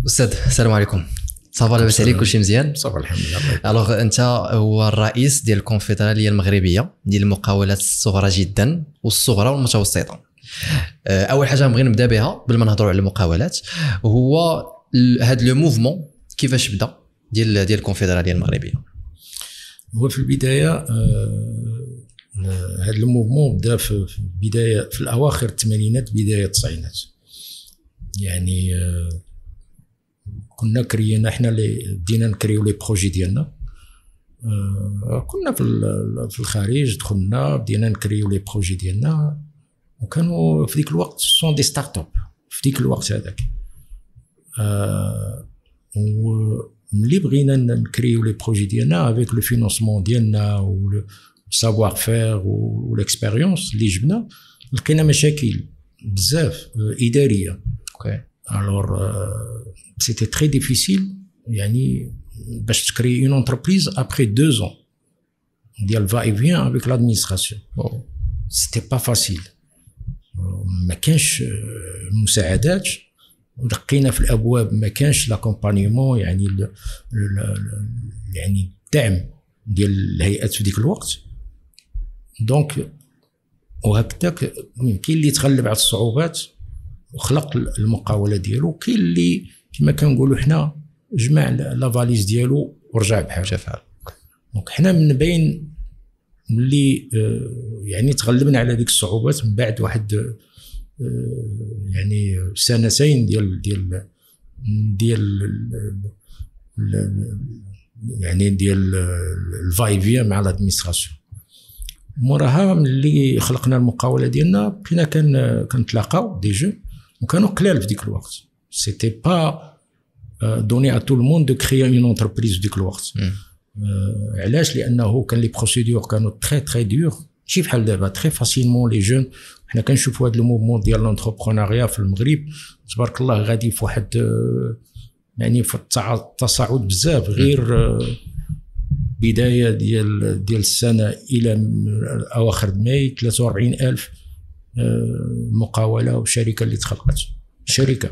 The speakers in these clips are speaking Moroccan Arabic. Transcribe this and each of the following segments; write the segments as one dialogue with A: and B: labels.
A: استاذ، السلام عليكم، ça va؟ لاباس عليك؟ كلشي مزيان؟
B: ça va، الحمد لله.
A: alors انت هو الرئيس ديال الكونفدراليه المغربية ديال المقاولات الصغرى جدا والصغرى والمتوسطه. اول حاجة نبغي نبدا بها قبل ما نهضروا على المقاولات هو هذا le mouvement، كيفاش بدا ديال الكونفدراليه المغربيه؟
B: هو في البداية هذا ال mouvement بدا في البدايه، في الاواخر الثمانينات، بداية التسعينات. يعني كنا كرينا حنا اللي بدينا نكريو les projets ديالنا. كنا في الخارج، دخلنا بدينا نكريو les projets ديالنا، وكانوا في ذيك الوقت sont des startups في ديك الوقت هذاك. وملي بغينا نكريو les projets ديالنا avec le financement ديالنا و savoir-faire و l'expérience اللي جبنا، لقينا مشاكل بزاف اداريه. Alors c'était très difficile يعني باش تكري une entreprise après 2 ans ديال va-et-vient avec l'administration. c'était pas facile، ما كانش مساعدات، ودقينا في الابواب، ما كانش l'accompagnement، يعني ال ال يعني الدعم ديال الهيئات في ديك الوقت. donc وهكذاك كاين اللي تغلب على الصعوبات وخلق المقاوله ديالو، كاين اللي كما كنقولوا حنا جمع la valise ديالو ورجع بحال. donc حنا من بين اللي يعني تغلبنا على ديك الصعوبات من بعد واحد يعني سنتين ديال يعني ديال ال va-et-vient مع l'administration. موراها ملي خلقنا المقاوله ديالنا، بقينا كان كنتلاقاو des jeunes، وكانوا قلال في ديك الوقت. c'était pas donné à tout le monde de créer une entreprise في ديك الوقت. علاش؟ لانه كان les procédures كانوا très très dures، ماشي بحال دابا très facilement les jeunes. حنا كنشوفوا هذا ال mouvement ديال l'entrepreneuriat في المغرب، تبارك الله، غادي في واحد يعني في التصاعد بزاف. غير بداية ديال السنة الى اواخر ماي، 43 الف مقاوله وشركه اللي تخلقت شركه.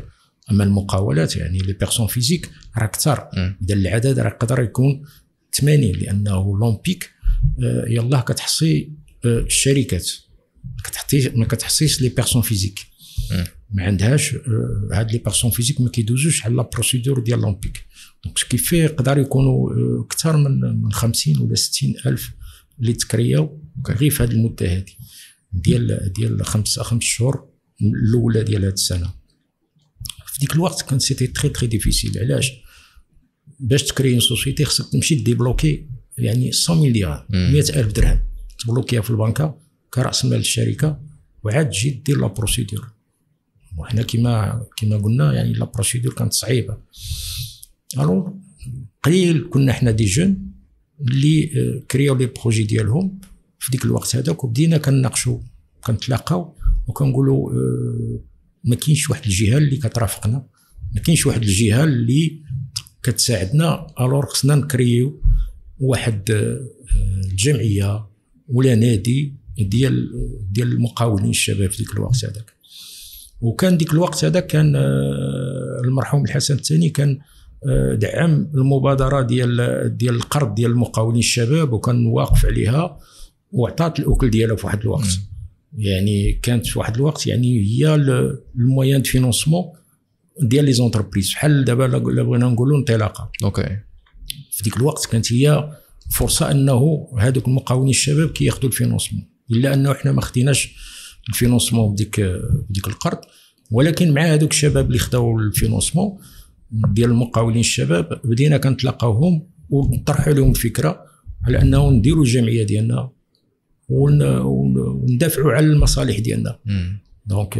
B: اما المقاولات، يعني les personnes physiques، راه اكثر. اذا العدد راه يقدر يكون 80، لانه l'OMPIC يلاه كتحصي الشركات، كتحطي ما كتحصيش les personnes physiques. ما عندهاش هاد les personnes physiques، ما كيدوزوش على la procédure ديال l'OMPIC. donc ce qui fait يقدر يكونوا اكثر من 50 ولا 60 الف اللي تكرياو غير في هذه المدة هذه ديال 5 شهور الاولى ديال هذه السنه. في ديك الوقت كان c'était très très difficile. علاش؟ باش تكري une société خصك تمشي débloquer يعني 100 مليار، 100 الف درهم، تبلوكيها في البنكه كراس مال الشركه، وعاد تجي دير la procédure. وحنا كما قلنا، يعني la procédure كانت صعيبه. alors قليل كنا حنا des jeunes اللي كرياو les projets ديالهم في ديك الوقت هذاك. وبدينا كنناقشوا، كنتلاقاو وكنقولوا ما كاينش واحد الجهة اللي كترافقنا، ما كاينش واحد الجهة اللي كتساعدنا. alors خصنا نكريو واحد الجمعية ولا نادي ديال المقاولين الشباب في ديك الوقت هذاك. وكان ديك الوقت هذا كان المرحوم الحسن الثاني كان دعم المبادرة ديال القرض ديال المقاولين الشباب، وكان واقف عليها وعطات الاكل ديالها في واحد الوقت. يعني كانت في واحد الوقت يعني هي ال moyen de financement ديال les entreprises، بحال دابا لا بغينا نقولوا انطلاقه. في ديك الوقت كانت هي فرصة انه هذوك المقاولين الشباب كياخذوا ال financement، الا انه احنا ما خديناش ال financement بديك القرض، ولكن مع هذوك الشباب اللي خداو ال financement ديال المقاولين الشباب بدينا كنتلاقاوهم ونطرحوا لهم الفكرة على انه نديروا الجمعية ديالنا وندافعوا على المصالح ديالنا. donc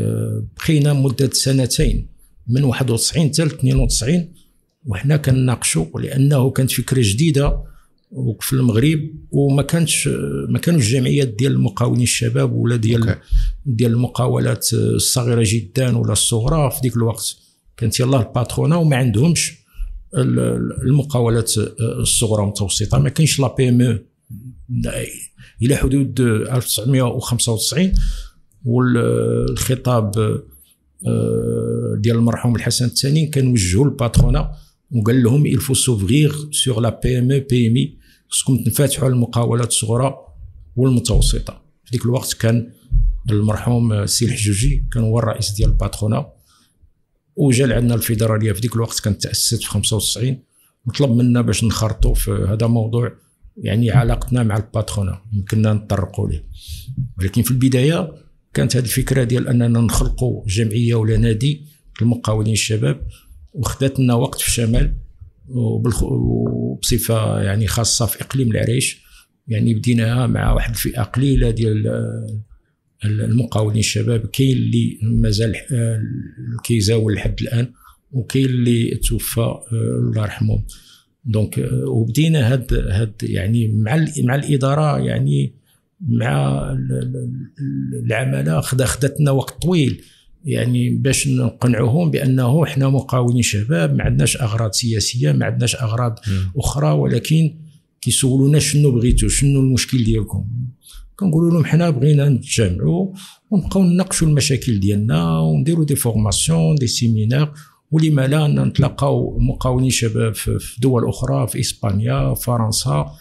B: بقينا مده سنتين، من 91 حتى 92، وحنا كنناقشوا، لانه كانت فكرة جديدة في المغرب، وما كانش ما كانوش جمعيات ديال المقاولين الشباب ولا ديال المقاولات الصغيرة جدا ولا الصغرى. في ديك الوقت كانت يلاه ال patronat وما عندهمش المقاولات الصغرى والمتوسطه، ما كاينش la PME الى حدود 1995. والخطاب ديال المرحوم الحسن الثاني كان وجهوا ال patronat وقال لهم il faut s'ouvrir sur la PME PMI، خصكم تنفتحوا على المقاولات الصغرى والمتوسطة. في ديك الوقت كان المرحوم السي الحجوجي كان هو الرئيس ديال ال patronat، وجا لعندنا الفيدرالية في ديك الوقت كانت تاسست في 95، وطلب منا باش نخرطوا في هذا موضوع يعني علاقتنا مع ال patronat يمكننا نتطرقوا ليه. ولكن في البداية كانت هذه الفكرة ديال اننا نخلقوا جمعية ولا نادي للمقاولين الشباب، وخدات لنا وقت في الشمال وبصفه يعني خاصة في اقليم العريش. يعني بديناها مع واحد الفئة قليله ديال المقاولين الشباب، كاين اللي مازال كيزاول لحد الان، وكاين اللي توفى الله يرحمه. donc وبدينا هاد يعني مع الادارة، يعني مع العمالة، خدتنا وقت طويل يعني باش نقنعوهم بانه احنا مقاولين شباب، ما عندناش اغراض سياسية، ما عندناش اغراض اخرى، ولكن كيسولونا شنو بغيتو، شنو المشكل ديالكم. كنقولوا لهم حنا بغينا نتجمعوا ونبقاو نناقشوا المشاكل ديالنا ونديروا des formations، des séminaires، ولما لا نتلاقاو مقاولين شباب في دول اخرى، في اسبانيا، فرنسا،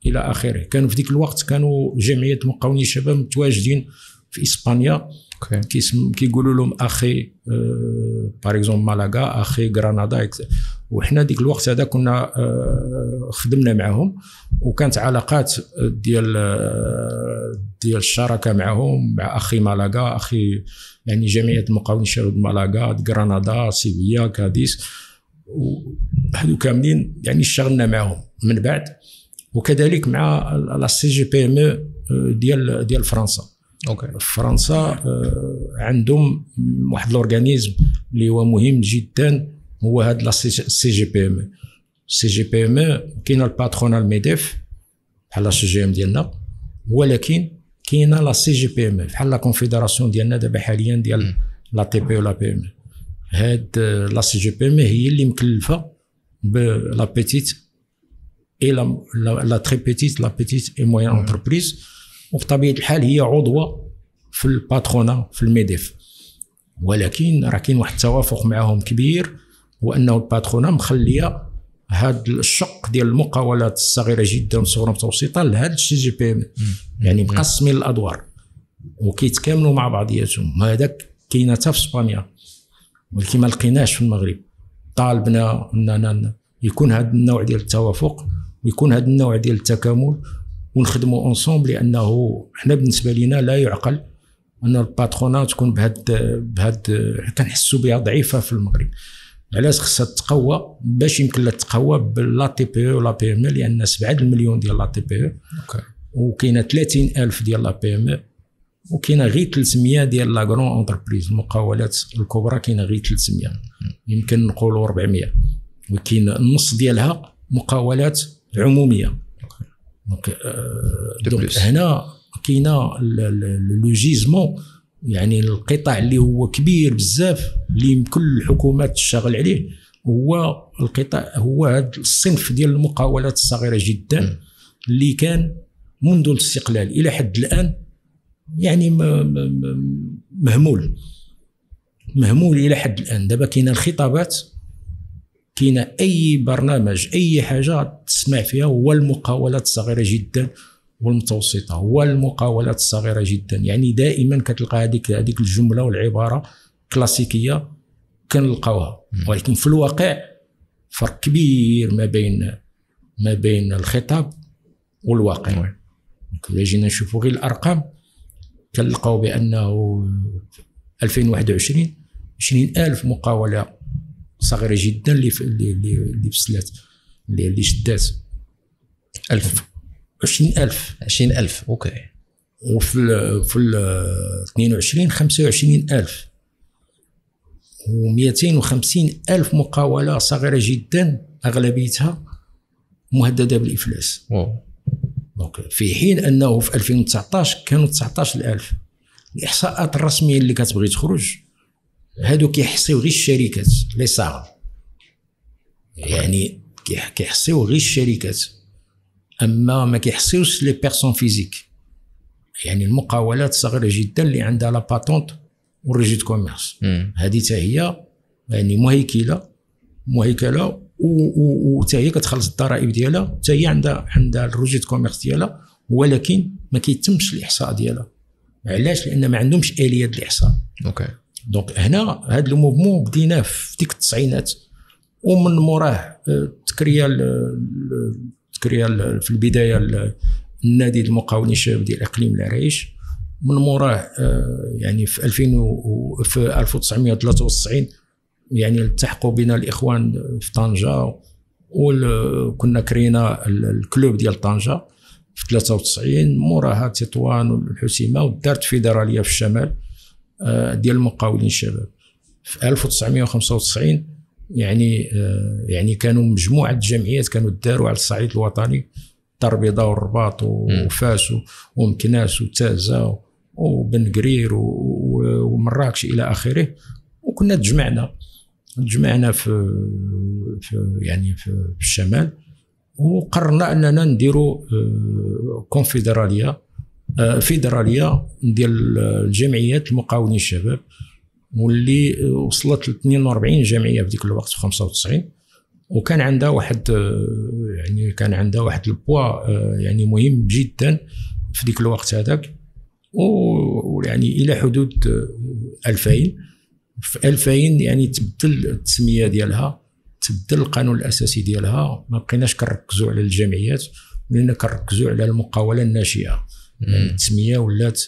B: الى اخره. كانوا في ديك الوقت كانوا جمعية مقاولين الشباب متواجدين في اسبانيا، كيقولوا لهم AJE par exemple Malaga، AJE Granada. وحنا ديك الوقت هذا كنا خدمنا معهم، وكانت علاقات ديال الشراكة معهم، مع AJE Malaga، AJE يعني جمعية المقاولين الشباب مالاغا، غرناطة، سيفيا، كاديس، وهادو كاملين يعني اشتغلنا معهم من بعد، وكذلك مع لا CGPME ديال فرنسا.
A: okay.
B: فرنسا عندهم واحد l'organisme اللي هو مهم جدا، هو هاد لا سي جي بي ام. سي جي بي ام كاينه ال patronat MEDEF بحال la CGEM ديالنا، ولكن كاينه لا سي جي بي ام بحال la confédération ديالنا دابا حاليا ديال لا TPE la PME. هاد لا سي جي بي ام هي اللي مكلفة ب la petite et la très petite، la petite et moyenne entreprise، وبطبيعة الحال هي عضوة في ال patronat في ال MEDEF. ولكن راه كاين واحد التوافق معهم كبير، هو انه ال patronat مخليه هذا الشق ديال المقاولات الصغيرة جدا والصغيرة والمتوسطة لهذا ال CGPM، يعني مقسمين الادوار وكيتكاملوا مع بعضياتهم. هذاك كاينه حتى في اسبانيا، ولكن ما لقيناش في المغرب. طالبنا اننا يكون هذا النوع ديال التوافق ويكون هذا النوع ديال التكامل ونخدموا ensemble، لانه حنا بالنسبة لنا لا يعقل ان ال patronat تكون بهاد كنحسوا بها ضعيفة في المغرب. علاش خصها تقوى؟ باش يمكن لها تقوى ب la TPE و la PME، لان 7 المليون ديال la TPE، وكاينه 30,000 ديال la PME، وكاينه غير 300 ديال la grande entreprise، المقاولات الكبرى كاينه غير 300، يمكن نقولوا 400، وكاين النص ديالها مقاولات عموميه. donc هنا كاينه le gisement، يعني القطاع اللي هو كبير بزاف اللي كل الحكومات تشتغل عليه، هو القطاع، هو هذا الصنف ديال المقاولات الصغيرة جدا اللي كان منذ الاستقلال الى حد الان يعني مهمول الى حد الان. دابا كاينه الخطابات، كاينه اي برنامج اي حاجة تسمع فيها هو المقاولات الصغيرة جدا والمتوسطة، هو المقاولات الصغيرة جدا. يعني دائما كتلقى هذيك الجملة والعباره كلاسيكية كنلقاوها، ولكن في الواقع فرق كبير ما بين الخطاب والواقع. الا جينا نشوفوا غير الارقام كنلقاو بانه 2021 20,000 مقاوله صغيرة جدا اللي فسلات، اللي شدات 20,000
A: 20,000. okay.
B: وفي 22 25,000 و250,000 مقاوله صغيرة جدا اغلبيتها مهددة بالافلاس. donc في حين انه في 2019 كانوا 19,000. الاحصاءات الرسمية اللي كتبغي تخرج هادو كيحصيو غير الشركات les SARL، يعني كيحصيو غير الشركات، اما ما كيحصيوش les personnes physiques، يعني المقاولات الصغيرة جدا اللي عندها la patente وال registre commerce. هذه حتى هي يعني مهيكله وحتى هي كتخلص الضرائب ديالها، حتى هي عندها ال registre de commerce ديالها، ولكن ما كيتمش الاحصاء ديالها. علاش؟ لان ما عندهمش اليات الاحصاء.
A: okay.
B: donc هنا هذا ال mouvement بديناه في ديك التسعينات، ومن موراه تكريا في البداية النادي المقاولين الشباب ديال اقليم العرايش. من موراه يعني في 1993 يعني التحقوا بنا الاخوان في طنجه، وكنا كرينا ال club ديال طنجه في 93، موراها تطوان والحسيمه، ودارت فيدرالية في الشمال ديال المقاولين الشباب في 1995. يعني كانوا مجموعة الجمعيات كانوا داروا على الصعيد الوطني، الدار البيضاء والرباط وفاس ومكناس وتازه وبن قرير ومراكش الى اخره. وكنا تجمعنا في يعني في الشمال، وقررنا اننا نديروا كونفدراليه فيدرالية ديال الجمعيات المقاولين الشباب، واللي وصلت ل 42 جمعية في ديك الوقت في 95. وكان عندها واحد يعني كان عندها واحد البوا يعني مهم جدا في ديك الوقت هذاك، ويعني الى حدود 2000. في 2000 يعني تبدل التسمية ديالها، تبدل القانون الاساسي ديالها، ما بقيناش كنركزوا على الجمعيات، ولينا كنركزوا على المقاوله الناشئة. التسمية ولات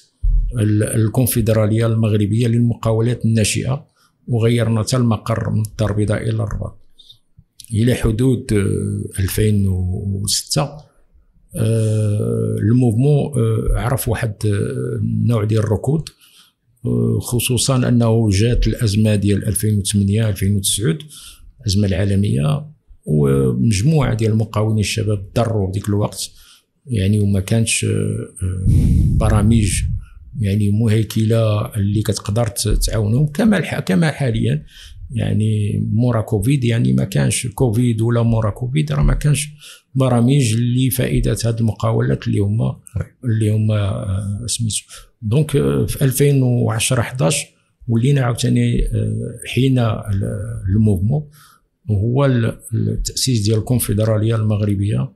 B: الكونفدراليه المغربية للمقاولات الناشئة، وغيرنا حتى المقر من الدار البيضاء الى الرباط. الى حدود 2006 ال mouvement عرف واحد النوع ديال الركود، خصوصا انه جات الازمة ديال 2008 2009، الازمة العالمية، ومجموعة ديال المقاولين الشباب ضروا ديك الوقت، يعني وما كانش برامج يعني مهيكله اللي كتقدر تعاونهم كما حاليا. يعني مورا كوفيد، يعني ما كانش كوفيد ولا مورا كوفيد، راه ما كانش برامج اللي فائدة هذه المقاولات اللي هما سميتو. donc في 2010 11 ولينا عاوتاني حين ال mouvement، وهو التاسيس ديال الكونفدراليه المغربية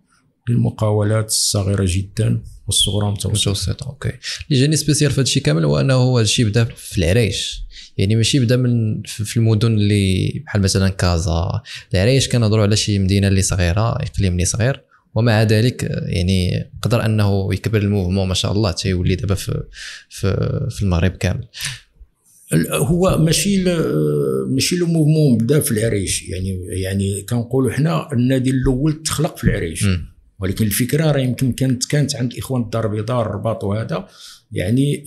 B: للمقاولات الصغيرة جدا والصغرى والمتوسطة.
A: okay. اللي جاني spécial في هذا الشيء كامل هو انه هذا الشيء بدا في العرايش، يعني ماشي بدا من في المدن اللي بحال مثلا كازا. العرايش كنهضروا على شي مدينة اللي صغيرة، اقليم اللي صغير، ومع ذلك يعني قدر انه يكبر ال mouvement ما شاء الله، تيولي دابا في في في المغرب كامل.
B: هو ماشي le mouvement بدا في العرايش، يعني كنقولوا حنا النادي الاول تخلق في العرايش، ولكن الفكرة راه يمكن كانت عند الاخوان الدار البيضاء الرباط وهذا، يعني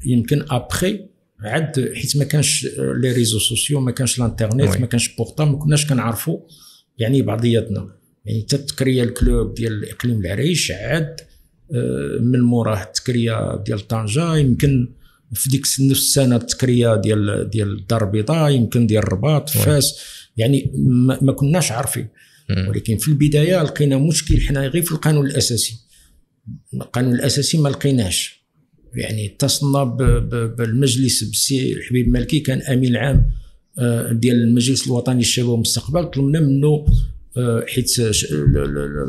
B: يمكن après عاد، حيت ما كانش les réseaux sociaux، ما كانش الانترنت، ما كانش portable، ما كناش كنعرفوا يعني بعضياتنا. يعني تتكريا ال club ديال اقليم العريش، عاد من موراه التكريه ديال طنجه، يمكن في ديك نفس السنة التكريه ديال الدار البيضاء، يمكن ديال الرباط، فاس، يعني ما كناش عارفين. ولكن في البداية لقينا مشكل حنا غير في القانون الاساسي. القانون الاساسي ما لقيناش، يعني اتصلنا بالمجلس بالسي الحبيب مالكي، كان امين العام ديال المجلس الوطني للشباب والمستقبل، طلبنا منه حيت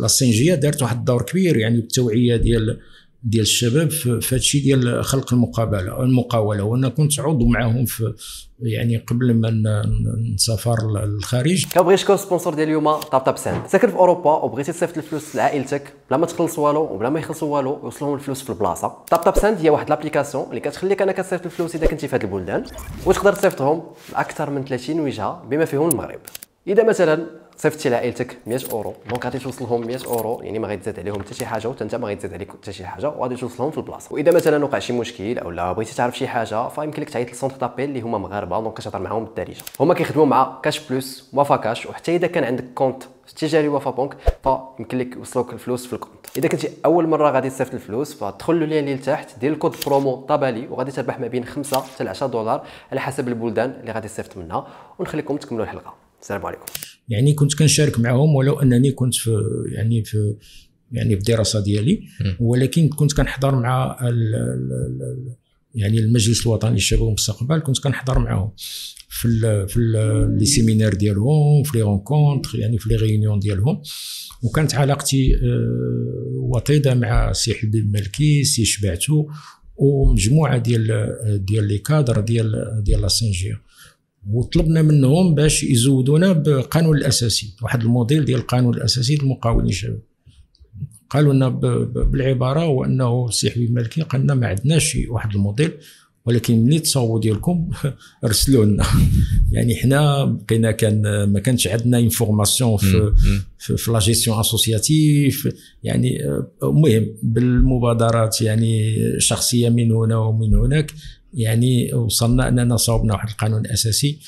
B: la CNGA دارت واحد الدور كبير يعني بالتوعية ديال الشباب في هذا الشيء ديال خلق المقاوله، وانا كنت عضو معاهم في يعني قبل ما نسافر للخارج.
C: كنبغي نشكر sponsor ديال اليوم طاب طاب ساند. ساكن في اوروبا وبغيتي تصيفط الفلوس لعائلتك بلا ما تخلص والو وبلا ما يخلصوا والو، يوصلهم الفلوس في البلاصة. طاب طاب ساند هي واحد l'application اللي كتخليك انك تصيفط الفلوس اذا كنتي في هاد البلدان، وتقدر تصيفطهم لاكثر من 30 وجهه بما فيهم المغرب. اذا مثلا صيفطتي لعائلتك 100 اورو، donc غادي توصلهم 100 اورو، يعني ما غيتزاد عليهم حتى شي حاجة، وحتى انت ما غيتزاد عليك حتى شي حاجة، وغادي توصلهم في البلاصة. واذا مثلا وقع شي مشكل او لا بغيتي تعرف شي حاجة، فيمكن لك تعيط لل centre d'appel اللي هما مغاربة، donc كتهضر معاهم بالدارجة. هما كيخدموا مع Cash Plus، وافا كاش، وحتى اذا كان عندك compte تجاري وفا بنك فيمكن لك يوصلوك الفلوس في ال compte. اذا كنتي اول مرة غادي تصيفط الفلوس، فدخل le lien اللي لتحت، دير ال code promo طابالي، وغادي تربح ما بين 5 حتى 10 دولار على حسب البلدان اللي غادي تصيفط منها. ونخليكم تكملوا الحلقة. السلام عليكم.
B: يعني كنت كنشارك معهم ولو انني كنت في يعني في يعني في الدراسة ديالي، ولكن كنت كنحضر مع يعني المجلس الوطني للشباب والمستقبل، كنت كنحضر معاهم في les séminaires ديالهم، في les rencontres، يعني في les réunions ديالهم. وكانت علاقتي وطيدة مع سي حبيب المالكي، سي شبعتو، ومجموعة ديال les cadres ديال la CNGA. وطلبنا منهم باش يزودونا بقانون الاساسي، واحد الموديل ديال القانون الاساسي للمقاولين الشباب. قالوا لنا بالعباره هو انه السي حبيب المالكي قال لنا ما عندناش واحد الموديل، ولكن ملي تصاوبوا ديالكم ارسلوا لنا. يعني حنا بقينا كان ما كانش عندنا information في la gestion associative. يعني المهم بالمبادرات يعني شخصية من هنا ومن هناك، يعني وصلنا اننا صوبنا واحد القانون الاساسي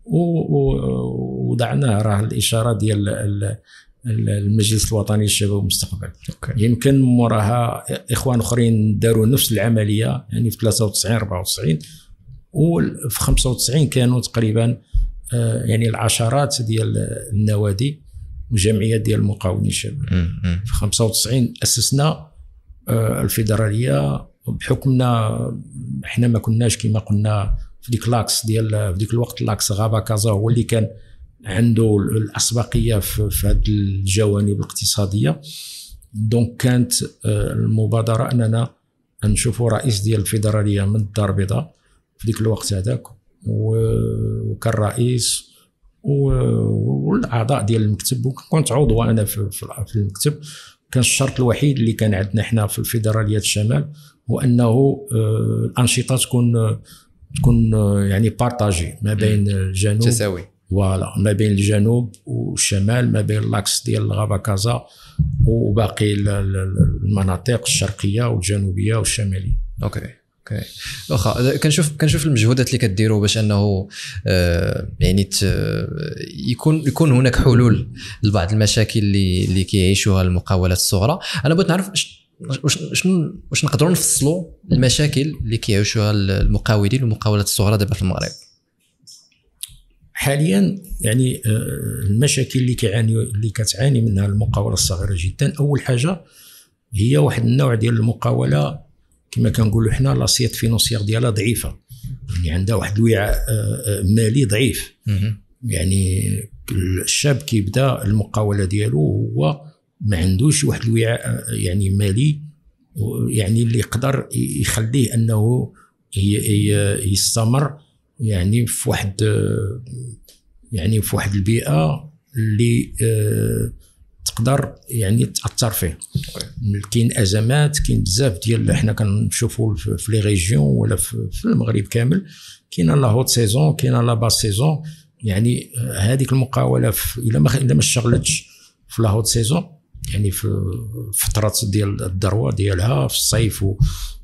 B: ووضعناه، راه الاشارة ديال المجلس الوطني للشباب والمستقبل. يمكن موراها اخوان اخرين داروا نفس العملية، يعني في 93 94 وفي 95 كانوا تقريبا يعني العشرات ديال النوادي وجمعيات ديال المقاولين الشباب. في 95 اسسنا الفيدرالية، بحكمنا احنا ما كناش كما قلنا في ديك l'axe ديال في ديك الوقت l'axe Rabat كازا هو اللي كان عنده الاسبقيه في هذه الجوانب الاقتصادية. donc كانت المبادرة اننا نشوفوا رئيس ديال الفيدرالية من الدار البيضاء في ديك الوقت هذاك، وكان رئيس والاعضاء ديال المكتب، وكنت عضو انا في المكتب. كان الشرط الوحيد اللي كان عندنا حنا في الفيدرالية الشمال هو انه الانشطة تكون يعني partagée ما بين الجنوب،
A: تساوي
B: voilà، ما بين الجنوب والشمال، ما بين l'axe ديال Rabat كازا وباقي المناطق الشرقية والجنوبيه والشماليه.
A: okay واخا كنشوف المجهودات اللي كديروا باش انه يعني يكون هناك حلول لبعض المشاكل اللي كيعيشوها المقاولات الصغرى. انا بغيت نعرف واش نقدروا نفصلوا المشاكل اللي كيعيشوها المقاولين والمقاولات الصغرى دابا في المغرب
B: حاليا. يعني المشاكل اللي كتعاني منها المقاوله الصغيرة جدا، اول حاجة هي واحد النوع ديال المقاوله كما كنقولوا حنا l'assiette financière ديالها ضعيفة، يعني عندها واحد الوعاء مالي ضعيف. يعني الشاب كيبدا المقاوله ديالو هو ما عندوش واحد الوعاء يعني مالي، يعني اللي يقدر يخليه انه يستمر يعني في واحد البيئة اللي تقدر يعني تاثر فيه. كاين ازمات، كاين بزاف ديال حنا كنشوفوا في les régions ولا في المغرب كامل، كاينه la haute saison، كاينه la basse saison. يعني هذيك المقاوله الا ما اشتغلتش في la haute saison، يعني في فترات ديال الذروة ديالها في الصيف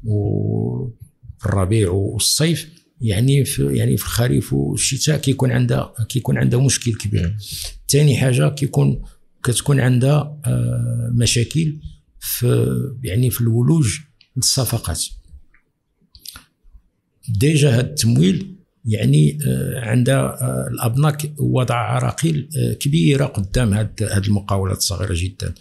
B: وفي الربيع والصيف، يعني في الخريف والشتاء كيكون عندها مشكل كبير. ثاني حاجة كتكون عندها مشاكل في في الولوج للصفقات. déjà هذا التمويل يعني عندها الابناك وضع عراقيل كبيرة قدام هاد المقاولات الصغيرة جدا.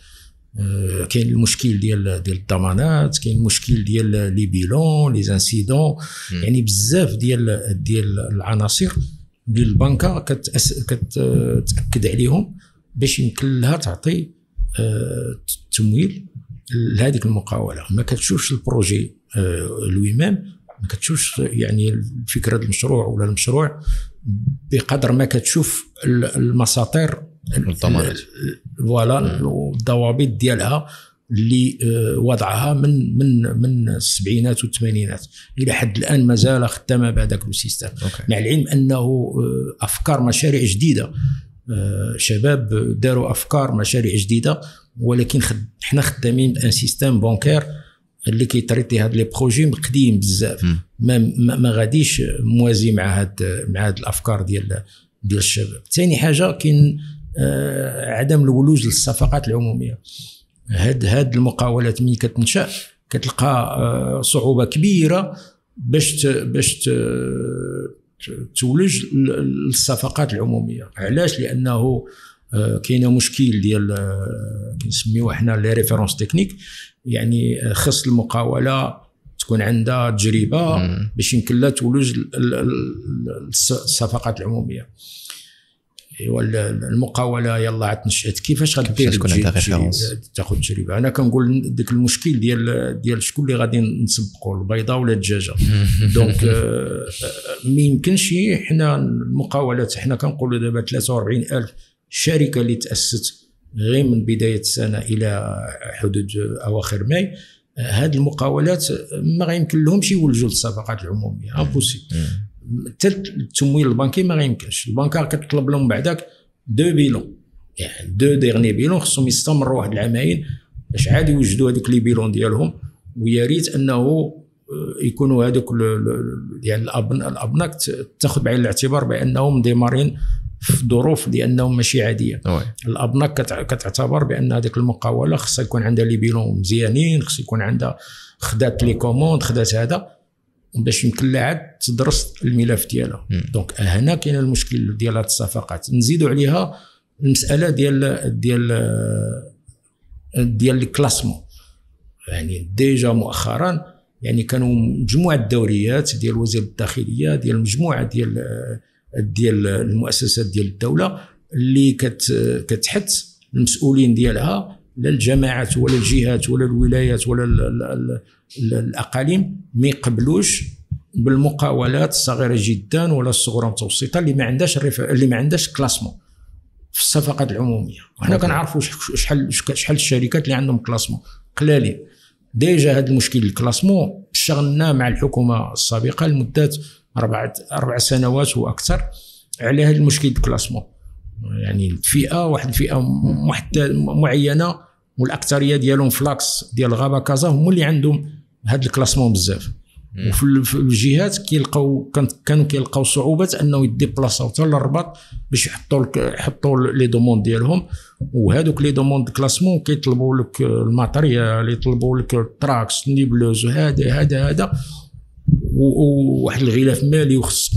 B: كاين المشكل ديال الضمانات، كاين المشكل ديال les bilans، les incidents، يعني بزاف ديال العناصر ديال البنكه كتاكد عليهم باش يمكن لها تعطي التمويل لهذيك المقاوله. ما كتشوفش ال projet lui-même، ما كتشوفش يعني فكرة المشروع ولا المشروع بقدر ما كتشوف المساطير
A: الضمانات
B: voilà الضوابط ديالها اللي وضعها من من من السبعينات والثمانينات الى حد الان مازال خدامه بهذاك ال système. مع العلم انه افكار مشاريع جديدة، شباب داروا افكار مشاريع جديدة، ولكن حنا خدامين ب un système bancaire اللي كي traiter هاد les projets قديم بزاف، ما غاديش موازي مع هاد الافكار ديال الشباب. ثاني حاجة كاين عدم الولوج للصفقات العمومية. هاد المقاولات ملي كتنشا كتلقى صعوبة كبيرة باش تولج للصفقات العمومية. علاش؟ لانه كاين مشكل ديال كنسميوه حنا les références techniques، يعني خص المقاوله تكون عندها تجربه باش يمكن لها تولج الصفقات العمومية. ايوا المقاوله يلا عاد نشات، كيفاش غدير تاخذ تجربه؟ انا كنقول ديك المشكل ديال شكون اللي غادي نسبقوا، البيضة ولا الدجاجة. donc ما يمكنش حنا المقاولات، حنا كنقولوا دابا 43,000 شركة اللي تاسست غير من بداية السنة الى حدود اواخر ماي. هاد المقاولات ما غيمكن لهمش يولجوا للصفقات العمومية، impossible. حتى التمويل البنكي ما غيمكنش، البنكه كتطلب لهم بعداك deux bilans، يعني deux derniers bilans، خصهم يستمروا واحد العامين باش عاد يوجدوا هذوك les bilans ديالهم. ويا ريت انه يكونوا هذوك يعني الابناك تاخذ بعين الاعتبار بانهم démarré ين في ظروف لانهم ماشي عادية. الابناك كتعتبر بان هذيك المقاوله خصها يكون عندها les bilans مزيانين، خص يكون عندها خدات les commandes، خدات هذا باش يمكن لها عاد تدرس الملف ديالها. donc هنا كاين المشكل ديال هاد الصفقات. نزيدوا عليها المسالة ديال ديال ديال ال classement. يعني déjà مؤخرا يعني كانوا مجموعة الدوريات ديال وزير الداخلية، ديال مجموعة ديال المؤسسات ديال الدولة اللي كتحث المسؤولين ديالها، لا الجماعات ولا الجهات ولا الولايات ولا الاقاليم، ما يقبلوش بالمقاولات الصغيرة جدا ولا الصغرى المتوسطة اللي ما عندهاش classement في الصفقات العمومية. وحنا كنعرفوا شحال الشركات اللي عندهم classement قلالين. déjà هذا المشكل ال classement اشتغلنا مع الحكومة السابقة لمدة 4 سنوات واكثر على هذا المشكل ال classement. يعني الفئة، واحد الفئة معينة والاكثريه ديالهم ف l'axe ديال غابه كازا هما اللي عندهم هذا ال classement بزاف. وفي الجهات كانوا كيلقاو صعوبات انه ي déplacer او حتى للرباط باش يحطوا les demandes ديالهم. وهذوك les demandes classement كيطلبوا لك ال matériel، يطلبوا لك ال trax، niveleuse، هذا هذا هذا، وواحد الغلاف مالي، وخصك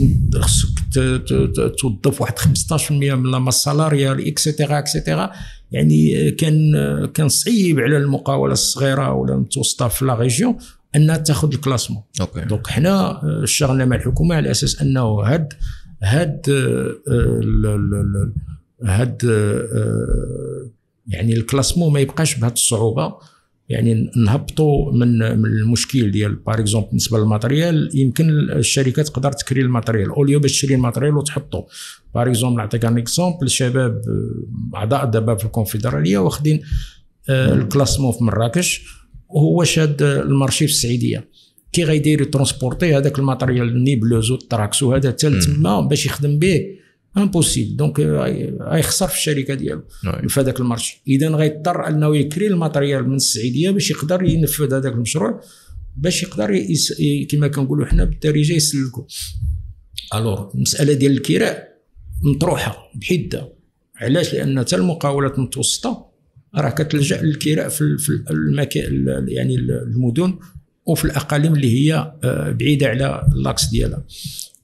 B: توظف واحد 15% من la masse salariale، et cetera et cetera. يعني كان صعيب على المقاوله الصغيرة ولا المتوسطة في la région انها تاخذ ال classement. donc حنا اشتغلنا مع الحكومة على اساس انه هاد هاد هاد يعني ال classement ما يبقاش بهذه الصعوبة. يعني نهبطوا من المشكل ديال par exemple بالنسبة لل matériel، يمكن الشركات تقدر تكري ال matériel au lieu باش تشري ال matériel وتحطو. par exemple نعطيك un exemple، الشباب اعضاء دابا في الكونفدراليه واخدين ال classement في مراكش وهو شاد ال marché في السعيديه، كي غيدير transporter هذاك ال matériel niveleuse وال trax وهذا حتى تما باش يخدم به؟ impossible. donc غيخسر في الشركة ديالو في هذاك ال marché. اذا غيضطر انه يكري ال matériel من السعيديه باش يقدر ينفذ هذاك المشروع، باش يقدر كما كنقولوا حنا بالدارجة يسلكو. alors المسالة ديال الكراء مطروحة بحده. علاش؟ لان حتى المقاولات المتوسطة راه كتلجا للكراء في المكان، يعني المدن وفي الاقاليم اللي هي بعيدة على l'axe ديالها.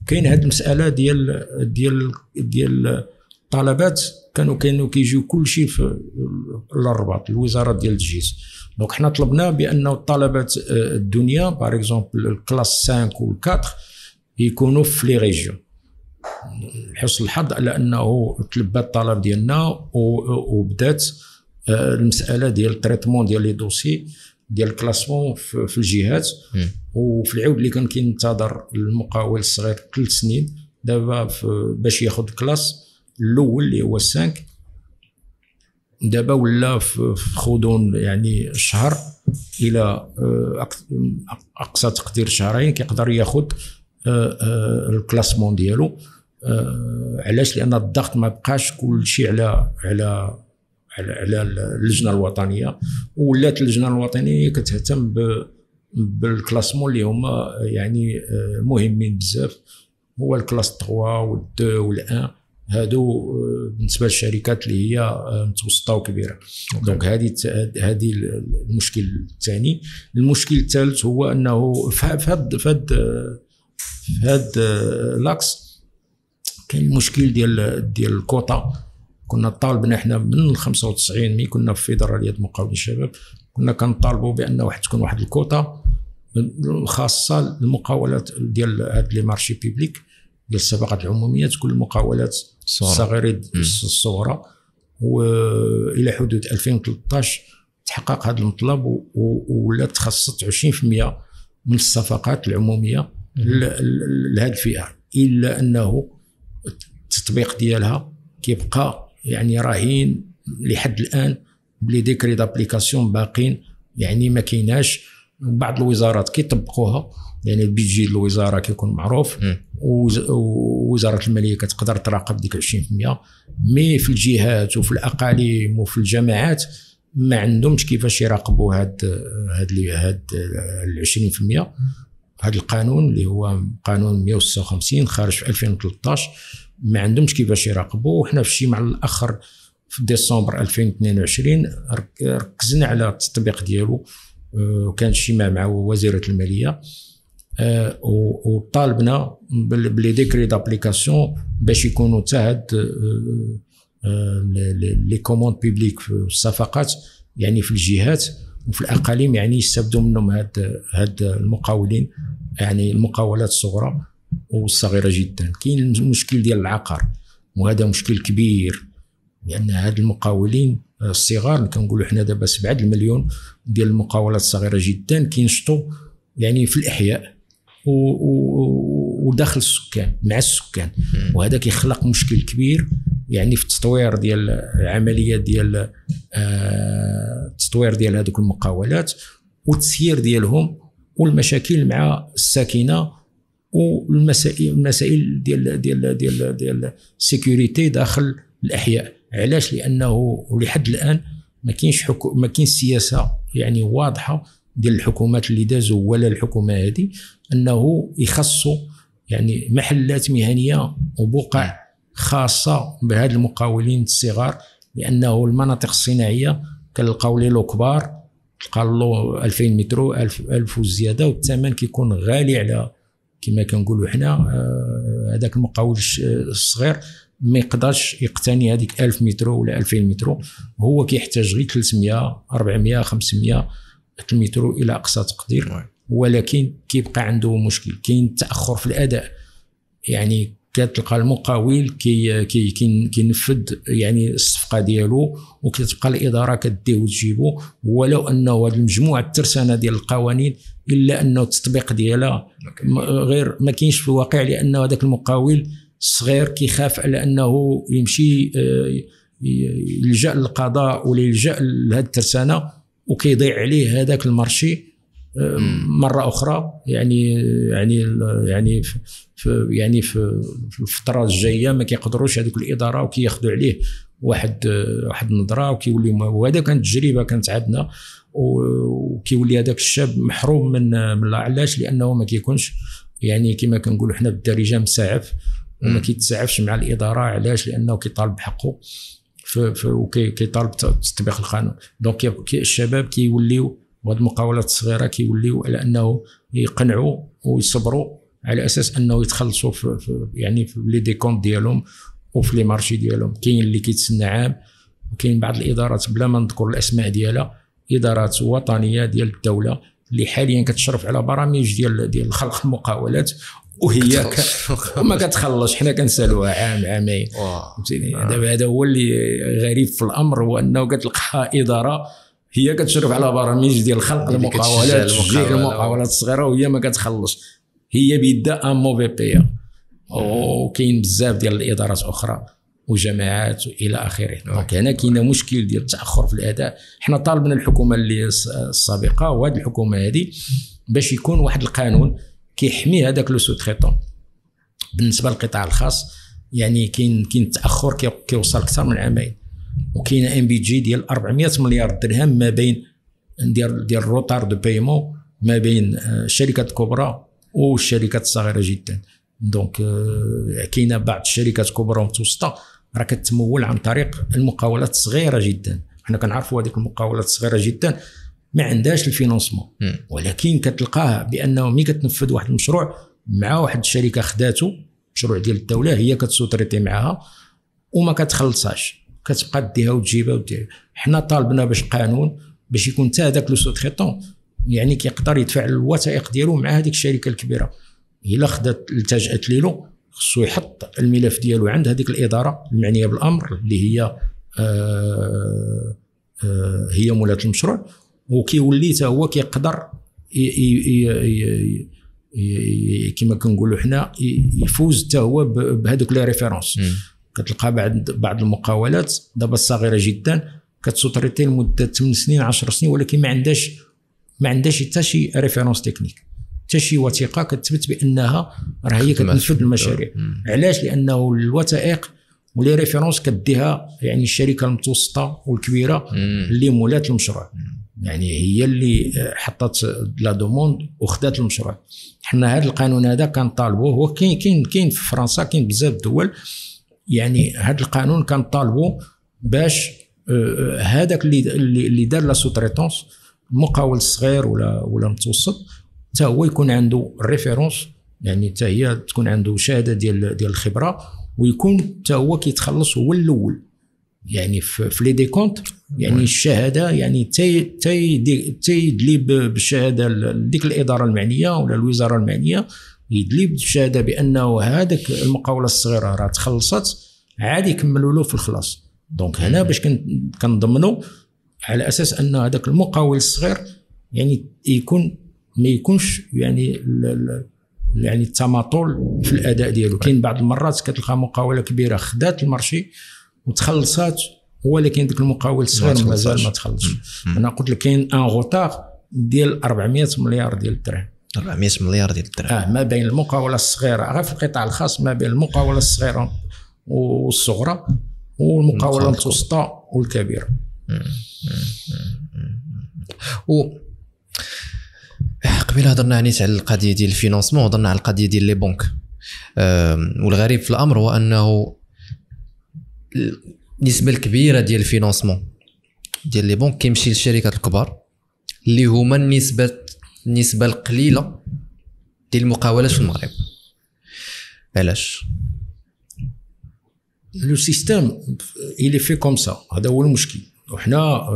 B: كاين هذه المسالة ديال ديال ديال الطلبات، كانوا كيجيو كل شيء في الرباط، الوزارة ديال التجهيز. donc حنا طلبنا بانه الطلبات الدنيا par exemple ال classe 5 و 4 يكونوا في les régions. لحسن الحظ على انه تلبى الطلب ديالنا وبدات المسالة ديال ال traitement ديال les dossiers ديال ال classement في الجهات. وفي العود اللي كان كينتظر المقاول الصغير 3 سنين، دابا باش ياخذ classe الاول اللي هو 5، دابا ولا في غضون يعني شهر الى اقصى تقدير شهرين كيقدر ياخذ ال classement ديالو. علاش؟ لان الضغط ما بقاش كل شيء على على على اللجنة الوطنية، ولات اللجنة الوطنية كتهتم بال classement اللي هما يعني مهمين بزاف، هو ال classe 3 وال 2 وال 1، هادو بالنسبة للشركات اللي هي متوسطه وكبيره. donc هذه المشكل الثاني. المشكل الثالث هو انه في هاد l'axe كاين المشكل ديال الكوطا. كنا طالبنا حنا من 95 ملي كنا في فيدرالية مقاولين الشباب، كنا كنطالبوا بان واحد تكون واحد الكوطا الخاصة المقاولات ديال هاد les marchés publics ديال الصفقات العمومية، تكون المقاولات الصغيرة الصغرى. والى حدود 2013 تحقق هذا المطلب، ولا تخصصت 20% من الصفقات العمومية لهذه الفئة، الا انه التطبيق ديالها كيبقى يعني رهين لحد الان ب les décrets d'application باقين يعني ما كايناش. بعض الوزارات كيطبقوها، يعني ال budget الوزارة كيكون معروف، ووزارة المالية كتقدر تراقب ديك 20%، mais في الجهات وفي الاقاليم وفي الجماعات ما عندهمش كيفاش يراقبوا هاد 20%. هاد القانون اللي هو قانون 156 خارج في 2013 ما عندهمش كيفاش يراقبوا. وحنا في الاجتماع الاخر في ديسمبر 2022 ركزنا على التطبيق ديالو، وكان اجتماع مع وزيرة المالية، وطالبنا ب les décrets d'application باش يكونوا حتى هاد les commandes publiques في الصفقات يعني في الجهات وفي الاقاليم، يعني يستافدوا منهم هاد المقاولين، يعني المقاولات الصغرى والصغيرة جدا. كاين المشكل ديال العقار، وهذا مشكل كبير، لان هاد المقاولين الصغار كنقولوا حنا دابا 7 المليون ديال المقاولات الصغيرة جدا كينشطوا يعني في الاحياء وداخل السكان مع السكان، وهذا كيخلق مشكل كبير يعني في التطوير ديال العملية ديال التطوير ديال هذوك المقاولات والتسيير ديالهم والمشاكل مع الساكنة والمسائل المسائل ديال ديال ديال ديال ال sécurité داخل الاحياء. علاش؟ لانه لحد الان ما كاينش ما كاينش سياسة يعني واضحة ديال الحكومات اللي دازوا ولا الحكومة هذه انه يخصوا يعني محلات مهنية وبقع خاصة بهاد المقاولين الصغار، لانه المناطق الصناعية كنلقاو les lots كبار، تلقى lot 2000 متر 1000 وزيادة، والثمن كيكون غالي على كما كنقولوا حنا هذاك المقاول الصغير ما يقدرش يقتني هذيك 1000 متر ولا 2000 متر، هو كيحتاج غير 300 400 500 متر الى اقصى تقدير، ولكن كيبقى عنده مشكل، كاين تاخر في الاداء. يعني كتلقى المقاول كي كي كينفذ يعني الصفقة ديالو وكتبقى الادارة كدية وتجيبو، ولو انه هذه المجموعة الترسانه ديال القوانين الا انه التطبيق ديالها غير ما كاينش في الواقع، لانه هذاك المقاول الصغير كيخاف على انه يمشي يلجا للقضاء ولا يلجا لهذه الترسانه وكيضيع عليه هذاك ال marché مرة اخرى. يعني يعني يعني في يعني في الفترة الجاية ما كيقدروش هذوك الادارة وكياخذوا عليه واحد النظرة وكيولي، وهذا كانت تجربه كانت عندنا، وكيولي هذاك الشاب محروم من علاش؟ لانه ما كيكونش يعني كما كنقولوا حنا بالدارجة مساعف، وما كيتساعفش مع الادارة. علاش؟ لانه كيطالب بحقه وكيطالب بتطبيق القانون. donc الشباب كيوليو وهاد المقاولات الصغيرة كيوليو على انه يقنعوا ويصبروا على اساس انه يتخلصوا في يعني في les décomptes ديالهم وفي les marchés ديالهم. كاين اللي كيتسنى عام، وكاين بعض الادارات بلا ما نذكر الاسماء ديالها، ادارات وطنية ديال الدولة اللي حاليا كتشرف على برامج ديال خلق المقاولات وهي وما كتخلصش، حنا كنسالوها عام عامين. فهمتيني؟ دابا هذا هو اللي غريب في الامر، هو انه كتلقى ادارة هي كتشرف على برامج ديال خلق المقاولات، تشجيع المقاولات الصغيرة، وهي ما كتخلص، هي بيدا un mauvais payeur. وكاين بزاف ديال الادارات اخرى وجماعات والى اخره. donc هنا كاين مشكل ديال التاخر في الاداء. حنا طالبنا الحكومة اللي السابقة وهذه الحكومة هذه باش يكون واحد القانون كيحمي هذاك le sous-traitant. بالنسبة للقطاع الخاص يعني كاين تاخر كيوصل اكثر من عامين، وكاين un budget ديال 400 مليار درهم ما بين ديال ال retard de paiement ما بين الشركات الكبرى والشركات الصغيرة جدا. donc كاينه بعض الشركات الكبرى والمتوسطة راه كتمول عن طريق المقاولات الصغيرة جدا. حنا كنعرفوا هذيك المقاولات الصغيرة جدا ما عندهاش ال financement، ولكن كتلقاه بانه ملي كتنفذ واحد المشروع مع واحد الشركة خداتو مشروع ديال الدولة، هي كت sous-traiter معاها وما كتخلصهاش، كتبقى ديها وتجيبها وديها. حنا طالبنا باش قانون باش يكون حتى هذاك le sous-traitant يعني كيقدر يدفع الوثائق ديالو مع هذيك الشركة الكبيرة. الا خدات التجأت ليلو خصو يحط الملف ديالو عند هذيك الادارة المعنية بالامر اللي هي هي مولات المشروع، وكيولي حتى هو كيقدر كما كنقولوا حنا يفوز حتى هو بهذوك les références. كتلقى بعض المقاولات دابا الصغيرة جدا كت sous-traiter لمدة 8 سنين 10 سنين، ولكن ما عندهاش حتى شي référence technique، حتى شي وثيقة كتثبت بانها راه هي كتنفذ المشاريع. علاش؟ لانه الوثائق و les références كديها يعني الشركة المتوسطة والكبيرة اللي مولات المشروع، يعني هي اللي حطت la demande وخدات المشروع. حنا هذا القانون هذا كنطالبوه، هو كاين كاين في فرنسا، كاين بزاف الدول، يعني هذا القانون كنطالبوا باش هذاك اللي دار la sous-traitance، المقاول الصغير ولا المتوسط، حتى هو يكون عنده référence، يعني حتى هي تكون عنده شهادة ديال الخبرة، ويكون حتى هو كيتخلص هو الاول، يعني في les décomptes، يعني الشهادة، يعني تيدلي بالشهادة لديك الادارة المعنية ولا الوزارة المعنية، يدلي بالشهادة بانه هذاك المقاوله الصغيرة راه تخلصت، عادي يكملوا له في الخلاص. donc هنا باش كنضمنوا على اساس ان هذاك المقاول الصغير يعني يكون ما يكونش يعني يعني التماطل في الاداء ديالو. كاين بعض المرات كتلقى مقاوله كبيرة خدات ال marché وتخلصات، ولكن ديك المقاول الصغير مازال ما تخلصش. انا قلت لك كاين un retard ديال 400 مليار ديال الدرهم.
A: 400 مليار ديال الدرهم
B: ما بين المقاوله الصغيرة غير في القطاع الخاص، ما بين المقاوله الصغيرة والصغرى والمقاوله المتوسطة والكبيرة.
A: و قبيلة هضرنا عنيت على القضية ديال ال financement، هضرنا على القضية ديال les banques. والغريب في الامر هو انه النسبة الكبيرة ديال ال financement ديال les banques كيمشي للشركات الكبار اللي هما النسبة القليلة ديال المقاولات في المغرب. علاش؟
B: le système il est fait comme ça، هذا هو المشكل. وحنا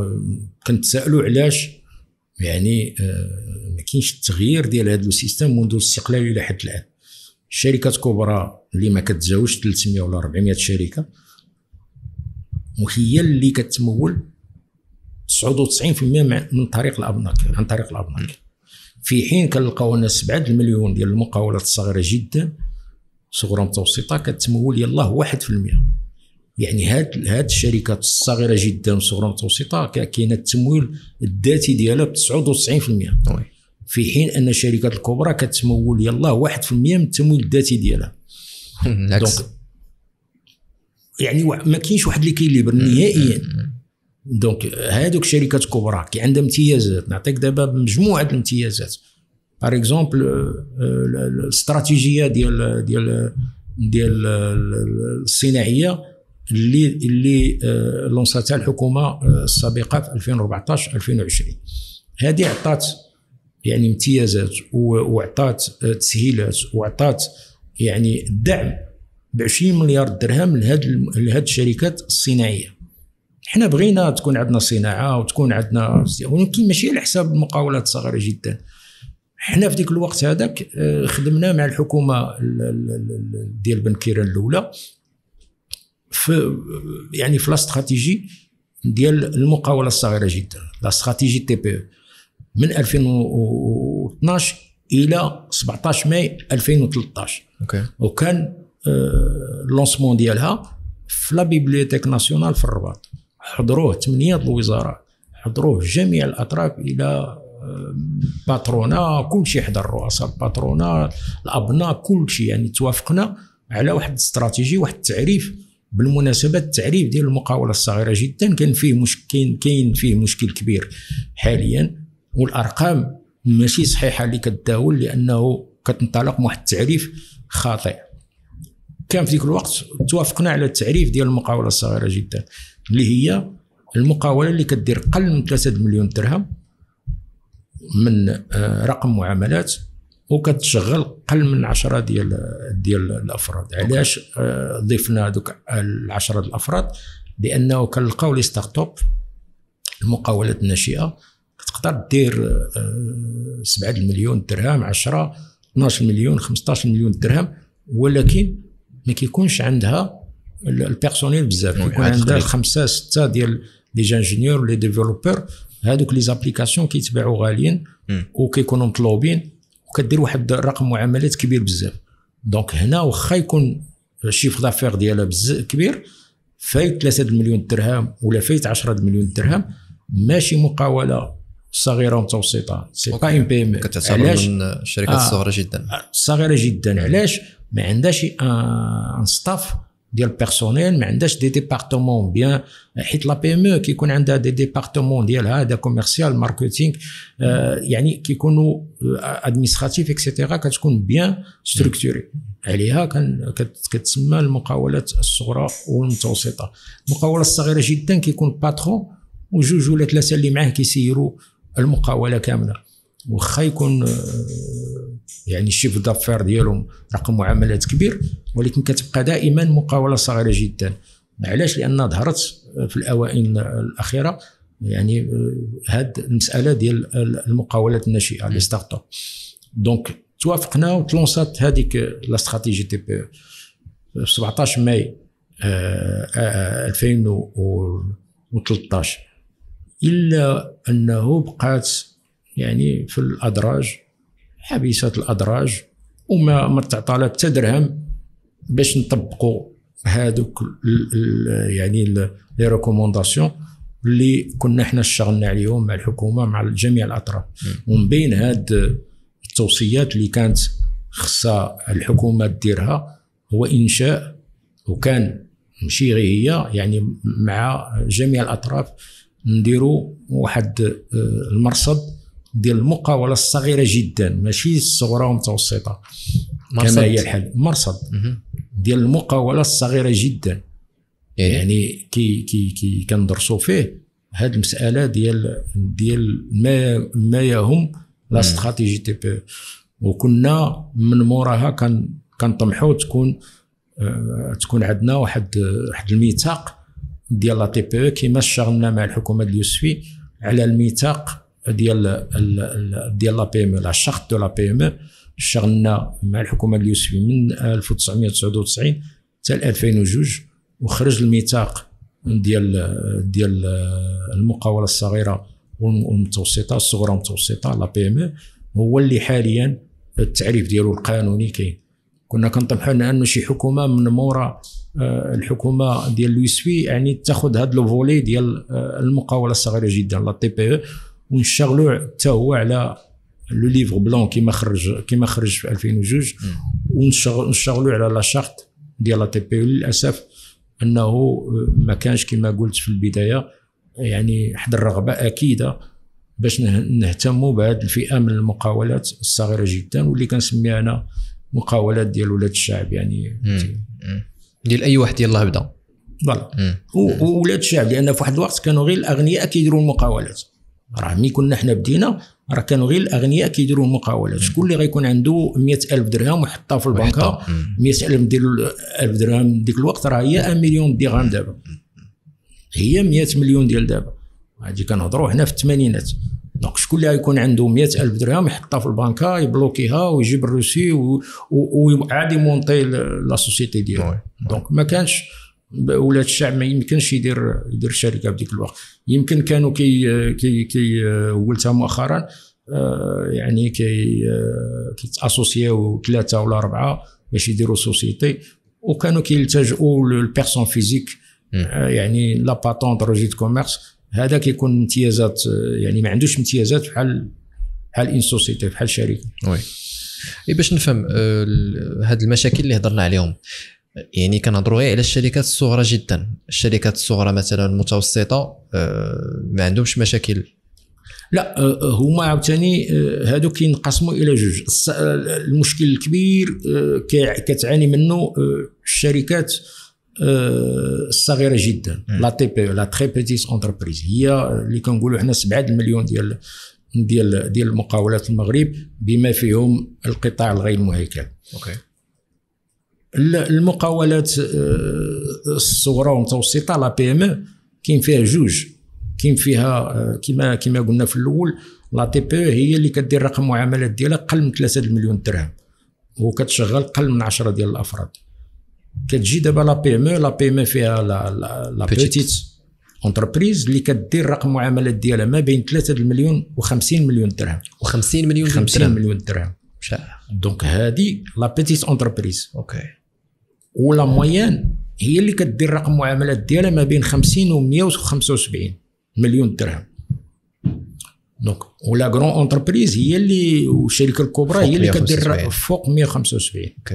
B: كنتسائلوا علاش يعني ما كاينش التغيير ديال هذا le système منذ الاستقلال الى حد الان. الشركات كبرى اللي ما كتزاوجش 300 ولا 400 شركة، وهي اللي كتمول 99% من طريق الابناك، عن طريق الابناك. في حين كنلقاو ان 7 المليون ديال المقاولات الصغيرة جدا، صغرى متوسطه، كتمول يلاه 1%. يعني هاد الشركات الصغيرة جدا والصغرى المتوسطة كاينه التمويل الذاتي ديالها ب 99%، في حين ان الشركات الكبرى كتمول يلاه 1% من التمويل الذاتي ديالها. donc يعني ما كاينش واحد l'équilibre نهائيا. donc هادوك الشركات الكبرى كي عندها امتيازات، نعطيك دابا مجموعة الامتيازات. par exemple الاستراتيجية ديال ديال ديال الصناعية اللي لونساتها الحكومة السابقة في 2014 2020، هذه عطات يعني امتيازات وعطات تسهيلات وعطات يعني دعم ب 20 مليار درهم لهاد الشركات الصناعية. حنا بغينا تكون عندنا صناعة وتكون عندنا، ولكن ماشي على حساب المقاولات الصغيرة جدا. حنا في ديك الوقت هذاك خدمنا مع الحكومة ديال بن كيران الاولى في يعني في la stratégie ديال المقاوله الصغيرة جدا، la stratégie TPE، من 2012 الى 17 ماي 2013.
A: okay.
B: وكان ال lancement ديالها في la bibliothèque nationale في الرباط، حضروه 8 الوزراء، حضروه جميع الاطراف الى patronat، كل شيء حضر، رؤساء ال patronat، الابناء، كل شيء. يعني توافقنا على واحد الاستراتيجي، واحد التعريف. بالمناسبة التعريف ديال المقاوله الصغيرة جدا كان فيه مشكل، كاين فيه مشكل كبير حاليا، والارقام ماشي صحيحه اللي كتداول، لانه كتنطلق من واحد التعريف خاطئ. كان في ذيك الوقت توافقنا على التعريف ديال المقاوله الصغيرة جدا، اللي هي المقاوله اللي كدير قل من 3 مليون درهم من رقم معاملات، وكتشغل قل من 10 ديال الافراد. علاش ضفنا دوك 10 الافراد؟ لانه كنلقاو les startups، المقاولات الناشئة، تقدر دير 7 المليون درهم، 10، 12 مليون، 15 مليون درهم، ولكن ما كيكونش عندها ال personnel بزاف، كيكون عندها 5 6 ديال les ingénieurs، les développeurs. هادوك les applications كيتباعوا غاليين وكيكونوا مطلوبين، وكدير واحد الرقم معاملات كبير بزاف. donc هنا واخا يكون ال chiffre d'affaires ديالها بزاف كبير، فايت 3 المليون درهم ولا فايت 10 المليون درهم، ماشي مقاوله صغيرة ومتوسطه، c'est pas une PME.
A: كتعتبر من الشركات الصغيرة جدا.
B: الصغيرة جدا. علاش؟ ما عندهاش un staff ديال personnel، ما عندهاش des départements bien، حيت la PME كيكون عندها des départements ديالها، هذا commercial، marketing، يعني كيكونوا administratif et cetera، كتكون bien structurée. عليها كان كتسمى المقاولات الصغرى والمتوسطه. المقاوله الصغيرة جدا كيكون patron وجوج ولا ثلاثة اللي معاه كيسيروا المقاوله كامله، واخا يكون يعني ال chiffre d'affaires ديالهم رقم معاملات كبير، ولكن كتبقى دائما مقاوله صغيرة جدا. علاش؟ لان ظهرت في الاوائل الاخيرة يعني هاد المسالة ديال المقاولات الناشئه، les startups. donc توافقنا وتلونسات هذيك la stratégie TPE في 17 ماي 2013، الا انه بقات يعني في الادراج، حبيسات الادراج، وما ما تعطى حتى درهم باش نطبقوا هذوك يعني les recommandations اللي كنا حنا اشتغلنا عليهم مع الحكومه، مع جميع الاطراف. ومن بين هاد التوصيات اللي كانت خصها الحكومة ديرها هو انشاء، وكان ماشي غير هي، يعني مع جميع الاطراف نديروا واحد المرصد ديال المقاوله الصغيرة جدا، ماشي الصغرى والمتوسطة كما هي الحال، مرصد ديال المقاوله الصغيرة جدا، يعني كي كي كي كندرسوا فيه هذه المسالة ديال ما يهم la stratégie TPE. وكنا من موراها كنطمحوا تكون عندنا واحد الميثاق ديال la TPE، كيما اشتغلنا مع الحكومة اليوسفي على الميثاق ديال la PME، la charte de la PME. اشتغلنا مع الحكومة اليوسفي من 1999 حتى 2002، وخرج الميثاق ديال المقاوله الصغيرة والمتوسطه، الصغرى والمتوسطه، la PME، هو اللي حاليا التعريف ديالو القانوني كاين. كنا كنطمحوا انه شي حكومة من مورا الحكومة ديال اليوسفي يعني تاخذ هذا le volet ديال المقاوله الصغيرة جدا، la TPE، ونشتغلوا حتى هو على le livre blanc كيما خرج في 2002، ونشتغلوا على la charte ديال la TPE. للاسف انه ما كانش كما قلت في البداية يعني واحد الرغبة اكيدة باش نهتموا بهذه الفئة من المقاولات الصغيرة جدا، واللي كنسميها انا مقاولات ديال ولاد الشعب، يعني
A: ديال اي واحد يلاه بدا.
B: voilà، وولاد الشعب، لان في واحد الوقت كانوا غير الاغنياء كيديروا المقاولات. راه ملي كنا حنا بدينا راه كانوا غير الاغنياء كيديروا المقاولات. شكون اللي غيكون عنده 100000 درهم ويحطها في البنكه؟ 100000 ديال الف درهم ديك الوقت راه هي 1 مليون درهم دابا، هي 100 مليون ديال دابا. هادي كنهضروا حنا في الثمانينات. donc شكون اللي غيكون عنده 100000 درهم يحطها في البنكه، يبلوكيها ويجيب ال reçu وعاد يمونطي la société ديالو؟ donc ما كانش ولاد الشعب، ما يمكنش يدير شركة بديك الوقت. يمكن كانوا كي قلتها مؤخرا يعني كيتاسوسيو ثلاثة ولا اربعة باش يديروا société، وكانوا كيلتجؤوا لل personne physique، يعني la patente، registre commerce. هذا كيكون امتيازات، يعني ما عندوش امتيازات بحال une société، بحال شركه.
A: oui، باش نفهم هاد المشاكل اللي هضرنا عليهم، يعني كنهضروا غير على الشركات الصغرى جدا؟ الشركات الصغرى مثلا المتوسطة ما عندهمش مشاكل؟
B: لا، هما عاوتاني هادو كينقسموا الى جوج. المشكل الكبير كتعاني منه الشركات الصغيرة جدا، la TPE، la très petite entreprise، هي اللي كنقولوا حنا 7 المليون ديال المقاولات المغرب، بما فيهم القطاع الغير المهيكل. المقاولات الصغرى والمتوسطه، la PME، كاين فيها جوج. كاين فيها كما قلنا في الاول la TPE هي اللي كدير رقم المعاملات ديالها قل من 3 المليون درهم وكتشغل قل من 10 ديال الافراد. كتجي دابا la PME، la PME فيها la petite entreprise اللي كدير رقم المعاملات ديالها ما بين 3 المليون و50 مليون درهم.
A: و50 مليون
B: 50 مليون درهم. donc هذه la petite entreprise.
A: OK.
B: و la moyenne هي اللي كدير رقم المعاملات ديالها ما بين 50 و 175 مليون درهم. donc و la grande entreprise هي اللي والشركة الكبرى هي اللي كدير فوق 175.
A: OK.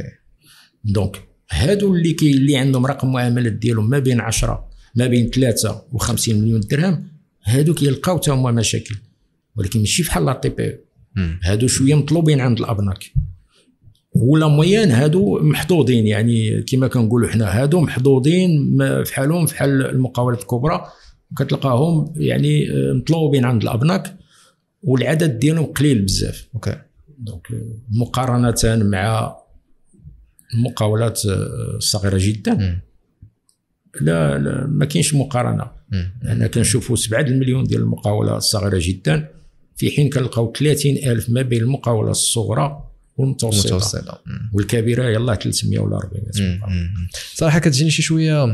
B: donc هادو اللي عندهم رقم المعاملات ديالهم ما بين 10 ما بين 3 و 50 مليون درهم، هادو كيلقاو حتى هما مشاكل، ولكن ماشي بحال la TPE. هادو شوية مطلوبين عند الابناك. و la moyenne هادو محظوظين، يعني كما كنقولوا حنا هادو محظوظين في حالهم فحال المقاولات الكبرى، كتلقاهم يعني مطلوبين عند الابناك والعدد ديالهم قليل بزاف.
A: OK.
B: donc مقارنة مع المقاولات الصغيرة جدا لا, لا ما كاينش مقارنة. انا كنشوفوا 7 المليون ديال المقاوله الصغيرة جدا، في حين كنلقاو 30,000 ما بين المقاوله الصغرى والمتوسطة والكبيرة يلاه 300 ولا 400.
A: صراحة كتجيني شي شوية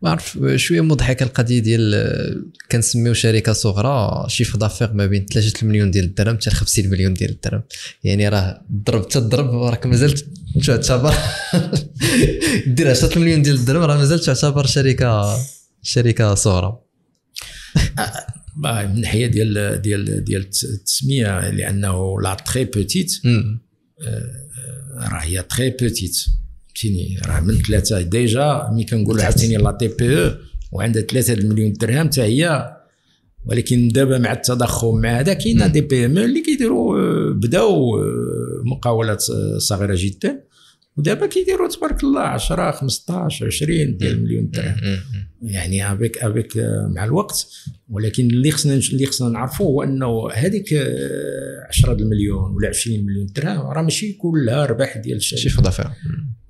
A: ما عرف شوية مضحكة القضية ديال كنسميو شركة صغرى chiffre d'affaires ما بين 3 مليون ديال الدرهم حتى 50 مليون ديال الدرهم، يعني راه ضرب تضرب راك مازال تعتبر دير 10 مليون ديال الدرهم راه مازال تعتبر شركة صغرى.
B: من ناحية ديال ديال ديال التسمية، لانه la très petite راه هي très petite، فهمتيني، راه من 3 déjà ملي كنقولوا عاوتاني la TPE وعندها 3 المليون درهم حتى هي. ولكن دابا مع التضخم مع هذا كاين des PME اللي كيديروا بداو مقاولات صغيرة جدا، ودابا كيديروا تبارك الله 10 15 20 ديال المليون درهم، يعني avec مع الوقت. ولكن اللي خصنا نعرفوا هو انه هذيك 10 المليون ولا 20 مليون درهم راه ماشي كلها ربح ديال الشركة،
A: chiffre d'affaires.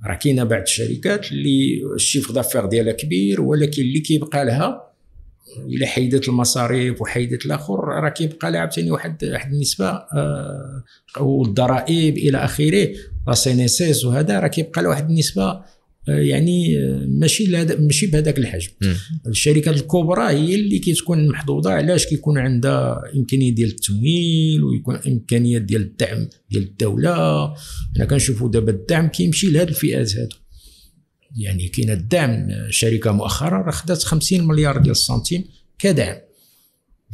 B: راه كاينه بعض الشركات اللي ال chiffre d'affaires ديالها كبير، ولكن اللي كيبقى لها الا حيدت المصاريف وحيدت الاخر راه كيبقى لها عاوتاني واحد النسبة والضرائب الى اخره، la CNSS وهذا راه كيبقى لها واحد النسبة يعني ماشي بهذاك الحجم. الشركات الكبرى هي اللي كتكون محظوظة. علاش؟ كيكون عندها امكانية ديال التمويل ويكون امكانية ديال الدعم ديال الدولة. حنا كنشوفوا دابا الدعم كيمشي لهاد الفئات هادو، يعني كاين الدعم. شركة مؤخرا راه خدات 50 مليار ديال السنتيم كدعم،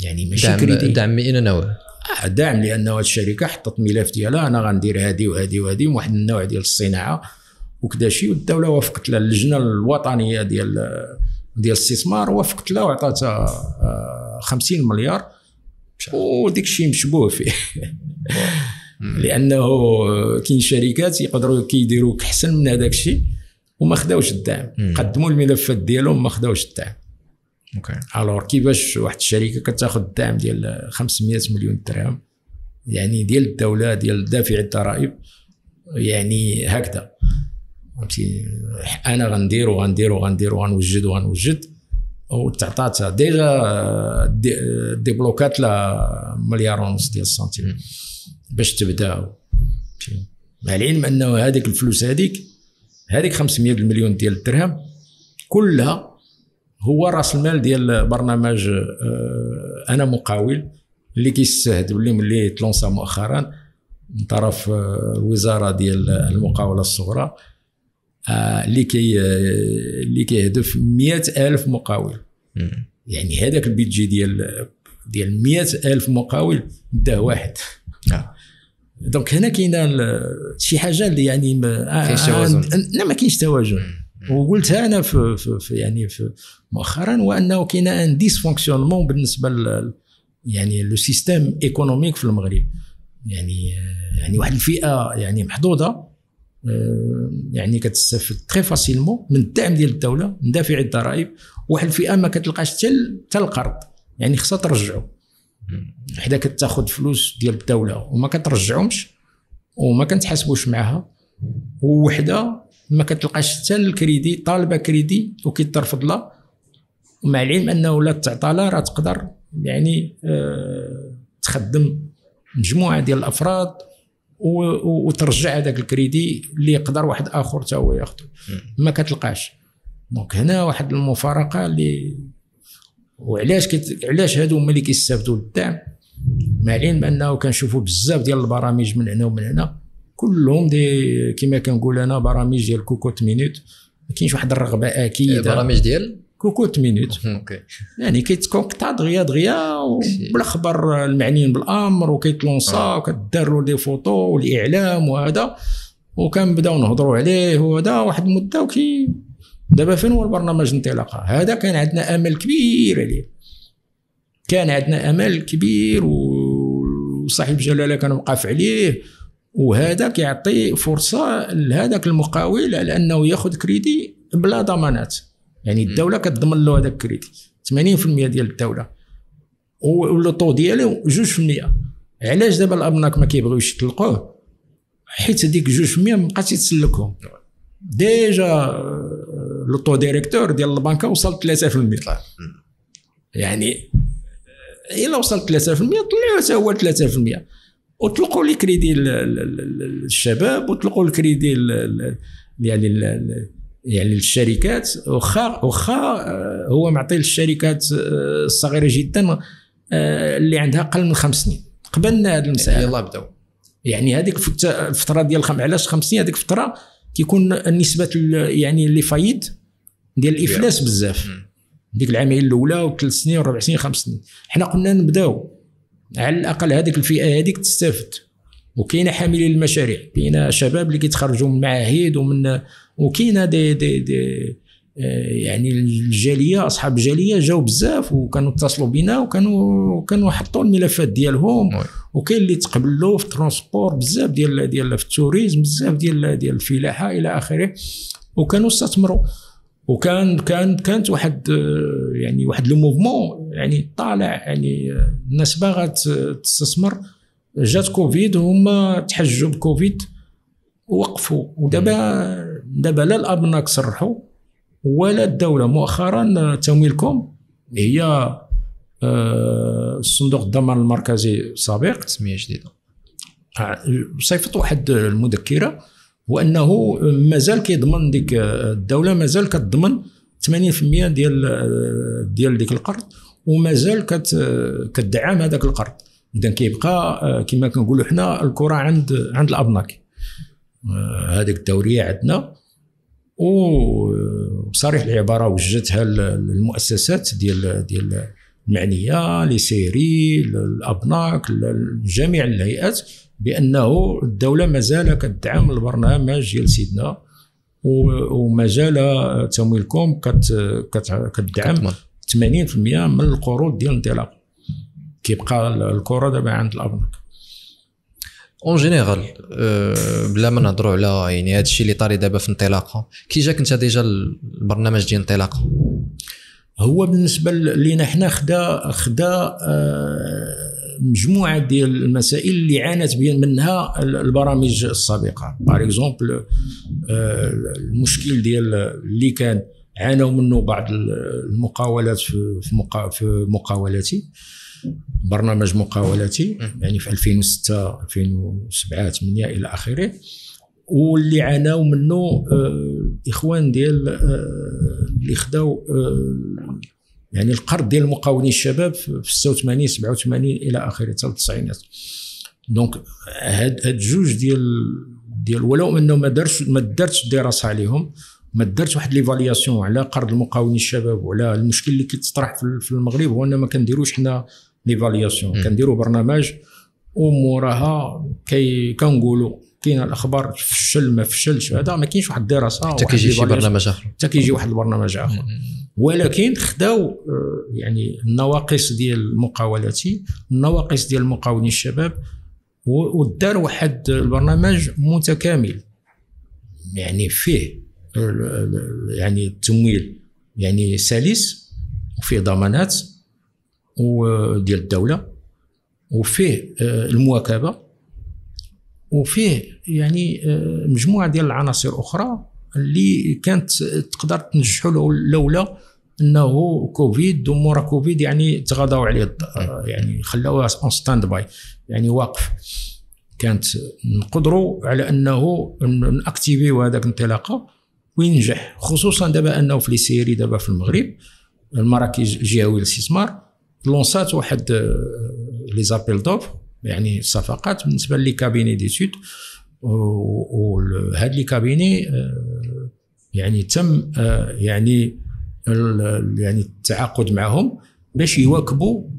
B: يعني ماشي كريدي،
A: دعم من نوع
B: دعم، لانه هاد الشركة حطت ملف ديالها انا غندير هادي وهادي وهادي واحد النوع ديال الصناعة وكذا شيء، والدولة وافقت لها، اللجنة الوطنية ديال الاستثمار وافقت لها وعطاتها 50 مليار، وديك الشيء مشبوه فيه لانه كاين شركات يقدروا كيديروا احسن من هذاك الشيء وما خداوش الدعم، قدموا الملفات ديالهم ما خداوش الدعم.
A: OK.
B: alors كيفاش واحد الشركة كتاخذ الدعم ديال 500 مليون درهم يعني ديال الدولة ديال دافع الضرائب، يعني هكذا فهمتي، انا غندير وغندير وغندير وغنوجد وغنوجد، وتعطاتها déjà débloquات لا 1.5 مليار ديال السنتيم باش تبداو. مع العلم انه هذيك الفلوس هذيك 500 مليون ديال الدرهم كلها هو راس المال ديال برنامج انا مقاول اللي كيستهدف اللي تلونسا مؤخرا من طرف الوزارة ديال المقاوله الصغرى، اللي كيهدف 100,000 مقاول. يعني هذاك ال budget ديال 100,000 مقاول داه واحد. donc هنا كاينه شي حاجة اللي يعني
A: ما توازن.
B: لا ما كاينش توازن، وقلتها انا في, في يعني في مؤخرا، وانه كاين un dysfonctionnement بالنسبة يعني le système économique في المغرب، يعني واحد الفئة يعني محظوظة، يعني كتستافد très facilement من الدعم ديال الدولة من دافع الضرائب، واحد الفئة ما كتلقاش حتى القرض، يعني خصها ترجعو. حدا كتاخذ فلوس ديال الدولة وما كترجعهمش وما كنتحاسبوش معها، ووحده ما كتلقاش حتى الكريدي، طالبه كريدي وكيترفض لها. مع العلم انه لا تعطى لا راه تقدر يعني تخدم مجموعة ديال الافراد وترجع هذاك الكريدي اللي يقدر واحد اخر حتى هو ياخذه، ما كتلقاش. donc هنا واحد المفارقة اللي وعلاش علاش هادو هما اللي كيستافدوا للدعم، مع العلم انه كنشوفوا بزاف ديال البرامج من هنا ومن هنا كلهم des كما كنقول انا برامج ديال cocotte-minute، ما كاينش واحد الرغبة اكيدة.
A: برامج ديال
B: cocotte-minute
A: okay،
B: يعني كيتكونكتا دغيا دغيا وبلا خبر المعنيين بالامر، وكيتلونسا وكدار له des photos والاعلام وهذا، وكنبداو نهضروا عليه وهذا واحد المدة. وكي دابا فين هو البرنامج انطلاقة؟ هذا كان عندنا امل كبير عليه، كان عندنا امل كبير وصاحب جلاله كان وقف عليه، وهذا كيعطي فرصة لهذاك المقاول على انه ياخذ كريدي بلا ضمانات. يعني الدولة كتضمن له هذاك الكريدي 80% ديال الدولة، و le taux ديالو 2%. علاش دابا الابناك ما كيبغيوش يطلقوه؟ حيت هذيك 2% ما بقاتش تسلكهم. déjà le taux directeur ديال البنكه وصل 3%، يعني الا وصل 3% طلعوا حتى هو 3%، وطلقوا les crédits للشباب، وطلقوا الكريدي يعني للشركات. واخا هو معطي للشركات الصغيرة جدا اللي عندها اقل من 5 سنين. قبلنا هذه المسالة،
A: يلاه بداو
B: يعني هذيك الفترة ديال علاش 5 سنين؟ هذيك الفترة كيكون نسبه يعني les faillites ديال الافلاس بزاف، ديك العامين الاولى وثلاث سنين وربع سنين 5 سنين. حنا قلنا نبداو على الاقل هذيك الفئة هذيك تستافد. وكاينه حاملين المشاريع، كاينه شباب اللي كيتخرجوا من معاهد ومن، وكاينه des des des يعني الجالية، اصحاب الجالية جاو بزاف وكانوا اتصلوا بنا وكانوا حطوا الملفات ديالهم، وكاين اللي تقبلوا في ال transport بزاف ديال في ال tourisme بزاف ديال الفلاحة الى اخره، وكانوا استثمروا. وكان كان كانت واحد يعني واحد le mouvement يعني طالع، يعني الناس باغا تستثمر. جات كوفيد وهما تحجوا بكوفيد ووقفوا. ودابا دابا لا الابناك صرحوا ولا الدولة. مؤخرا تمويلكم هي الصندوق الضمان المركزي السابق،
A: سميه جديدة،
B: صيفط واحد المذكرة وانه مازال كيضمن ديك الدولة، مازال كتضمن 80% ديال ديك القرض، ومازال كتدعم هذاك القرض. اذا كيبقى كما كنقولوا حنا الكره عند الابناك. هذيك الدورية عندنا، وبصريح العبارة وجدتها للمؤسسات ديال المعنية، les CRI، الابناك، جميع الهيئات، بانه الدولة مازال كتدعم البرنامج ديال سيدنا، ومازال تمويلكم كتدعم 80% من القروض ديال الانطلاق. كيبقى الكره دابا عند الابناك
A: en général. بلا ما نهضروا على يعني هذا الشيء اللي طاري دابا في انطلاقة، كي جاك انت déjà البرنامج ديال انطلاقة؟
B: هو بالنسبة لينا حنا خدا مجموعة ديال المسائل اللي عانت منها البرامج السابقة. par exemple المشكل ديال اللي كان عانوا منه بعض المقاولات في مقاولاتي، برنامج مقاولاتي يعني في 2006 2007 8 الى اخره، واللي عاناو منه اخوان ديال اللي خداو يعني القرض ديال المقاولين الشباب في 86 87 الى اخره حتى التسعينات. donc هاد جوج ديال ولو انه ما دارتش دراسة عليهم، ما دارتش واحد l'évaluation على قرض المقاولين الشباب وعلى المشكل اللي كيتطرح في المغرب، هو ان ما كنديروش حنا l'évaluation، كنديروا برنامج وموراها كنقولوا كاين الاخبار فشل ما فشلش، هذا ما كاينش واحد الدراسة
A: حتى كيجي شي برنامج اخر،
B: حتى كيجي واحد البرنامج اخر. ولكن خداو يعني النواقص ديال المقاولاتي، النواقص ديال المقاولين الشباب، ودار واحد البرنامج متكامل يعني فيه يعني التمويل يعني سلس، وفيه ضمانات وديال الدولة، وفيه المواكبه، وفيه يعني مجموعة ديال العناصر اخرى اللي كانت تقدر تنجحوا لولا انه كوفيد ومورا كوفيد يعني تغاضوا عليه، يعني خلاوها en stand-by، يعني واقف. كانت نقدروا على انه ن activer هذاك الانطلاقة وينجح، خصوصا دابا انه في les CRI دابا في المغرب المراكز الجهوية للاستثمار lanc ات واحد les appels d'offres، يعني الصفقات بالنسبة les cabinets d'études، وهاد les cabinets يعني تم يعني التعاقد معهم باش يواكبوا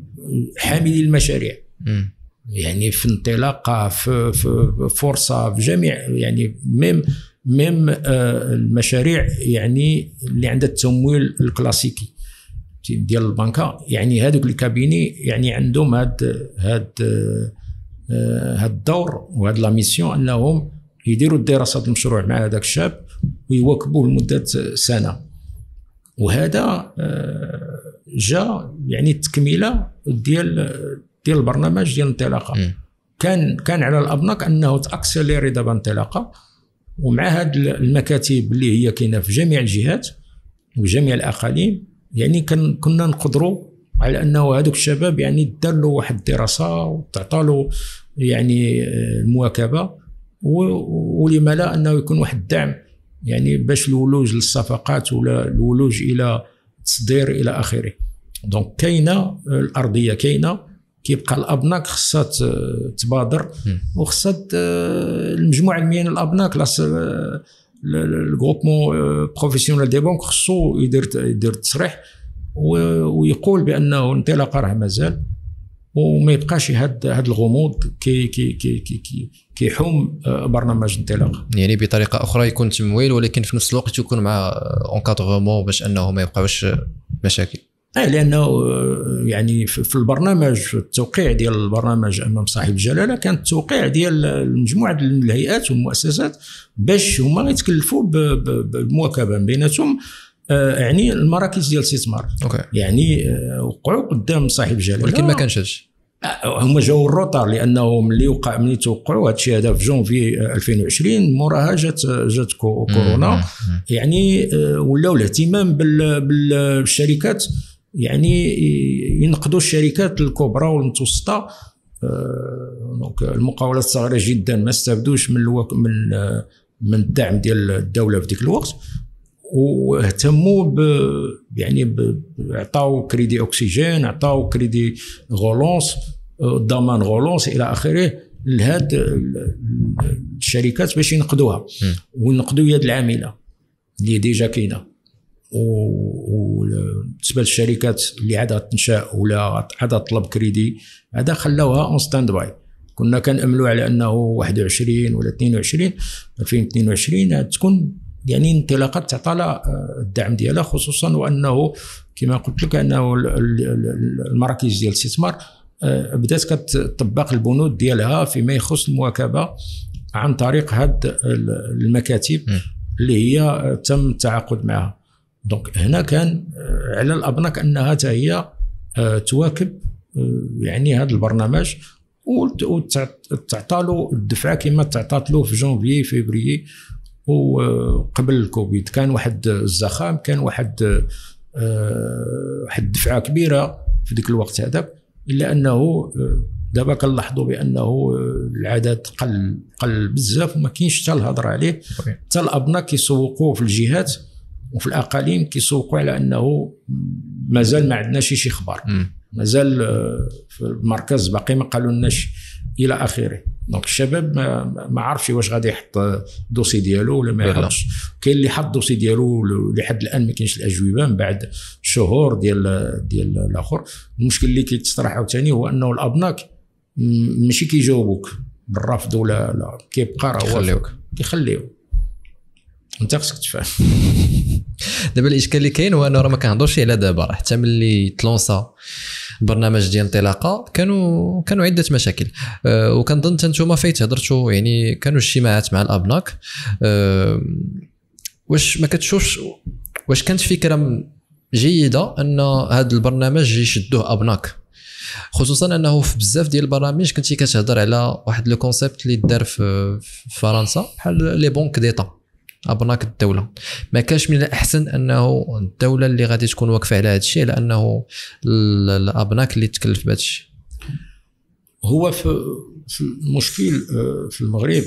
B: حاملي المشاريع، يعني في انطلاقة، في فرصة، في جميع يعني même المشاريع يعني اللي عندها التمويل الكلاسيكي ديال البنكه، يعني هذوك ال cabinets يعني عندهم هاد الدور وهاد la mission انهم يديروا الدراسات المشروع مع هذاك الشاب ويواكبوه لمدة سنة. وهذا جا يعني التكملة ديال البرنامج ديال الانطلاقة. كان على الابناك انه ت accélérer دابا انطلاقة، ومع هاد المكاتب اللي هي كاينه في جميع الجهات وجميع الاقاليم، يعني كنا نقدروا على انه هذوك الشباب يعني دار له واحد الدراسة وتعطى له يعني المواكبه، ولما لا انه يكون واحد الدعم يعني باش الولوج للصفقات ولا الولوج الى التصدير الى اخره. donc كاينه الارضية، كاينه، كيبقى الابناك خصها تبادر، وخصها المجموعة المهنية الابناك ال groupement professionnel des banques خصو يدير تصريح ويقول بانه انطلاقة راه مازال، وما يبقاش هاد الغموض كي كي كي كي كيحوم برنامج انطلاقة.
A: يعني بطريقة اخرى يكون تمويل، ولكن في نفس الوقت يكون مع encadrement باش انه ما يبقاوش مشاكل.
B: لانه يعني في البرنامج، في التوقيع ديال البرنامج امام صاحب الجلاله، كان التوقيع ديال مجموعة الهيئات والمؤسسات باش هما يتكلفوا بالمواكبه بيناتهم، يعني المراكز ديال الاستثمار. يعني وقعوا قدام صاحب الجلاله،
A: ولكن ما كانش هادشي.
B: هما جاوا ال retard، لانه ملي توقعوا هادشي هذا في جونفي 2020، موراها جات كورونا. يعني ولاو الاهتمام بالشركات، يعني ينقذوا الشركات الكبرى والمتوسطة. donc المقاولات الصغيرة جدا ما استفدوش من من الدعم ديال الدولة في ديك الوقت، واهتموا يعني عطاو crédit oxygène، عطاو crédit relance، ضمان relance الى اخره لهاد الشركات باش ينقذوها وينقذوا يد العاملة اللي déjà كاينه. وبالنسبة للشركات اللي عاد تنشا ولا عاد تطلب كريدي، هذا خلاوها en stand-by. كنا كناملوا على انه 21 ولا 22 2022 تكون يعني انطلاقات تعطى لها الدعم ديالها، خصوصا وانه كما قلت لك انه المراكز ديال الاستثمار بدات كتطبق البنود ديالها فيما يخص المواكبه عن طريق هاد المكاتب اللي هي تم التعاقد معها. donc هنا كان على الابناك انها حتى هي تواكب يعني هذا البرنامج وتعطى له الدفعة كما تعطات له في جونفي فبراير وقبل الكوفيد. كان واحد الزخام، كان واحد الدفعة كبيرة في ذيك الوقت هذاك، الا انه دابا كنلاحظوا بانه العدد قل بزاف وما كاينش حتى الهضرة عليه. حتى الابناك كيسوقوه في الجهات وفي الاقاليم، كيسوقوا على انه مازال ما عندناش شي خبر، مازال في المركز باقي ما قالوا لناش الى اخره. donc الشباب ما عرفش واش غادي يحط dossier ديالو ولا ما يحطش. كاين اللي حط dossier ديالو لحد الان ما كاينش الاجوبة من بعد شهور ديال الاخر. المشكل اللي كيتطرح عاوتاني هو انه الابناك ماشي كيجاوبوك بالرفض ولا لا، كيبقى راه كيخليوك انت خصك تفهم.
A: دابا الاشكال اللي كاين هو انه راه ما كنهضروش على دابا، راه حتى ملي ت lança برنامج ديال انطلاقة كانوا عده مشاكل، وكنظن حتى نتوما فايت هضرتوا، يعني كانوا اجتماعات مع الابناك. واش ما كتشوفش واش كانت فكرة جيدة ان هذا البرنامج يشدوه ابناك، خصوصا انه في بزاف ديال البرامج كنتي كتهضر على واحد le concept اللي دار في فرنسا بحال les banques d'État. ابناك الدولة، ما كانش من الاحسن انه الدولة اللي غادي تكون واقفة على هذا الشيء على انه الابناك اللي تكلف بهذا الشيء؟
B: هو في المشكل في المغرب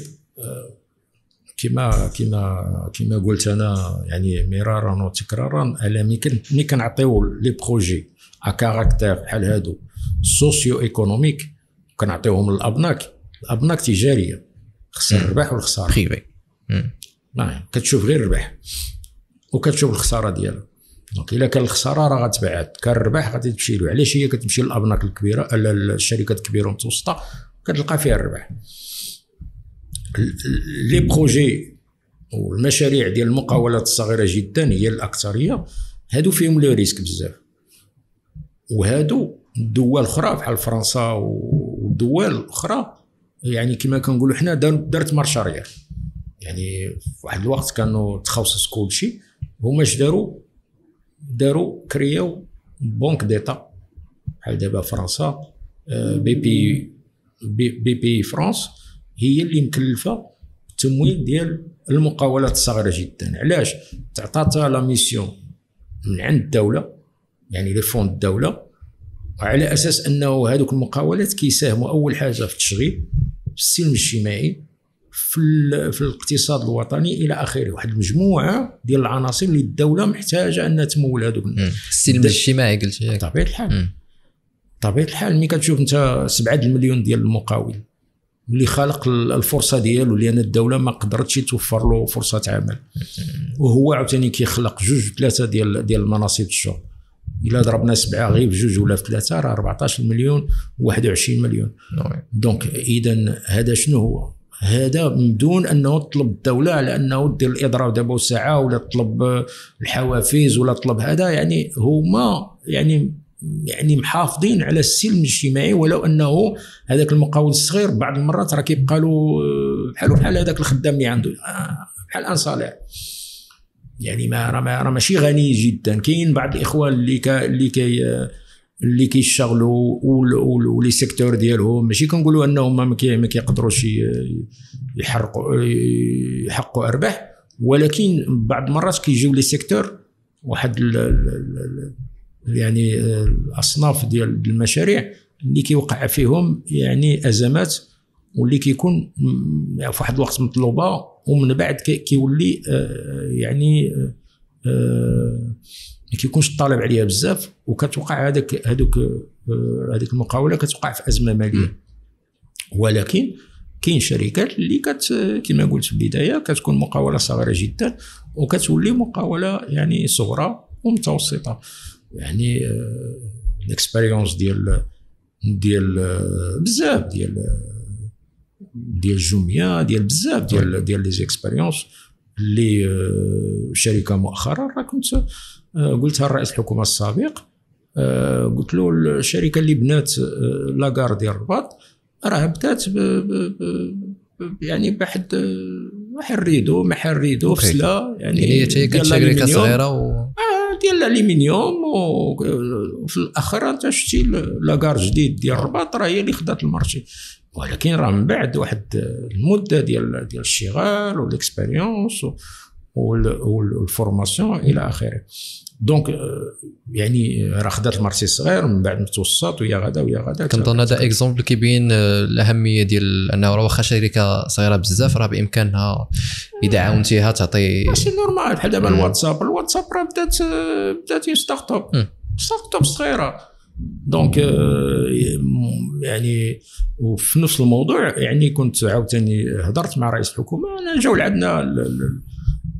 B: كما كما كما قلت انا يعني مرارا وتكرارا، الا ملي كنعطيو les projets à caractère بحال هادو socio-économiques كنعطيوهم للابناك، الابناك تجارية خصها الربح والخسارة
A: privé.
B: نعم، كتشوف غير الربح وكتشوف الخسارة ديالها. donc الا كان الخسارة راه غتبعد، كان الربح غادي تمشي له. علاش هي كتمشي للابناك الكبيرة، الشركات الكبيرة والمتوسطة كتلقى فيها الربح. les projets والمشاريع ديال المقاولات الصغيرة جدا هي الاكثرية، هادو فيهم le risque بزاف. وهادو الدول الاخرى بحال فرنسا والدول الاخرى يعني كما كنقولوا حنا دارت marche arrière. يعني في واحد الوقت كانوا تخصص كلشي، هما اش داروا؟ داروا créaw banque d'État بحال دابا فرنسا، BPI BPIFrance هي اللي مكلفة التمويل ديال المقاولات الصغيرة جدا. علاش؟ تعطاتها la mission من عند الدولة، يعني les fonds الدولة، وعلى اساس انه هذوك المقاولات كيساهموا اول حاجة في التشغيل، في السلم الاجتماعي، في الاقتصاد الوطني الى اخره، واحد المجموعة ديال العناصر اللي الدولة محتاجه انها تمول هذوك.
A: السلم الاجتماعي قلت ياك.
B: بطبيعة الحال، بطبيعة الحال ملي كتشوف انت 7 المليون ديال المقاول اللي خالق الفرصة ديالو لان الدولة ما قدرتش توفر له فرصة عمل، وهو عاوتاني كيخلق جوج ثلاثة ديال المناصب الشغل، الا ضربنا 7 غير بجوج ولا في 3 راه 14 مليون و21 مليون. donc اذا هذا شنو هو؟ هذا من دون انه تطلب الدولة على انه دير الاضراب دابا ساعة ولا تطلب الحوافز ولا تطلب هذا، يعني هما يعني محافظين على السلم الاجتماعي، ولو انه هذاك المقاول الصغير بعض المرات راه كيبقى له بحال بحال هذاك الخدام اللي عنده بحال un salaire، يعني ما راه ماشي غني جدا. كاين بعض الاخوان اللي كيشتغلوا و les secteurs ديالهم ماشي كنقولوا انهم ما كيقدروش يحققوا ارباح، ولكن بعض المرات كيجيو les secteurs واحد يعني الاصناف ديال المشاريع اللي كيوقع فيهم يعني ازمات، واللي كيكون في واحد الوقت مطلوبه ومن بعد كيولي يعني ما كيكونش الطلب عليها بزاف، وكتوقع هذوك هذيك المقاوله كتوقع في ازمة ماليه. ولكن كاين شركات اللي كما قلت في البداية كتكون مقاوله صغيرة جدا وكتولي مقاوله يعني صغرى ومتوسطه. يعني l'expérience ديال بزاف ديال جوميا، ديال بزاف ديال les expériences اللي شركة مؤخرا راه كنت قلتها لرئيس الحكومة السابق، قلت له الشركة اللي بنات la gare ديال الرباط راه بدات يعني بواحد واحد rideau محل rideau فسلا،
A: يعني هي كانت شركة صغيرة
B: ديال الالومنيوم، وفي الاخر انت شتي la gare جديد ديال الرباط راه هي اللي خدات ال marché. ولكن راه من بعد واحد المدة ديال الشغال وال expérience وال formation الى اخره. donc يعني راه خدات ال marché الصغير من بعد متوسط ويا غدا ويا غدا.
A: كنظن هذا exemple كيبين الاهمية ديال انه راه واخا شركة صغيرة بزاف راه بامكانها اذا عاونتيها تعطي.
B: ماشي normal بحال دابا الواتساب راه بدات startup صغيرة. donc يعني وفي نفس الموضوع يعني كنت عاوتاني هضرت مع رئيس الحكومة، انا جاو لعندنا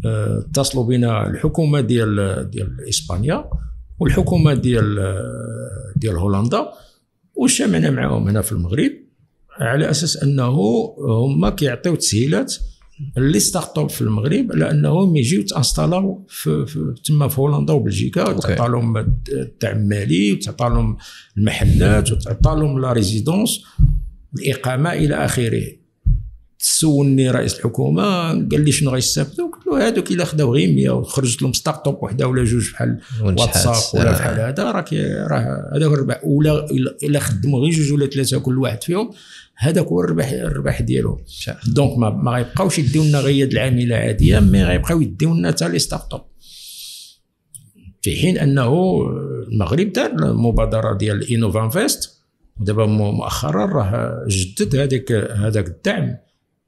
B: اتصلوا بنا الحكومة ديال اسبانيا والحكومة ديال هولندا، وشمعنا معاهم هنا في المغرب على اساس انه هما كيعطيو تسهيلات les startups في المغرب على انهم يجيو تانستالاو تما في هولندا وبلجيكا، وتعطى لهم الدعم المالي وتعطى لهم المحلات وتعطى لهم la résidence الاقامة الى اخره. سولني رئيس الحكومة قال لي شنو غيستافدوا، قلت له وهذوك الا خداو غير 100 وخرجت لهم start-up وحده ولا جوج بحال واتساب ولا بحال هذا، راه هذاك الربح. ولا الا خدموا غير جوج ولا ثلاثة كل واحد فيهم، هذاك هو الربح ديالهم. donc ما غيبقاوش يديو لنا غير العاملة عادية، mais غيبقاو يديو لنا حتى les start-up. في حين انه المغرب دار المبادرة ديال Innovinvest، ودابا مؤخرا راه جدد هذاك الدعم.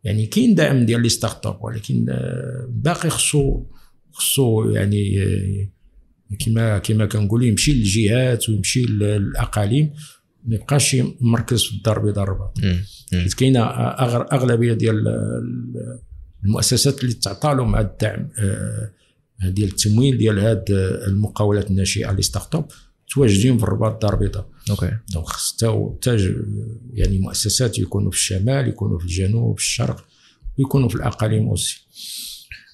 B: يعني كاين دعم ديال les start-up، ولكن باقي خصو يعني كما كنقولوا يمشي للجهات ويمشي للاقاليم، ما يبقاش مركز في الدار البيضاء الرباط. حيت كاينه اغلبية ديال المؤسسات اللي تعطى لهم هذا الدعم ديال التمويل ديال هاد المقاولات الناشئة les start-up تواجدين في الرباط الدار البيضاء.
A: OK.
B: donc خص حتى يعني مؤسسات يكونوا في الشمال، يكونوا في الجنوب، في الشرق، ويكونوا في الاقاليم aussi.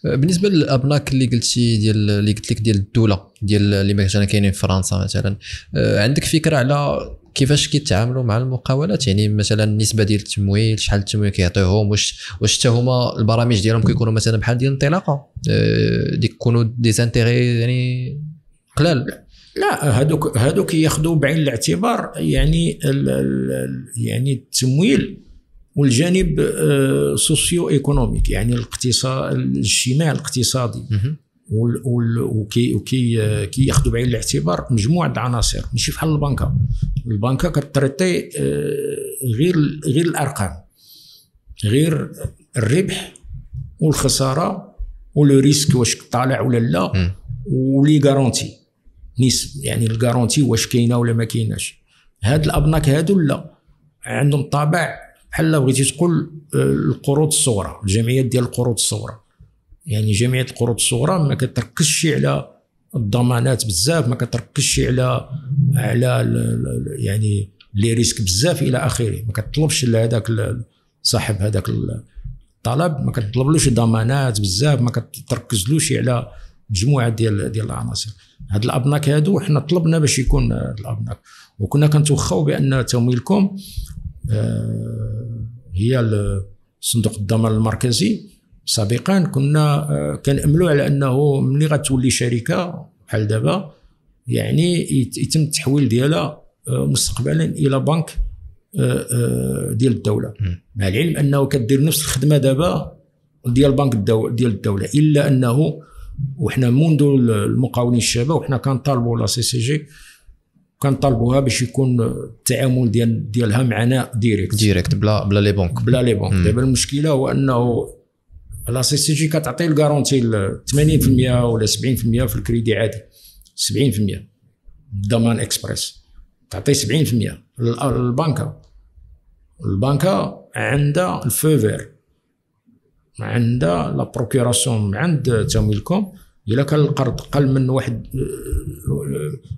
A: بالنسبة للابناك اللي قلتي ديال اللي قلت لك ديال الدولة ديال اللي مثلا كاينين في فرنسا مثلا، عندك فكرة على كيفاش كيتعاملوا مع المقاولات؟ يعني مثلا النسبة ديال التمويل، شحال التمويل كيعطيوهم، واش حتى هما البرامج ديالهم كيكونوا مثلا بحال ديال الانطلاقة، ديك يكونوا des intérêts يعني قلال؟
B: لا، هذوك ياخذوا بعين الاعتبار يعني يعني التمويل والجانب socio-économique، يعني الاقتصاد الاجتماعي الاقتصادي، وكي كي ياخذوا بعين الاعتبار مجموعة العناصر. ماشي بحال البنكه، البنكه ك traiter غير الارقام، غير الربح والخسارة و le risque واش طالع ولا لا، و les garanties يعني ال garantie واش كاينه ولا ما كايناش. هاد الابناك هادو لا، عندهم طابع بحال بغيتي تقول القروض الصغرى، الجمعيات ديال القروض الصغرى. يعني جمعية القروض الصغرى ما كتركزش على الضمانات بزاف، ما كتركزش على يعني les risques بزاف الى اخره، ما كتطلبش لهذاك صاحب هذاك الطلب، ما كتطلبلوش ضمانات بزاف، ما كتركزلوش على مجموعة ديال العناصر. هاد الابناك هادو حنا طلبنا باش يكون الابناك، وكنا كنتوخاو بان تمويلكم هي صندوق الضمان المركزي سابقا، كنا كنأملوا على انه ملي غتولي شركة بحال دابا يعني يتم التحويل ديالها مستقبلا الى بنك ديال الدولة. مع العلم انه كدير نفس الخدمة دابا ديال بنك ديال الدولة، الا انه وحنا منذ المقاولين الشباب وحنا كنطالبوا la CCG، كنطالبوها باش يكون التعامل ديالها معنا
A: direct بلا les banques،
B: بلا les banques. دابا المشكلة هو انه la CCG كتعطي ال garantie 80% ولا 70% في الكريدي عادي، 70% ضمان اكسبريس تعطي 70% البنكه. البنكه عندها ال feu vert، عندها la procuration عند تمويلكم، الا كان القرض قل من 1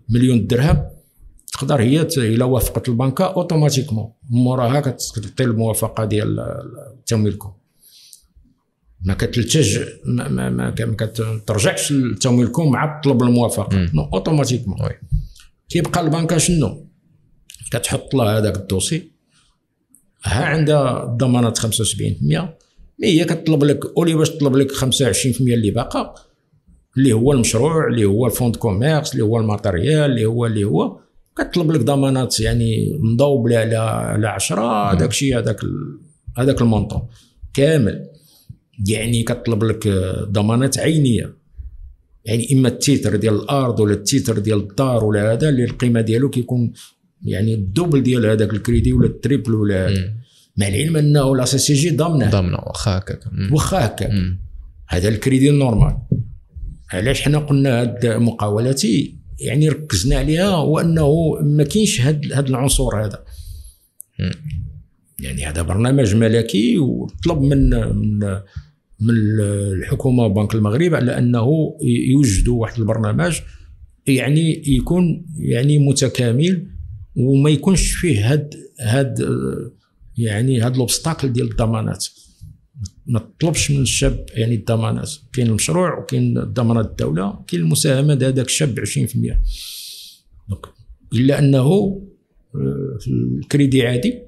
B: مليون درهم تقدر هي الا وافقت البنكه automatiquement موراها كتعطي الموافقة ديال تمويلكم، ما كتلتج ما ما كترجعش لتمويلكم مع طلب الموافقة، non automatiquement. كيبقى البنكه شنو كتحط لها هذاك ال dossier، ها عندها الضمانات 75%، mais هي كتطلب لك au lieu باش تطلب لك 25% اللي باقا، اللي هو المشروع، اللي هو ال fonds de commerce، اللي هو ال matériel، اللي هو كتطلب لك ضمانات يعني مضوبله على 10 داك الشيء، هذاك ال montant كامل. يعني كتطلب لك ضمانات عينيه، يعني اما ال titre ديال الارض ولا ال titre ديال الدار ولا هذا اللي القيمة ديالو كيكون يعني ال double ديال هذاك الكريدي ولا ال triple ولا هذا. مع العلم انه la CCG ضامنه
A: واخا هكاك،
B: واخا هكاك هذا ال crédit normal. علاش حنا قلنا هاد مقاولاتي يعني ركزنا عليها، هو انه ما كاينش هاد العنصر هذا. يعني هذا برنامج ملكي وطلب من من من الحكومة وبنك المغرب على انه يوجدوا واحد البرنامج يعني يكون يعني متكامل وما يكونش فيه هاد يعني هاد l'obstacle ديال الضمانات. ما تطلبش من الشاب يعني الضمانات، كاين المشروع وكاين ضمانات الدولة، كاين المساهمة ديال هذاك الشاب 20%. donc الا انه في الكريدي عادي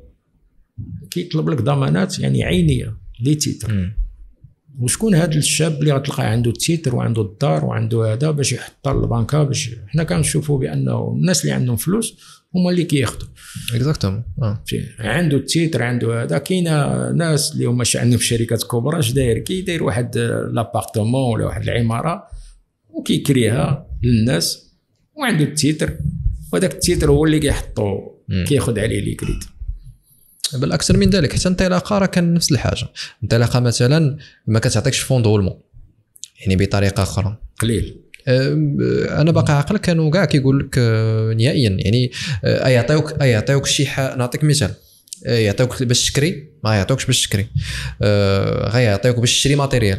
B: كيطلب لك ضمانات يعني عينيه les titres. وشكون هذا الشاب اللي غتلقى عنده ال titre وعنده الدار وعنده هذا باش يحطها للبنكه؟ باش حنا كنشوفوا بانه الناس اللي عندهم فلوس هما اللي كياخذوا.
A: exactement.
B: عنده ال titre، عنده هذا. كاينه ناس اللي هما عندهم شركات كبرى، اش داير؟ كيدير واحد l'appartement ولا واحد العمارة وكيكريها للناس وعنده ال titre، وهذاك ال titre هو اللي كيحطو كياخذ عليه les crédits.
A: بل اكثر من ذلك، حتى انطلاقة راه كان نفس الحاجة. انطلاقة مثلا ما كتعطيكش fonds de roulement، يعني بطريقة اخرى
B: قليل.
A: انا باقي عقل كانوا كاع كيقول لك نهائيا، يعني يعطيوك شي نعطيك مثال، يعطيوك باش تكري، ما يعطيوكش باش تكري، غيعطيوك باش تشري matériel.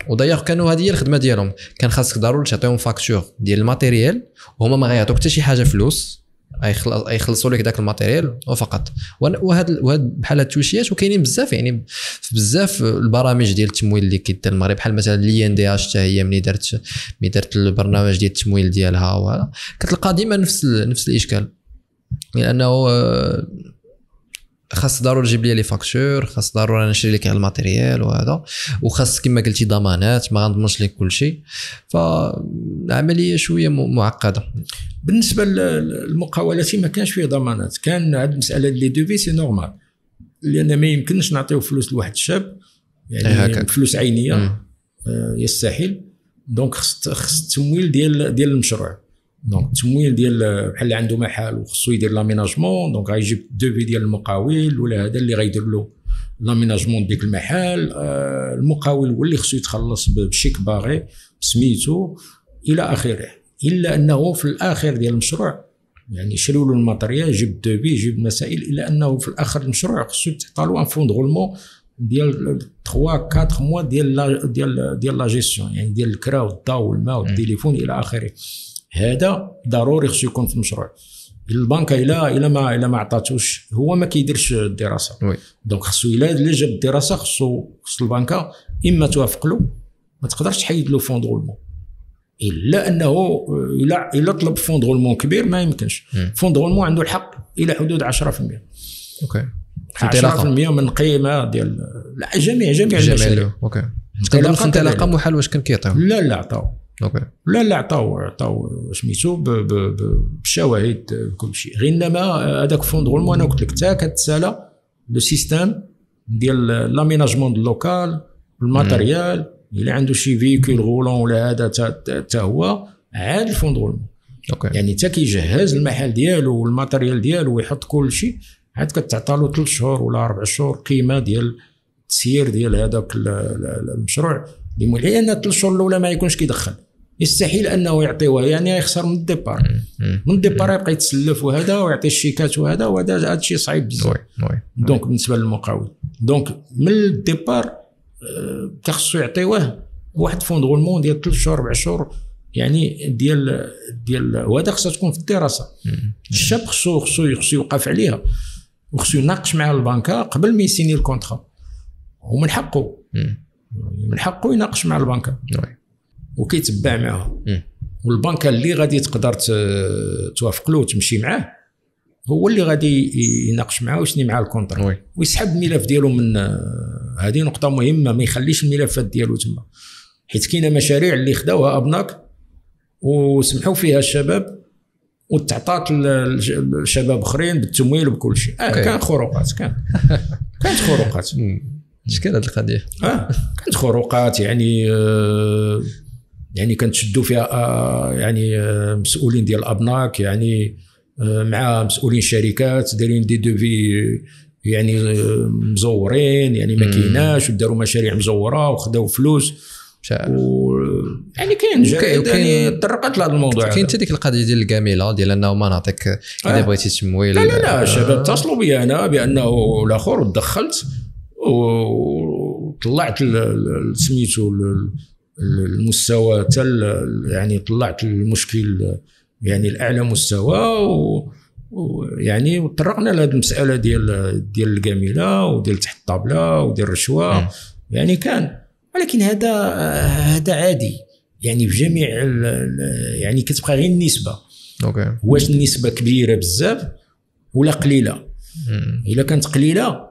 A: ودايوغ كانوا هذه هي الخدمة ديالهم، كان خاصك ضروري تعطيهم facture ديال ال matériel، وهما ما غيعطوك حتى شي حاجة فلوس، يخلصوا لك داك ال matériel وفقط. وهاد بحال هاد التوشيات وكاينين بزاف، يعني في بزاف البرامج ديال التمويل اللي كيدير المغرب، بحال مثلا l'INDH حتى هي ملي درت البرنامج ديال التمويل ديالها، وهذا كتلقى ديما نفس الاشكال، لانه خاص ضروري تجيب لي les factures، خاص ضروري نشري لك على ال matériel وهذا، وخاص كما قلتي ضمانات، ما غنضمنش لك كل شيء. فالعملية شوية معقدة.
B: بالنسبة للمقاولات ما كانش فيه ضمانات، كان هذه المسالة les devis c'est normal، لان ما يمكنش نعطيو فلوس لواحد الشاب يعني فلوس عينيه يستحيل. donc خص التمويل ديال المشروع. donc التمويل ديال بحال اللي عنده محل وخصو يدير l'aménagement، donc غيجيب devis ديال المقاول ولا هذا اللي غيدير له l'aménagement ديك المحل. المقاول هو اللي خصو يتخلص ب chèque barré بسميتو الى اخره. الا انه في الاخر ديال المشروع يعني شريو له ال matériel، جيب devis، جيب مسائل، الا انه في الاخر المشروع خصو تعطى له un fonds de roulement ديال 3 4 mois ديال ديال ديال la gestion، يعني ديال الكرا والضوء والماء والتليفون الى اخره. هذا ضروري خصو يكون في المشروع. البنكه الا ما عطاتوش هو ما كيديرش الدراسة. donc خصو الا جاب الدراسة خص البنكه اما توافق له، ما تقدرش تحيد له fonds de roulement، الا انه الا طلب fonds de roulement كبير ما يمكنش. fonds de roulement عنده الحق الى حدود 10%.
A: OK
B: 10% من قيمة ديال لا جميع المشاريع.
A: OK كنظن انطلاقة محال واش كان كيعطيو؟
B: لا عطاو.
A: OK
B: لا عطاو سميتو بالشواهد كل شيء. غير انما هذاك fonds de roulement انا قلت لك حتى كتسالى le système ديال l'aménagement ديال local، ال matériel، الا عنده شي véhicule roulant ولا هذا حتى هو عاد ال fonds de roulement.
A: OK
B: يعني حتى كيجهز المحل ديالو وال matériel ديالو ويحط كل شيء، عاد كتعطى له 3 شهور ولا 4 شهور قيمة ديال التسيير ديال هذاك المشروع. لان 3 شهور الاولى ما يكونش كيدخل، يستحيل انه يعطيوه، يعني يخسر من ال départ. من ال départ يبقى يتسلف وهذا ويعطي الشيكات وهذا، وهذا هذا الشيء صعيب بزاف. donc بالنسبة للمقاول، donc من ال départ خصو يعطيوه واحد fonds de roulement ديال 3 شهور 4 شهور، يعني ديال وهذا خصها تكون في الدراسة. الشاب خصو يوقف عليها وخصو يناقش مع البنكه قبل ما يسيني ال contrat، ومن حقه من حقه يناقش مع البنكه وكيتبع معها. والبنكه اللي غادي تقدر توافق له وتمشي معاه هو اللي غادي يناقش معاه ويسني معاه ال contrat ويسحب الملف ديالو من هذه نقطة مهمة، ما يخليش الملفات ديالو تما، حيت كاينه مشاريع اللي خداوها ابناك وسمحوا فيها الشباب وتعطات الشباب اخرين بالتمويل وبكل شيء. كان خروقات، كانت خروقات.
A: شكون هذه القضية؟
B: كانت خروقات، يعني يعني كنتشدوا فيها يعني مسؤولين ديال الابناك، يعني مع مسؤولين شركات دايرين des devis يعني مزورين، يعني ما كايناش، وداروا مشاريع مزوره وخداو فلوس. يعني كاين يعني تطرقت لهذا الموضوع.
A: كاين حتى ديك القضية ديال الكاميله ديال انه ما نعطيك اذا بغيتي تمويل.
B: لا الشباب اتصلوا بي انا بانه الاخر، ودخلت وطلعت سميتو المستوى تل، يعني طلعت المشكل يعني الاعلى مستوى، ويعني وطرقنا لهذه المسالة ديال الكاميله وديال تحت الطابله وديال الرشوة. يعني كان، ولكن هذا عادي يعني في جميع، يعني كتبقى غير النسبة.
A: OK
B: واش النسبة كبيرة بزاف ولا قليله؟ الا كانت قليله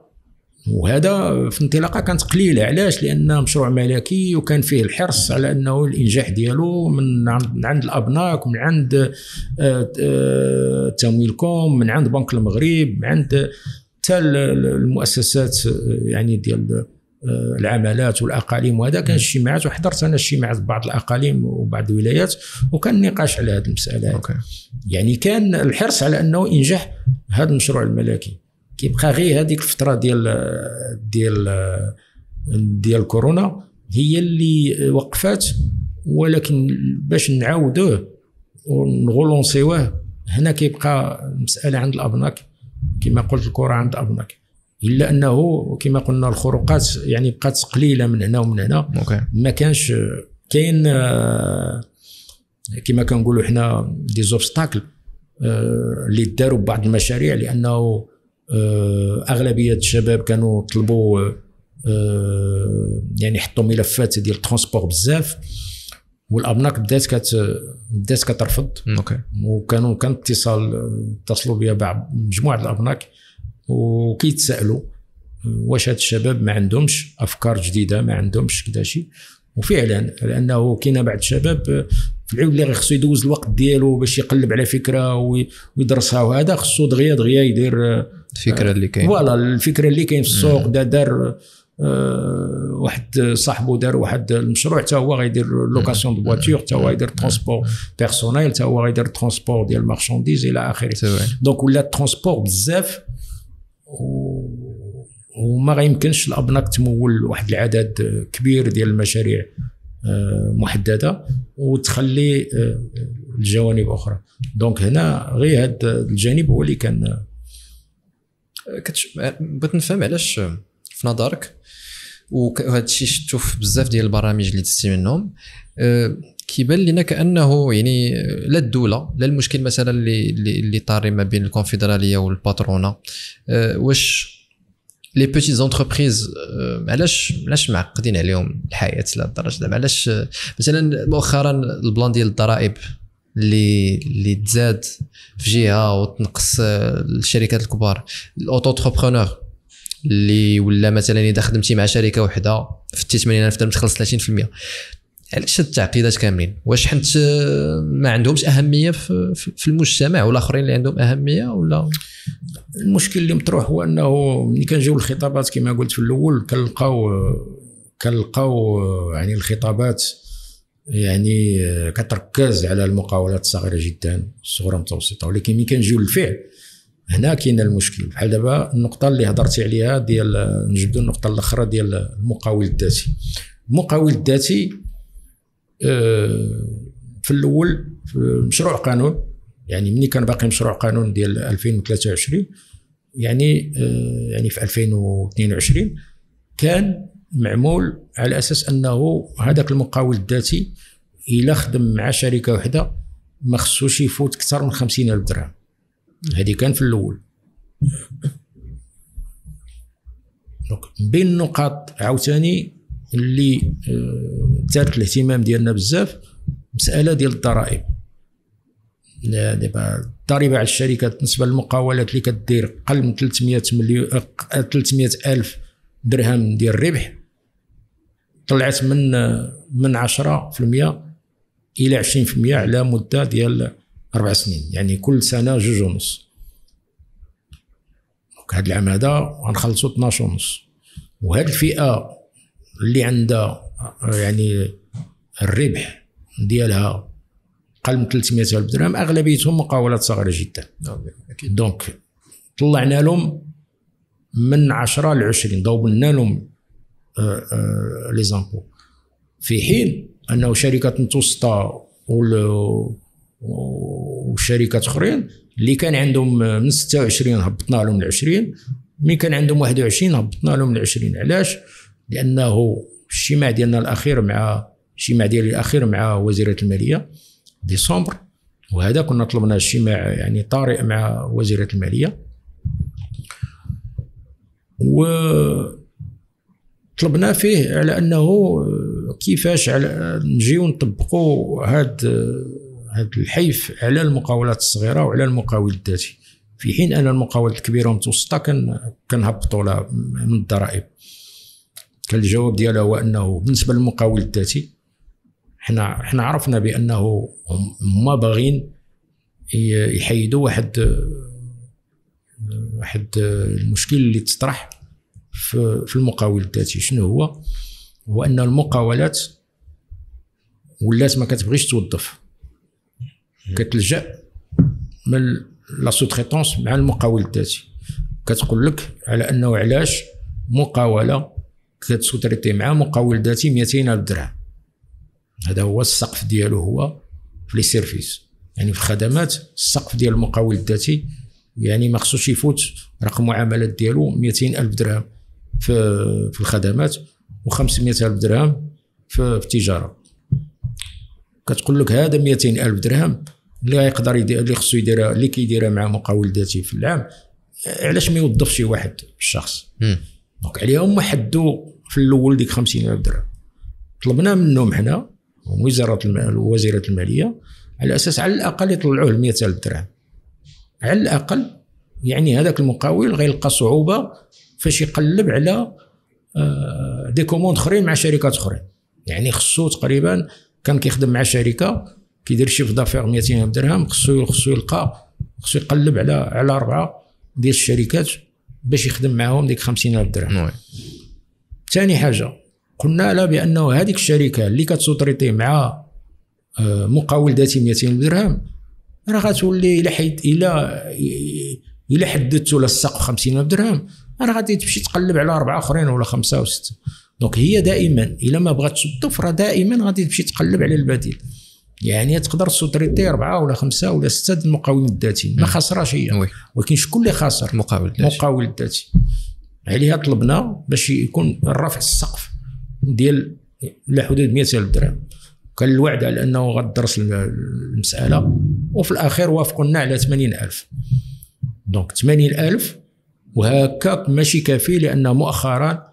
B: وهذا في انطلاقة كانت قليله. علاش؟ لان مشروع ملكي وكان فيه الحرص على انه الانجاح ديالو من عند الابناك ومن عند تمويلكم، من عند بنك المغرب، من عند حتى المؤسسات يعني ديال العمالات والاقاليم. وهذا كان اجتماعات، وحضرت انا اجتماعات بعض الاقاليم وبعض الولايات، وكان نقاش على هذه المسالة. okay. يعني كان الحرص على انه انجاح هذا المشروع الملكي. كيبقى غير هذيك الفترة ديال ديال ديال كورونا هي اللي وقفات، ولكن باش نعاودوه ونغولونسيوه هنا كيبقى المسالة عند الابناك، كما قلت الكره عند الابناك. الا انه كما قلنا الخروقات يعني بقات قليله من هنا ومن هنا. okay. ما كانش كاين كما كنقولوا حنا des obstacles اللي داروا ببعض المشاريع، لانه اغلبية الشباب كانوا طلبوا يعني حطوا ملفات ديال transport بزاف، والابناك بدات كترفض.
A: okay.
B: وكانوا كان اتصلوا بها بعض مجموعة الابناك وكيتسالوا واش هاد الشباب ما عندهمش افكار جديدة، ما عندهمش كذا شيء. وفعلا لانه كاين بعض الشباب في العود اللي خصو يدوز الوقت ديالو باش يقلب على فكرة ويدرسها، وهذا خصو دغيا دغيا يدير
A: الفكرة اللي كاين.
B: voilà الفكرة اللي كاين في السوق. دار واحد صاحبو دار واحد المشروع، حتى هو غيدير location de voitures، حتى هو غيدير transport personnel، حتى هو غيدير transport ديال marchandises الى اخره. donc ولا transport بزاف، وما غيمكنش الابناك تمول واحد العدد كبير ديال المشاريع محددة وتخلي الجوانب اخرى. donc هنا غير هذا الجانب هو اللي كان.
A: بغيت نفهم علاش في نظرك، وهذا الشيء شفتو في بزاف ديال البرامج اللي دزتي منهم، كيبان لنا كانه يعني لا الدولة لا المشكل مثلا اللي طاري ما بين الكونفدراليه وال patronat، واش les petites entreprises علاش معقدين عليهم الحياة لهاد الدرجة؟ زعما علاش مثلا مؤخرا ال plan ديال الضرائب اللي تزاد في جهة وتنقص الشركات الكبار، ال auto-entrepreneur اللي ولا مثلا اذا خدمتي مع شركة وحده في 80000 درهم تخلص 30%. علاش هاد التعقيدات كاملين؟ واش حنت ما عندهمش اهمية في المجتمع والاخرين اللي عندهم اهمية؟ ولا
B: المشكل اللي مطروح هو انه ملي كنجيو الخطابات كما قلت في الاول كنلقاو يعني الخطابات يعني كتركز على المقاولات الصغيرة جدا، الصغرى المتوسطة، ولكن ملي كنجيو للفعل هنا كاين المشكل. بحال دابا النقطة اللي هضرتي عليها ديال، نجبدوا النقطة الاخرى ديال المقاول الذاتي. المقاول الذاتي في الاول في مشروع قانون، يعني ملي كان باقي مشروع قانون ديال 2023، يعني في 2022 كان معمول على اساس انه هذاك المقاول الذاتي الا خدم مع شركة وحده ما خصوش يفوت اكثر من 50000 درهم. هذه كان في الاول. donc بين النقاط عاوتاني اللي ثارت الاهتمام ديالنا بزاف مسالة ديال الضرائب. دابا الضريبة على الشركات بالنسبة للمقاولات اللي كدير اقل من 300 الف درهم ديال الربح طلعت من 10% الى 20% على مده ديال 4 سنين، يعني كل سنة 2.5. donc هذا العام هذا غنخلصوا 12.5. وهذه الفئة اللي عندها يعني الربح ديالها اقل من 300 الف درهم اغلبيتهم مقاولات صغيرة جدا. donc طلعنا لهم من 10 ل 20، ضوبنا لهم les impôts، في حين انه شركات متوسطه وشركات اخرين اللي كان عندهم من 26 هبطنا لهم ل 20، من كان عندهم 21 هبطنا لهم ل 20. علاش؟ لانه الاجتماع ديالنا الاخير مع الاجتماع ديالي الاخير مع وزيره المالية ديسمبر، وهذا كنا طلبنا اجتماع يعني طارئ مع وزيره المالية، وطلبنا فيه على انه كيفاش على نجيو نطبقوا هذا الحيف على المقاولات الصغيرة وعلى المقاول الذاتي. في حين ان المقاولات الكبيرة والمتوسطة كنهبطوا لها من الضرائب. كان الجواب ديالها هو انه بالنسبة للمقاول الذاتي حنا عرفنا بانه هما باغيين يحيدوا واحد المشكل اللي تطرح في المقاول الذاتي. شنو هو؟ هو ان المقاولات ولات ما كتبغيش توظف، كتلجأ من la sous-traitance مع المقاول الذاتي. كتقول لك على انه علاش مقاوله كت sous-traiter مع مقاول ذاتي 200,000 درهم، هذا هو السقف ديالو هو في les services، يعني في الخدمات السقف ديال المقاول الذاتي يعني ما خصوش يفوت رقم معاملات ديالو 200,000 درهم في الخدمات و500,000 درهم في التجارة. كتقول لك هذا 200,000 درهم اللي غيقدر اللي خصو يديرها، اللي كيديرها مع مقاول ذاتي في العام، علاش ما يوظفش شي واحد الشخص؟ donc عليهم حدوا في الاول ديك 50,000 درهم. طلبنا منهم حنا وزارة المالية على اساس على الاقل يطلعوه ل 100,000 درهم على الاقل. يعني هذاك المقاول غيلقى صعوبة فاش يقلب على des commandes اخرين مع شركات اخرين. يعني خصو تقريبا كان كيخدم مع شركة كيدير chiffre d'affaires 200,000 درهم، خصو يلقى، خصو يقلب على 4 ديال الشركات باش يخدم معاهم ديك 50,000 درهم. ثاني حاجة قلنا لا بانه هذيك الشركة اللي كت sous-traiter مع مقاول ذاتي 200,000 درهم راه غتولي الى حددتوا لها السقف 50,000 درهم راه غادي تمشي تقلب على 4 اخرين ولا 5 و 6. donc هي دائما الا ما بغاتش توظف راه دائما غادي تمشي تقلب على البديل. يعني تقدر sous-traiter 4 ولا 5 ولا 6 المقاولين الذاتيين، ما خسراش هي، ولكن شكون اللي خاسر؟ المقاول الذاتي. عليها طلبنا باش يكون الرفع السقف ديال لحدود 100,000 درهم. كان الوعد على انه غتدرس المسالة، وفي الاخير وافقوا لنا على 80,000. donc 80,000 وهكاك ماشي كافي، لان مؤخرا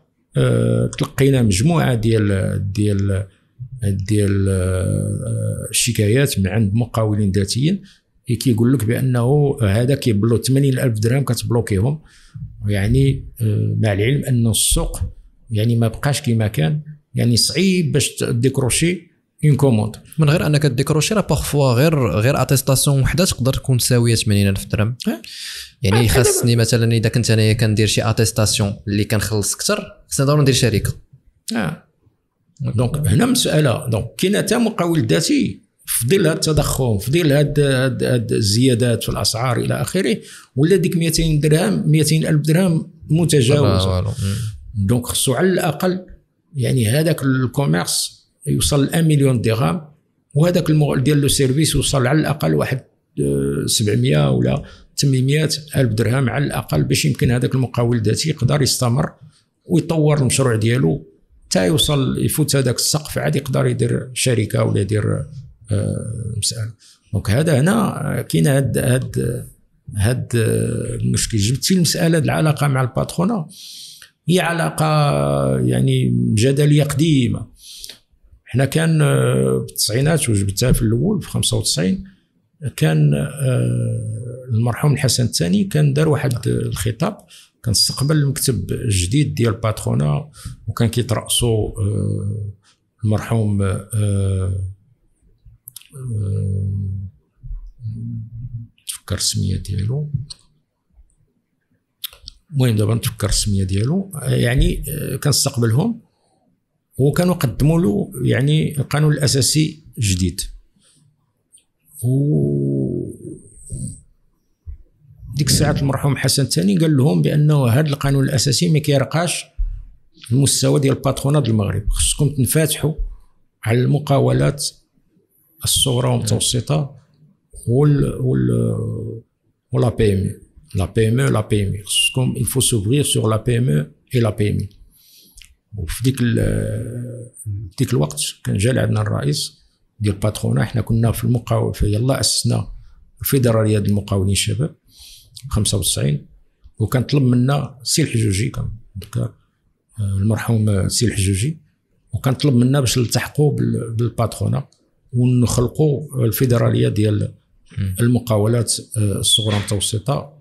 B: تلقينا مجموعة ديال ديال ديال الشكايات من عند مقاولين ذاتيين كيقول لك بانه هذا كيبلو 80,000 درهم كتبلوكيهم. يعني مع العلم ان السوق يعني ما بقاش كما كان، يعني صعيب باش décrocher une commande.
A: من غير انك décrocher راه parfois غير attestation وحده تقدر تكون ساويه 80,000 درهم. يعني خاصني مثلا اذا كنت انايا كندير شي attestation اللي كنخلص اكثر خصني ضروري ندير شركة.
B: donc هنا مسالة. donc كاين حتى مقاول ذاتي في ظل هذا التضخم، في ظل هاد الزيادات في الاسعار الى اخره، ولا ديك 200 درهم 200,000 درهم متجاوزه. donc خصو على الاقل يعني هذاك ال commerce يوصل 1 مليون درهم، وهذاك ديال le service يوصل على الاقل واحد 700 ولا 800 الف درهم على الاقل، باش يمكن هذاك المقاول الذاتي يقدر يستمر ويطور المشروع ديالو حتى يوصل يفوت هذاك السقف، عاد يقدر يدير شركة ولا يدير مسالة. donc هذا هنا كاين هاد المشكل. جبتي المسالة العلاقة مع ال patronat، هي علاقة يعني جدلية قديمة. حنا كان بالتسعينات وجبتها في الاول في 95، كان المرحوم الحسن الثاني كان دار واحد الخطاب، كان استقبل المكتب الجديد ديال patronat، وكان كيترأسو المرحوم تفكر السمية ديالو، المهم دابا نتفكر السمية ديالو. يعني كان استقبلهم وكانوا قدموا له يعني القانون الاساسي الجديد، و ديك الساعة المرحوم حسن الثاني قال لهم بانه هذا القانون الاساسي ما كيرقاش المستوى ديال ال patronat المغرب، خصكم تنفتحوا على المقاولات الصغرى والمتوسطة وال ولا بي ام لا بي ام لا بي ام، خصكم il faut s'ouvrir sur la PME et la PMI. وفي ديك الوقت كان جا لعندنا الرئيس ديال patronat، حنا كنا في المقاول، يلا اسسنا الفيدرالية ديال المقاولين الشباب 95، وكان طلب منا سي الحجوجي، كان ذكر المرحوم سي الحجوجي، وكان طلب منا باش نلتحقوا بال patronat ونخلقوا الفيدرالية ديال المقاولات الصغرى المتوسطة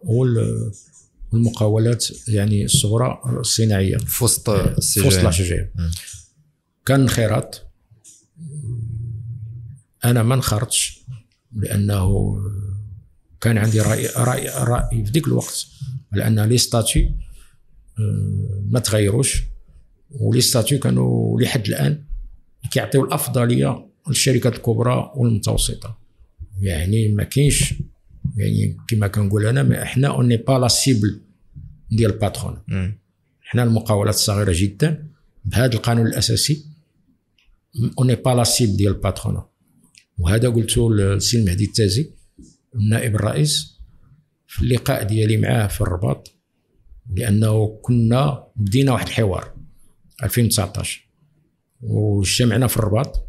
B: والمقاولات يعني الصغرى الصناعية
A: في وسط
B: la CGEM. كان انخراط، انا ما انخرطش لانه كان عندي راي في ذيك الوقت على ان les statuts ما تغيروش، و les statuts كانوا لحد الان كيعطيو الافضلية للشركات الكبرى والمتوسطة. يعني ما كاينش، يعني كما كنقول انا، احنا on n'est pas la cible ديال ال patronat. حنا المقاولات الصغيرة جدا بهذا القانون الاساسي on n'est pas la cible ديال ال patronat. وهذا قلته للسي المهدي التازي النائب الرئيس في اللقاء ديالي معاه في الرباط، لانه كنا بدينا واحد الحوار 2019 واجتمعنا في الرباط،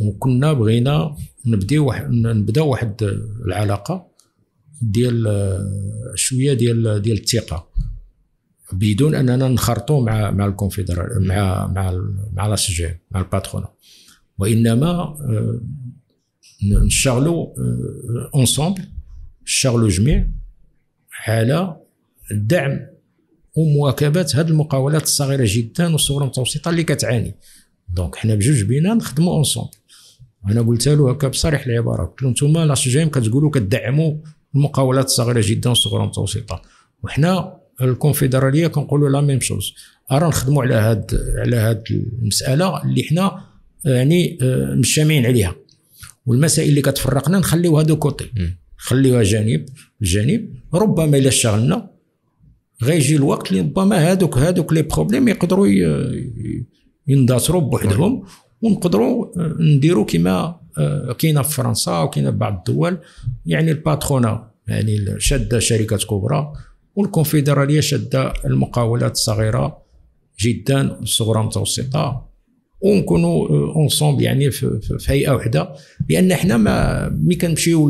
B: وكنا بغينا نبداو واحد العلاقة ديال شوية ديال الثقة، بدون اننا نخرطوا مع الكونفدرال مع مع مع la CGEM مع ال patronat، وانما نشتغلوا ensemble، نشتغلوا جميع على الدعم ومواكبه هذه المقاولات الصغيرة جدا والصغرى المتوسطة اللي كتعاني. donc حنا بجوج بينا نخدموا ensemble. انا قلت له هكا بصريح العبارة، قلت له انتم la CGEM كتقولوا كتدعموا المقاولات الصغيرة جدا والصغرى المتوسطة، وحنا الكونفدراليه كنقولوا la même chose، ارا نخدموا على هاد المسالة اللي حنا يعني مجتمعين عليها، والمسائل اللي كتفرقنا نخليوها de côté، نخليوها جانب. ربما الا اشتغلنا غيجي الوقت اللي ربما هادوك les problèmes يقدروا يندثروا بوحدهم، ونقدروا نديروا كما كاينه في فرنسا وكاينه في بعض الدول، يعني ال patronat يعني شاده شركات كبرى، والكونفدراليه شاده المقاولات الصغيرة جدا والصغرى المتوسطة، ونكونوا ensemble يعني في هيئة وحده. لان حنا ما ملي كنمشيو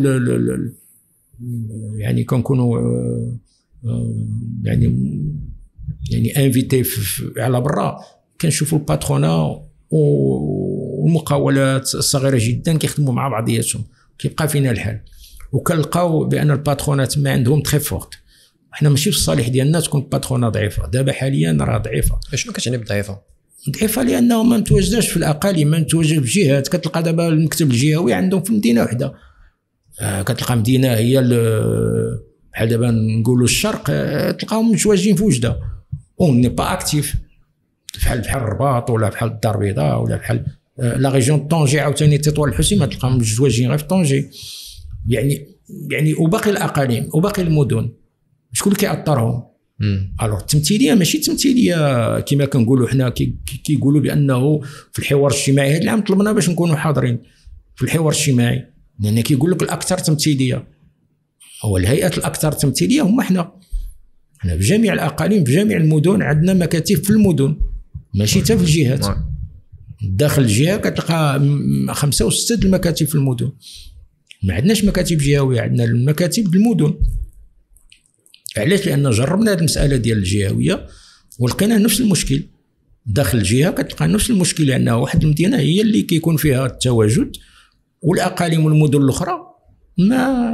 B: يعني كنكونوا يعني invités على برا، كنشوفوا ال patronat والمقاولات الصغيرة جدا كيخدموا مع بعضياتهم، كيبقى فينا الحال، وكنلقاو بان ال patronat ما عندهم très forte. حنا ماشي في الصالح ديالنا تكون ال patronat ضعيفة. دابا حاليا راه ضعيفة.
A: شنو كتعني بضعيفه؟
B: ضعيفة لانه ما متواجداش في الاقاليم، ما متواجد في جهات. كتلقى دابا المكتب الجهوي عندهم في مدينة وحده، كتلقى مدينة هي بحال دابا نقولوا الشرق، تلقاهم متواجدين في وجده، on n'est pas actif بحال الرباط ولا بحال الدار البيضاء ولا بحال la région Tanger، عاوتاني تطوان الحسيمه تلقاهم متواجدين غير في Tanger. يعني وباقي الاقاليم وباقي المدن شكون اللي كيأطرهم؟ alors التمثيلية ماشي تمثيلية كما كنقولوا حنا، كيقولوا بانه في الحوار الاجتماعي هذا العام طلبنا باش نكونوا حاضرين في الحوار الاجتماعي، لان كيقول لك الاكثر تمثيلية هو الهيئات الاكثر تمثيلية هما حنا في جميع الاقاليم في جميع المدن عندنا مكاتب في المدن، ماشي حتى في الجهات. داخل الجهة كتلقى 5 و6 المكاتب في المدن. ما عندناش مكاتب جهويه، عندنا المكاتب المدن. علاش؟ لان جربنا هذه المسالة ديال الجهوية ولقينا نفس المشكل داخل الجهة، كتلقى نفس المشكل، لان واحد المدينة هي اللي كيكون فيها التواجد، والاقاليم والمدن الاخرى ما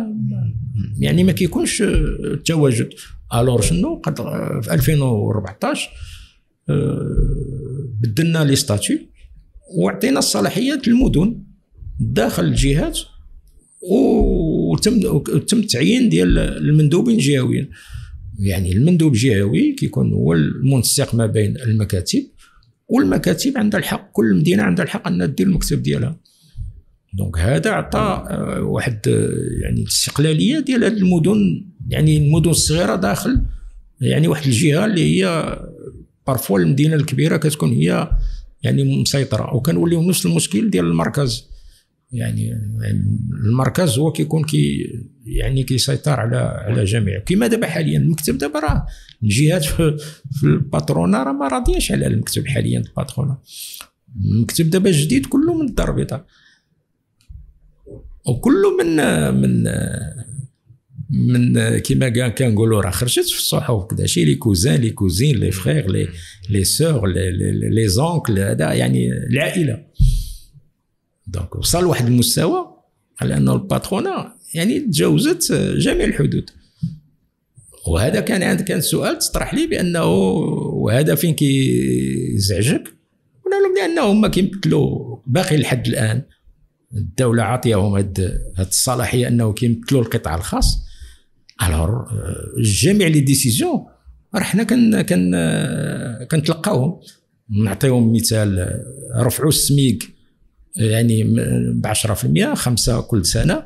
B: يعني ما كيكونش التواجد. alors شنو قد في 2014 بدلنا les statuts وعطينا الصلاحيات للمدن داخل الجهات، وتم التعيين ديال المندوبين الجهويين. يعني المندوب الجهوي كيكون هو المنسق ما بين المكاتب، والمكاتب عندها الحق، كل مدينة عندها الحق انها دير المكتب ديالها. donc هذا عطى واحد يعني الاستقلالية ديال هذه المدن، يعني المدن الصغيرة داخل يعني واحد الجهة اللي هي parfois المدينة الكبيرة كتكون هي يعني مسيطرة. وكنوليو نفس المشكل ديال المركز، يعني المركز هو كيكون كي يعني كيسيطر على جميع. كما دابا حاليا المكتب دابا راه الجهات في ال patronat راه ما راضيينش على المكتب حاليا. ال patronat المكتب دابا الجديد كله من الدار البيضاء، وكله من من من كما كنقولوا راه خرجت في الصحف كذا شي، les cousins les cousines les frères les sœurs les oncles، هذا يعني العائلة. donc وصل لواحد المستوى على انه ال patronat يعني تجاوزت جميع الحدود. وهذا كان سؤال تطرح لي بانه وهذا فين كيزعجك؟ قلنا لهم لانه هما كيمثلوا باقي لحد الان الدولة عاطيهم هاد الصلاحية انه كيمثلوا القطاع الخاص. alors جميع les décisions راه حنا كنتلقاوهم. نعطيهم مثال، رفعوا السميك يعني ب 10% 5 كل سنة،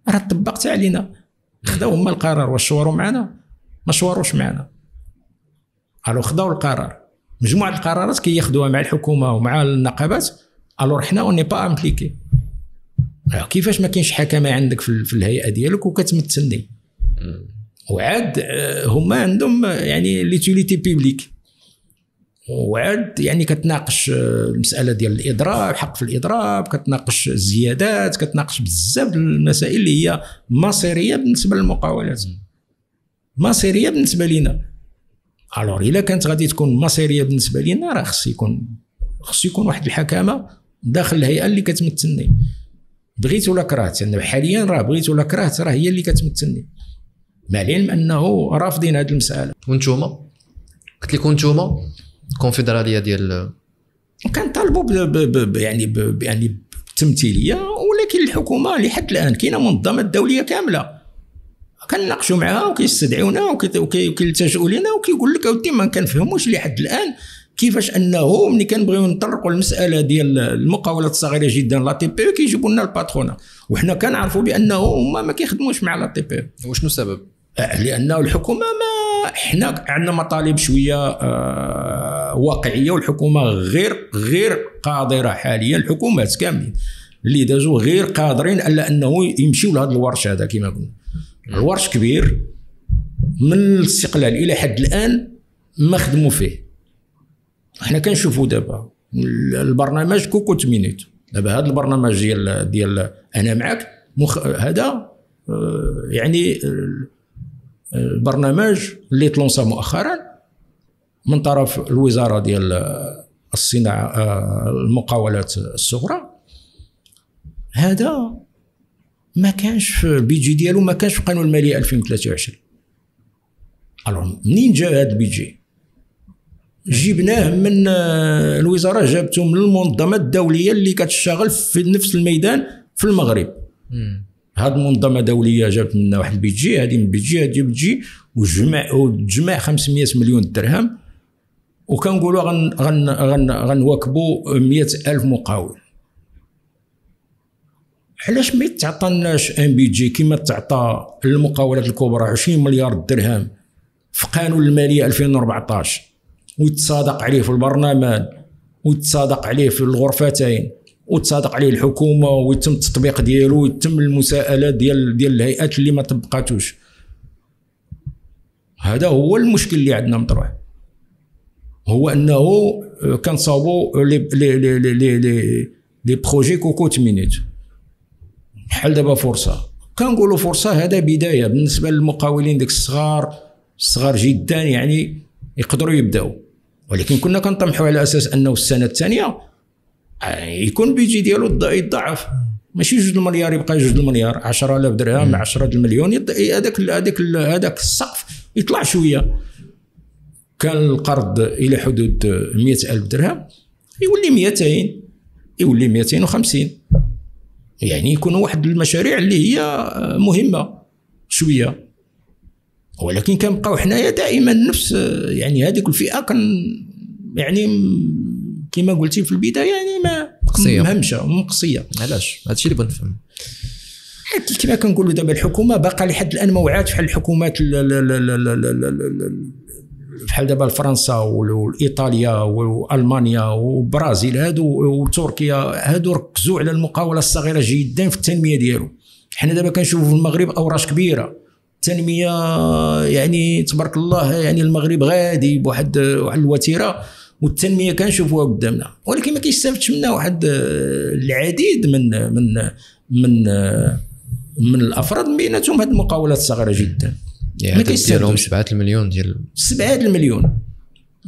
B: راه طبقت علينا. خداو هما القرار، واش شوروا معنا؟ ما شوروش معنا. alors خداو القرار، مجموعة القرارات كياخذوها مع الحكومة ومع النقابات. alors حنا on n'est pas impliqués. كيفاش ما كاينش حكمه عندك في الهيئة ديالك وكتمثلني؟ وعاد هما عندهم يعني l'utilité publique، وعاد يعني كتناقش المسالة ديال الاضراب، حق في الاضراب، كتناقش الزيادات، كتناقش بزاف المسائل اللي هي مصيرية بالنسبة للمقاولات، مصيرية بالنسبة لينا. alors الا كانت غادي تكون مصيرية بالنسبة لينا، راه خص يكون واحد الحكامه داخل الهيئة اللي كتمثلني، بغيت ولا كرهت. يعني حاليا راه بغيت ولا كرهت راه هي اللي كتمثلني، مع العلم انه رافضين هذه المسالة.
A: وانتوما قلت لكم انتوما الكونفدراليه ديال
B: كنطالبوا يعني يعني بالتمثيليه، ولكن الحكومة لحد الان كاينه منظمات دولية كاملة كنناقشوا معها وكيستدعيونا وكيلتجؤوا لنا وكيقول لك اودي ما كنفهموش لحد الان كيفاش انه ملي كنبغيو نطرقوا المسالة ديال المقاولات الصغيرة جدا la TPE كيجيبوا لنا ال patronat، وحنا كنعرفوا بانه هما ما كيخدموش مع la TPE.
A: وشنو السبب؟
B: لانه الحكومة ما حنا عندنا مطالب شوية واقعية، والحكومة غير قادرة حاليا، الحكومات كاملين اللي دازوا غير قادرين الا انه يمشيو لهذا الورش هذا. كما قلنا الورش كبير من الاستقلال الى حد الان ما خدموا فيه. حنا كنشوفوا دابا البرنامج cocotte-minute، دابا هذا البرنامج ديال انا معك هذا يعني البرنامج اللي تلونسا مؤخرا من طرف الوزارة ديال الصناعة المقاولات الصغرى، هذا ما كانش في ال budget ديالو، ما كانش في قانون المالية 2023. alors منين جا هذا ال budget؟ جبناه من الوزارة، جابته من المنظمات الدولية اللي كتشتغل في نفس الميدان في المغرب. هاد المنظمة الدولية جابت لنا واحد ال budget، هذه من budget، هذه budget، وتجمع 500 مليون درهم، وكنقولوا غن غن غنواكبوا 100,000 مقاول. علاش ما يتعطىناش un budget كما تعطى للمقاولات الكبرى 20 مليار درهم في قانون المالية 2014، ويتصادق عليه في البرلمان، ويتصادق عليه في الغرفتين، وتصادق عليه الحكومة، ويتم التطبيق ديالو، ويتم المساءلة ديال الهيئات اللي ما طبقاتوش. هذا هو المشكل اللي عندنا مطروح، هو انه كنصاوبوا les les les les les les projets cocotte-minute. بحال دابا فرصة، كنقولوا فرصة هذا بداية بالنسبة للمقاولين ديك الصغار جدا، يعني يقدروا يبداو، ولكن كنا كنطمحوا على اساس انه السنة الثانية يكون budget ديالو يتضاعف، ماشي 2 المليار يبقى 2 المليار، 10000 درهم 10 المليون، هذاك هذاك هذاك السقف يطلع شوية. كان القرض الى حدود 100000 درهم يولي 200، يولي 250، يعني يكونوا واحد المشاريع اللي هي مهمة شوية. ولكن كنبقاو حنايا دائما نفس يعني هذيك الفئة كان يعني كما قلتي في البداية يعني ما مهمشه ومقصيه.
A: علاش هادشي اللي بغيت نفهم؟
B: كما كنقولوا دابا الحكومة باقا لحد الان ما وعاتش بحال الحكومات بحال دابا فرنسا والايطاليا والمانيا والبرازيل هادو وتركيا، هادو ركزوا على المقاوله الصغيرة جدا في التنمية ديالو. حنا دابا كنشوفوا في المغرب اوراش كبيرة التنمية، يعني تبارك الله، يعني المغرب غادي بواحد الوتيره والتنمية كنشوفوها قدامنا، ولكن ما كيستافدش منها واحد العديد من من من من الافراد، بيناتهم هاد المقاولات الصغيرة جدا.
A: يعني ما كيستافدوش. 7 المليون ديال
B: 7 المليون،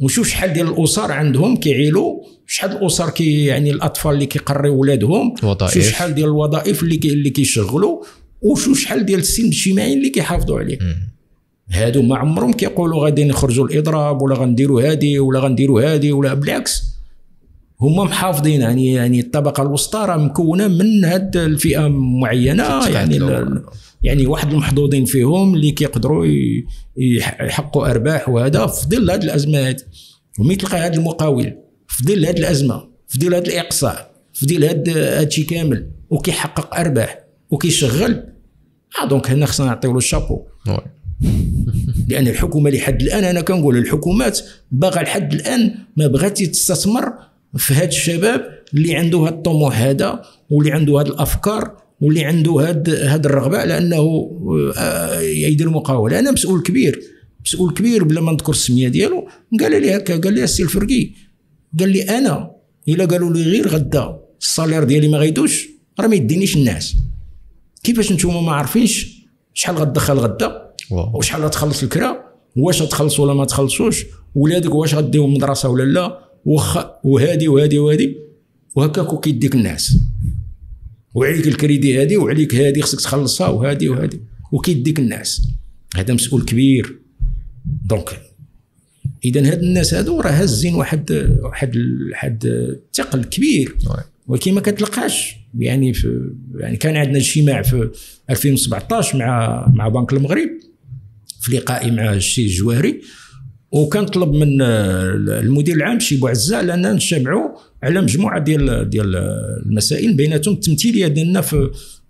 B: وشوف شحال ديال الاسر عندهم كيعيلوا، شحال الاسر كي يعني الاطفال اللي كيقريو ولادهم، شوف شحال ديال الوظائف اللي كيشغلوا، وشوف شحال ديال السلم الاجتماعي اللي كيحافظوا عليه. هادو ما عمرهم كيقولوا غادي نخرجوا الاضراب ولا غنديروا هادي ولا غنديروا هادي ولا، بالعكس هما محافظين. يعني الطبقة الوسطى راه مكونة من هاد الفئة معينة، يعني واحد المحظوظين فيهم اللي كيقدروا يحققوا ارباح، وهذا في ظل هاد الازمة هادي. وملي تلقى هاد المقاول في ظل هاد الازمة، في ظل هاد الاقصاء، في ظل هادشي كامل، وكيحقق ارباح وكيشغل، donc هنا خصنا نعطيو له الشابو. لان الحكومة لحد الان، انا كنقول الحكومات باغا لحد الان ما بغات تستثمر في هاد الشباب اللي عنده هاد الطموح هذا، واللي عنده هاد الافكار، واللي عنده هاد الرغبة على انه يدير مقاوله. انا مسؤول كبير، مسؤول كبير بلا ما نذكر السمية ديالو، قال لي هكا، قال لي السي الفرقي، قال لي انا الا قالوا لي غير غدا ال salaire ديالي ما غيدوش راه ما يدينيش الناس. كيفاش نتوما ما عارفينش شحال غتدخل غدا وشحال غتخلص الكرا، واش غتخلص ولا ما تخلصوش، ولادك واش غديهم المدرسة ولا لا، وهادي وهادي وهادي، وهكاك كيديك الناس، وعليك الكريدي هادي وعليك هادي خصك تخلصها وهادي وهادي، وكيديك الناس. هذا مسؤول كبير. donc اذا هاد الناس هادو راه هازين واحد واحد واحد الثقل كبير، ولكن ما كتلقاش. يعني يعني كان عندنا اجتماع في 2017 مع بنك المغرب في لقائي مع الشي الجواهري، وكان طلب من المدير العام شي بوعزة لان نجتمعوا على مجموعة ديال المسائل، بيناتهم التمثيلية ديالنا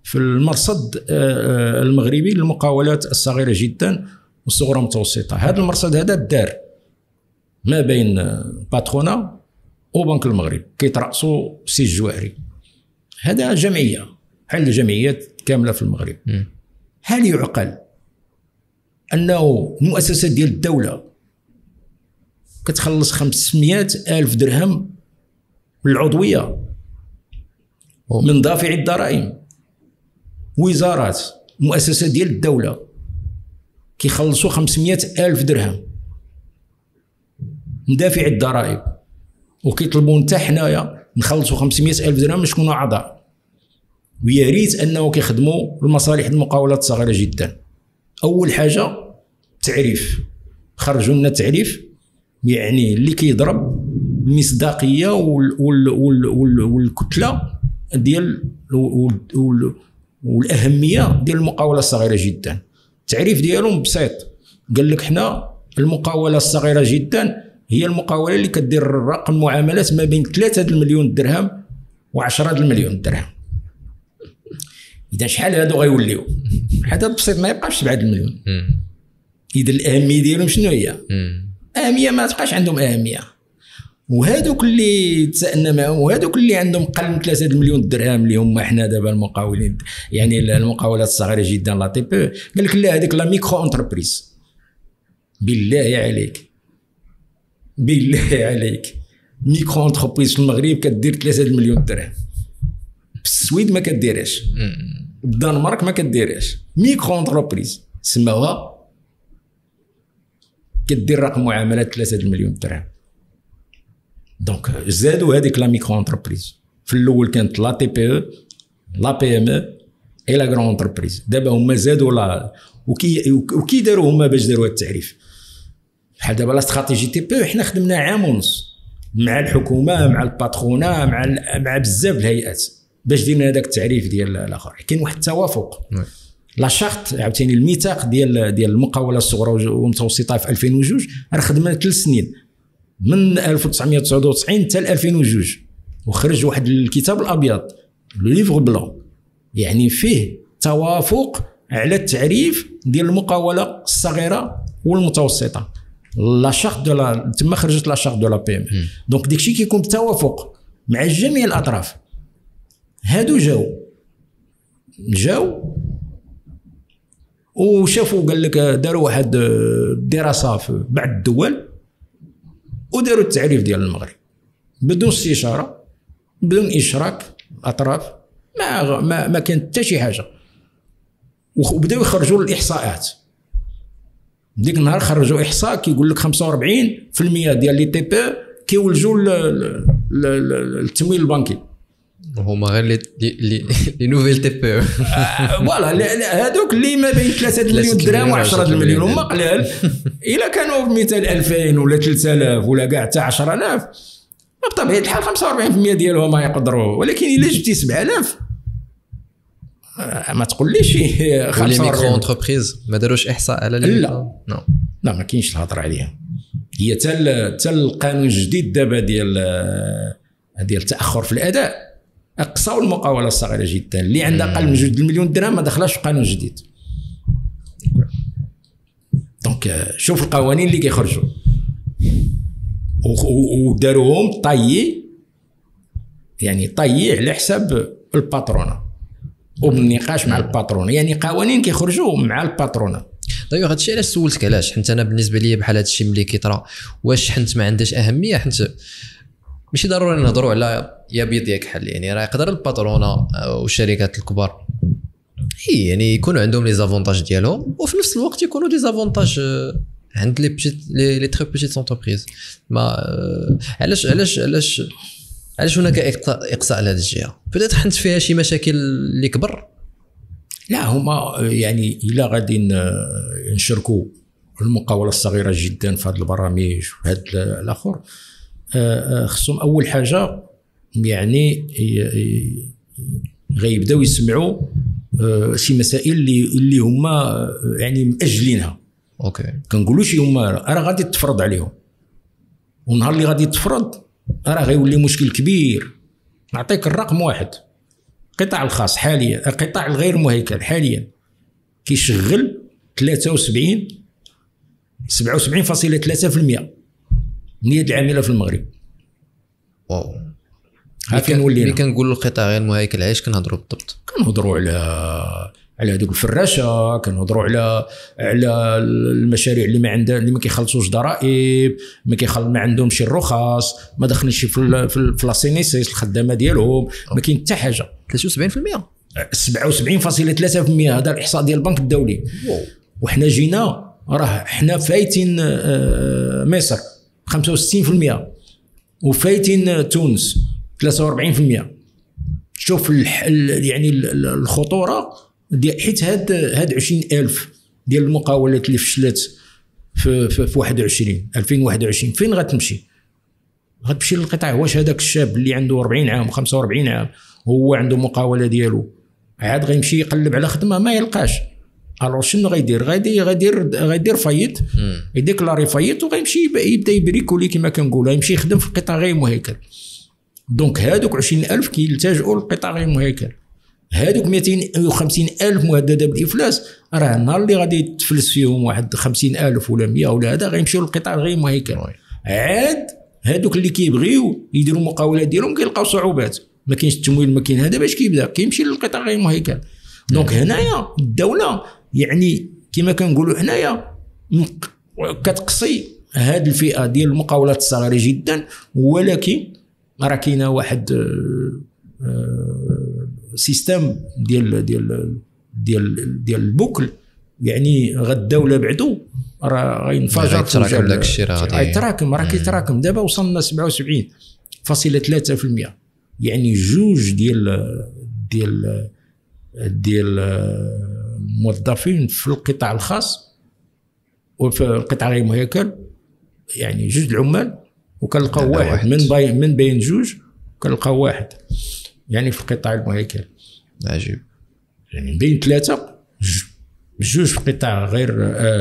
B: في المرصد المغربي للمقاولات الصغيرة جدا والصغرى المتوسطة. هذا المرصد هذا دار ما بين patronat وبنك المغرب، كيترأسوا سي الجواهري. هذا جمعية بحال الجمعيات كاملة في المغرب. هل يعقل انه المؤسسات ديال الدولة كتخلص 500 ألف درهم للعضويه من دافع الضرائب؟ وزارات، مؤسسات ديال الدولة كيخلصوا 500 ألف درهم من دافع الضرائب، وكيطلبوا حتى حنايا نخلصوا 500 ألف درهم باش نكونوا اعضاء. ويا ريت انه كيخدموا المصالح المقاولات الصغيرة جدا. اول حاجة تعريف، خرجوا لنا تعريف يعني اللي كيضرب المصداقية والكتله ديال والاهميه ديال المقاوله الصغيرة جدا. التعريف ديالهم بسيط، قال لك حنا المقاوله الصغيرة جدا هي المقاوله اللي كدير رقم معاملات ما بين 3 المليون درهم و10 المليون درهم. اذا شحال هادو غيوليو؟ هذا بسيط ما يبقاش 7 المليون. اذا الاهمية ديالهم شنو هي؟ اهمية ما تبقاش عندهم اهمية. وهذوك اللي تسالنا معهم وهذوك اللي عندهم قل من 3 المليون درهم اللي هما حنا دابا المقاولين، يعني المقاولات الصغيرة جدا la TPE، قال لك لا هذيك la micro-entreprise. بالله عليك، بالله عليك، micro-entreprise في المغرب كدير 3 المليون درهم، في السويد ما كديرهاش، الدنمارك ما كديرهاش. micro-entreprise سماوها كدير رقم معاملات 3 المليون درهم. donc زادوا هذيك la micro-entreprise. في الاول كانت la TPE، la PME et la grande entreprise. دابا هما زادوا la وكي داروا هما باش داروا التعريف. بحال دابا la stratégie TPE حنا خدمنا عام ونص مع الحكومة، مع ال patronat، مع بزاف الهيئات باش درنا هذاك التعريف ديال الاخر. كاين واحد التوافق. la charte عاوتاني الميثاق ديال المقاوله الصغرى والمتوسطة في 2002 راه خدمنا 3 سنين من 1999 حتى 2002، وخرج واحد الكتاب الابيض le livre blanc، يعني فيه توافق على التعريف ديال المقاوله الصغيرة والمتوسطة. la charte de la تما خرجت la charte de la PME. donc داكشي كيكون بتوافق مع جميع الاطراف. هادو جاو وشافوا، قال لك داروا واحد الدراسة في بعض الدول وداروا التعريف ديال المغرب بدون استشاره، بدون اشراك الاطراف، ما ما ما كان حتى شي حاجة. وبداو يخرجوا الاحصاءات. ديك النهار خرجوا احصاء كيقول لك 45% ديال les TPE كيولجوا التمويل البنكي.
A: هما غير les nouvelles TPE
B: voilà، هذوك اللي ما بين 3 مليون درهم و10 المليون هما قلال. الا كانوا مثال 2000 ولا 3000 ولا كاع حتى 10000 بطبيعة الحال 45% ديالهم ما يقدروا، ولكن الا جبتي 7000 ما تقوليش
A: 45. micro-entreprises ما داروش احصاء على
B: لا لا ما كاينش الهضرة عليها. هي تال القانون الجديد دابا ديال التاخر في الاداء اقصاو المقاوله الصغيرة جدا اللي عندها اقل من 2 مليون درهم ما دخلهاش في قانون جديد. donc شوف القوانين اللي كيخرجوا وداروهم taillés، يعني taillés على حساب ال patronat وبالنقاش مع ال patronat، يعني قوانين كيخرجوا مع ال patronat.
A: دايوغ هادشي علاش سولتك، علاش حيت انا بالنسبة لي بحال هادشي ملي كيطرا واش حنت ما عندهاش اهمية، حنت ماشي ضروري نهضروا على يا بيض يا كحل، يعني راه يقدر ال patronat والشركات الكبار يعني يكونوا عندهم les avantages ديالهم وفي نفس الوقت يكونوا des avantages عند les petites les très petites entreprises. ما علاش علاش علاش علاش هناك اقصاء لهذه الجهة؟ peut-être حنت فيها شي مشاكل اللي كبر.
B: لا هما يعني الا غادي نشركوا المقاوله الصغيرة جدا في هذه البرامج وفي هذا الاخر، خصهم اول حاجة يعني غيبداو يسمعوا شي مسائل اللي هما يعني مأجلينها.
A: OK
B: كنقولوا شي هما راه غادي تفرض عليهم، والنهار اللي غادي تفرض راه غيولي مشكل كبير. نعطيك الرقم واحد، القطاع الخاص حاليا، القطاع الغير مهيكل حاليا كيشغل 77.3% من اليد العاملة في المغرب.
A: واو.
B: ها فين ولينا؟
A: ملي كنقولوا القطاع غير المهيكل علاش كنهضروا بالضبط؟
B: كنهضروا على هذوك الفراشة، كنهضروا على المشاريع اللي ما عندها، اللي ما كيخلصوش ضرائب، ما عندهمش الرخص، ما دخلنش في la CNSS الخدامة ديالهم، ما كاين حتى حاجة.
A: 73%
B: 77.3% هذا الاحصاء ديال البنك الدولي. وحنا جينا راه حنا فايتين مصر 65% وفايتين تونس 43%. شوف يعني الخطورة ديال، حيت هاد 20000 ديال المقاولات اللي فشلت في 2021 فين غتمشي؟ غتمشي للقطاع. واش هذاك الشاب اللي عنده 40 عام و45 عام هو عنده مقاوله ديالو عاد غيمشي يقلب على خدمة ما يلقاش؟ alors شنو غيدير؟ غيدير faillite، يديكلاري faillite وغيمشي يبدا يبريكولي كما كنقولوا، يمشي يخدم في القطاع غير مهيكل. donc هادوك 20000 كيلتجؤوا للقطاع غير مهيكل. هادوك 250,000 مهددة بالافلاس راه النهار اللي غادي تفلس فيهم واحد 50,000 ولا 100 ولا هذا غيمشيو للقطاع غير مهيكل. عاد هادوك اللي كيبغيو يديروا مقاولات ديالهم كيلقاو صعوبات، ما كاينش التمويل، ما كاين هذا، باش كيبدا كيمشي للقطاع غير مهيكل. donc هنايا الدولة يعني كما كنقولوا حنايا كتقصي هاد الفئة ديال المقاولات الصغيرة جدا، ولكن راه كاينه واحد système ديال ديال ديال ديال ال boucle، يعني غدا ولا بعدو راه غينفجر
A: غيتراكم داك الشيء، راه
B: غيتراكم، راه كيتراكم. دابا وصلنا 77.3%، يعني جوج ديال ديال ديال الموظفين في القطاع الخاص وفي القطاع غير المهيكل، يعني جوج العمال وكنلقاو واحد من بين جوج كنلقاو واحد يعني في القطاع المهيكل.
A: عجيب.
B: يعني بين ثلاثة جوج في القطاع غير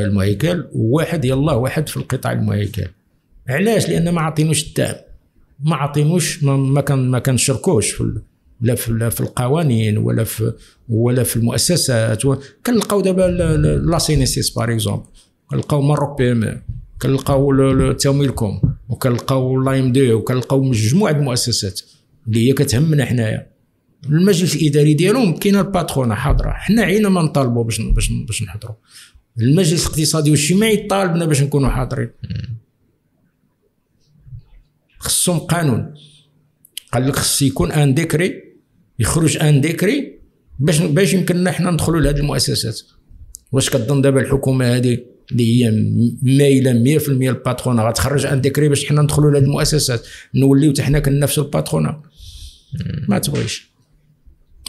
B: المهيكل وواحد يلا واحد في القطاع المهيكل. علاش؟ لان ما عطينوش الدعم، ما عطينوش، ما كنشركوش في لا في القوانين ولا في المؤسسات. كنلقاو دابا la CNSS par exemple، كنلقاو Maroc PME، كنلقاو تمويلكم، وكنلقاو l'AMDE، وكنلقاو مجموعة المؤسسات اللي هي كتهمنا حنايا. المجلس الاداري ديالهم كاينه ال patronat حاضره، حنا عينا ما نطالبوا باش باش باش نحضروا. المجلس الاقتصادي والاجتماعي طالبنا باش نكونوا حاضرين. خصهم قانون، قال لك خص يكون un décret، يخرج un décret باش يمكننا حنا ندخلوا لهذه المؤسسات. واش كتظن دابا الحكومة هذه اللي هي مايلة 100% ال patronat غتخرج un décret باش حنا ندخلوا لهذه المؤسسات نوليو حتى حنا كننافسوا ال patronat؟ ما تبغيش.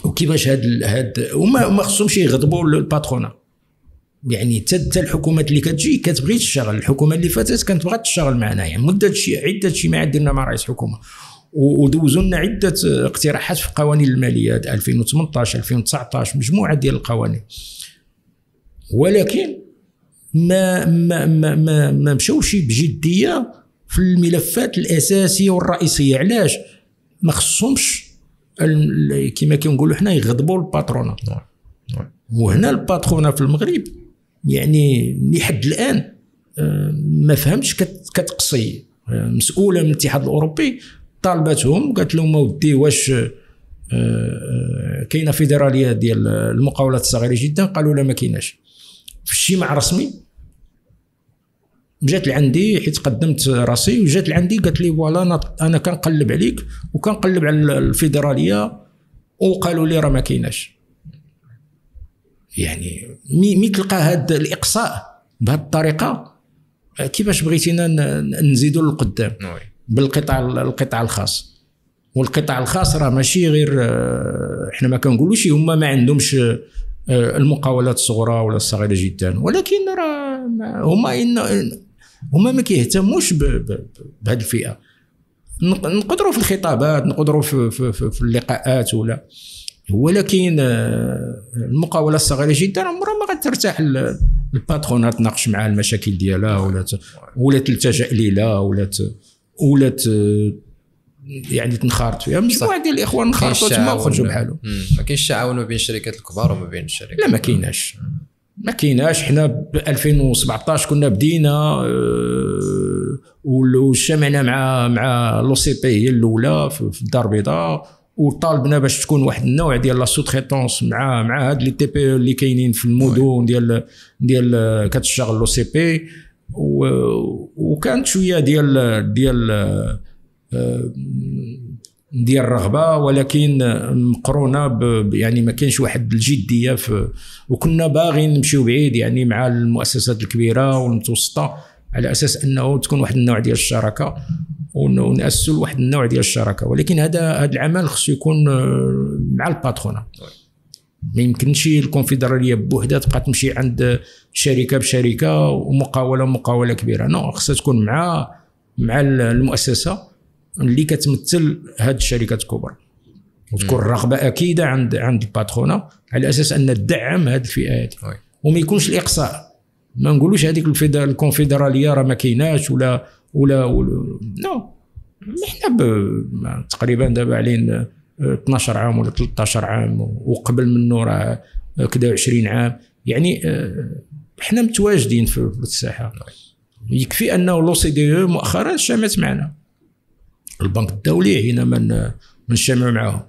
B: وكيفاش هاد وما خصهمش يغضبوا ال patronat. يعني حتى الحكومات اللي كتجي كتبغي تشتغل. الحكومة اللي فاتت كانت بغات تشتغل معنا، يعني مده عده اجتماعات درنا مع رئيس الحكومة، ودوزوا لنا عده اقتراحات في قوانين المالية 2018 2019 مجموعة ديال القوانين، ولكن ما ما ما ما, ما مشاوش بجدية في الملفات الاساسية والرئيسيه. علاش؟ ما خصهمش كما كنقولوا حنا يغضبوا ال patronat. وهنا ال patronat في المغرب يعني لحد الان ما فهمتش كتقصي. مسؤولة من الاتحاد الاوروبي طالبتهم، قالت لهم ودي واش كاينه فيدرالية ديال المقاولات الصغيرة جدا؟ قالوا لا ما كايناش. في اجتماع رسمي جات لعندي حيت قدمت راسي، وجات لعندي قالت لي voilà انا كنقلب عليك وكنقلب على الفيدرالية، وقالوا لي راه ما كايناش. يعني مي تلقى هذا الاقصاء بهذه الطريقة، كيفاش بغيتينا نزيدوا للقدام بالقطاع القطاع الخاص؟ والقطاع الخاص راه ماشي غير احنا ما كنقولوش هما ما عندهمش المقاولات الصغرى ولا الصغيرة جدا، ولكن راه هما ما كيهتموش بهذه الفئة. نقدروا في الخطابات، نقدروا في, في, في, في اللقاءات ولا، ولكن المقاوله الصغيرة جدا عمرها ما غترتاح ال patronat تناقش معها المشاكل ديالها ولا تلتجأ ليها ولا يعني تنخرط فيها. مجموعة ديال الاخوان انخرطوا تما وخرجوا بحالهم.
A: ما كاينش تعاون ما بين الشركات الكبار وما بين الشركات؟
B: لا ما كايناش، ما كايناش. حنا ب 2017 كنا بدينا واجتمعنا مع l'OCP هي الاولى في الدار البيضاء، وطالبنا باش تكون واحد النوع ديال la sous-traitance مع هاد les TPE اللي كاينين في المدن ديال كتشتغل l'OCP. وكانت شوية ديال ديال ديال الرغبة، ولكن مقرونة يعني ما كاينش واحد الجدية وكنا باغيين نمشيو بعيد يعني مع المؤسسات الكبيرة والمتوسطة، على اساس انه تكون واحد النوع ديال الشراكة ونأسسوا واحد النوع ديال الشراكة. ولكن هذا العمل خصو يكون مع ال patronat. ما يمكنش الكونفدراليه بوحدها تبقى تمشي عند شركة بشركه ومقاوله مقاوله كبيرة. non، خصها تكون مع المؤسسة اللي كتمثل هاد الشركات الكبرى، وتكون الرغبة اكيدة عند ال patronat على اساس ان تدعم هاد الفئات، وما يكونش الاقصاء. ما نقولوش هذيك الكونفدراليه راه ما كايناش ولا non. حنا تقريبا دابا علينا 12 عام ولا 13 عام، وقبل منه راه كدا 20 عام، يعني حنا متواجدين في الساحة. يكفي انه l'OCDE مؤخرا اجتمعت معنا، البنك الدولي هنا من نجتمعوا معاهم،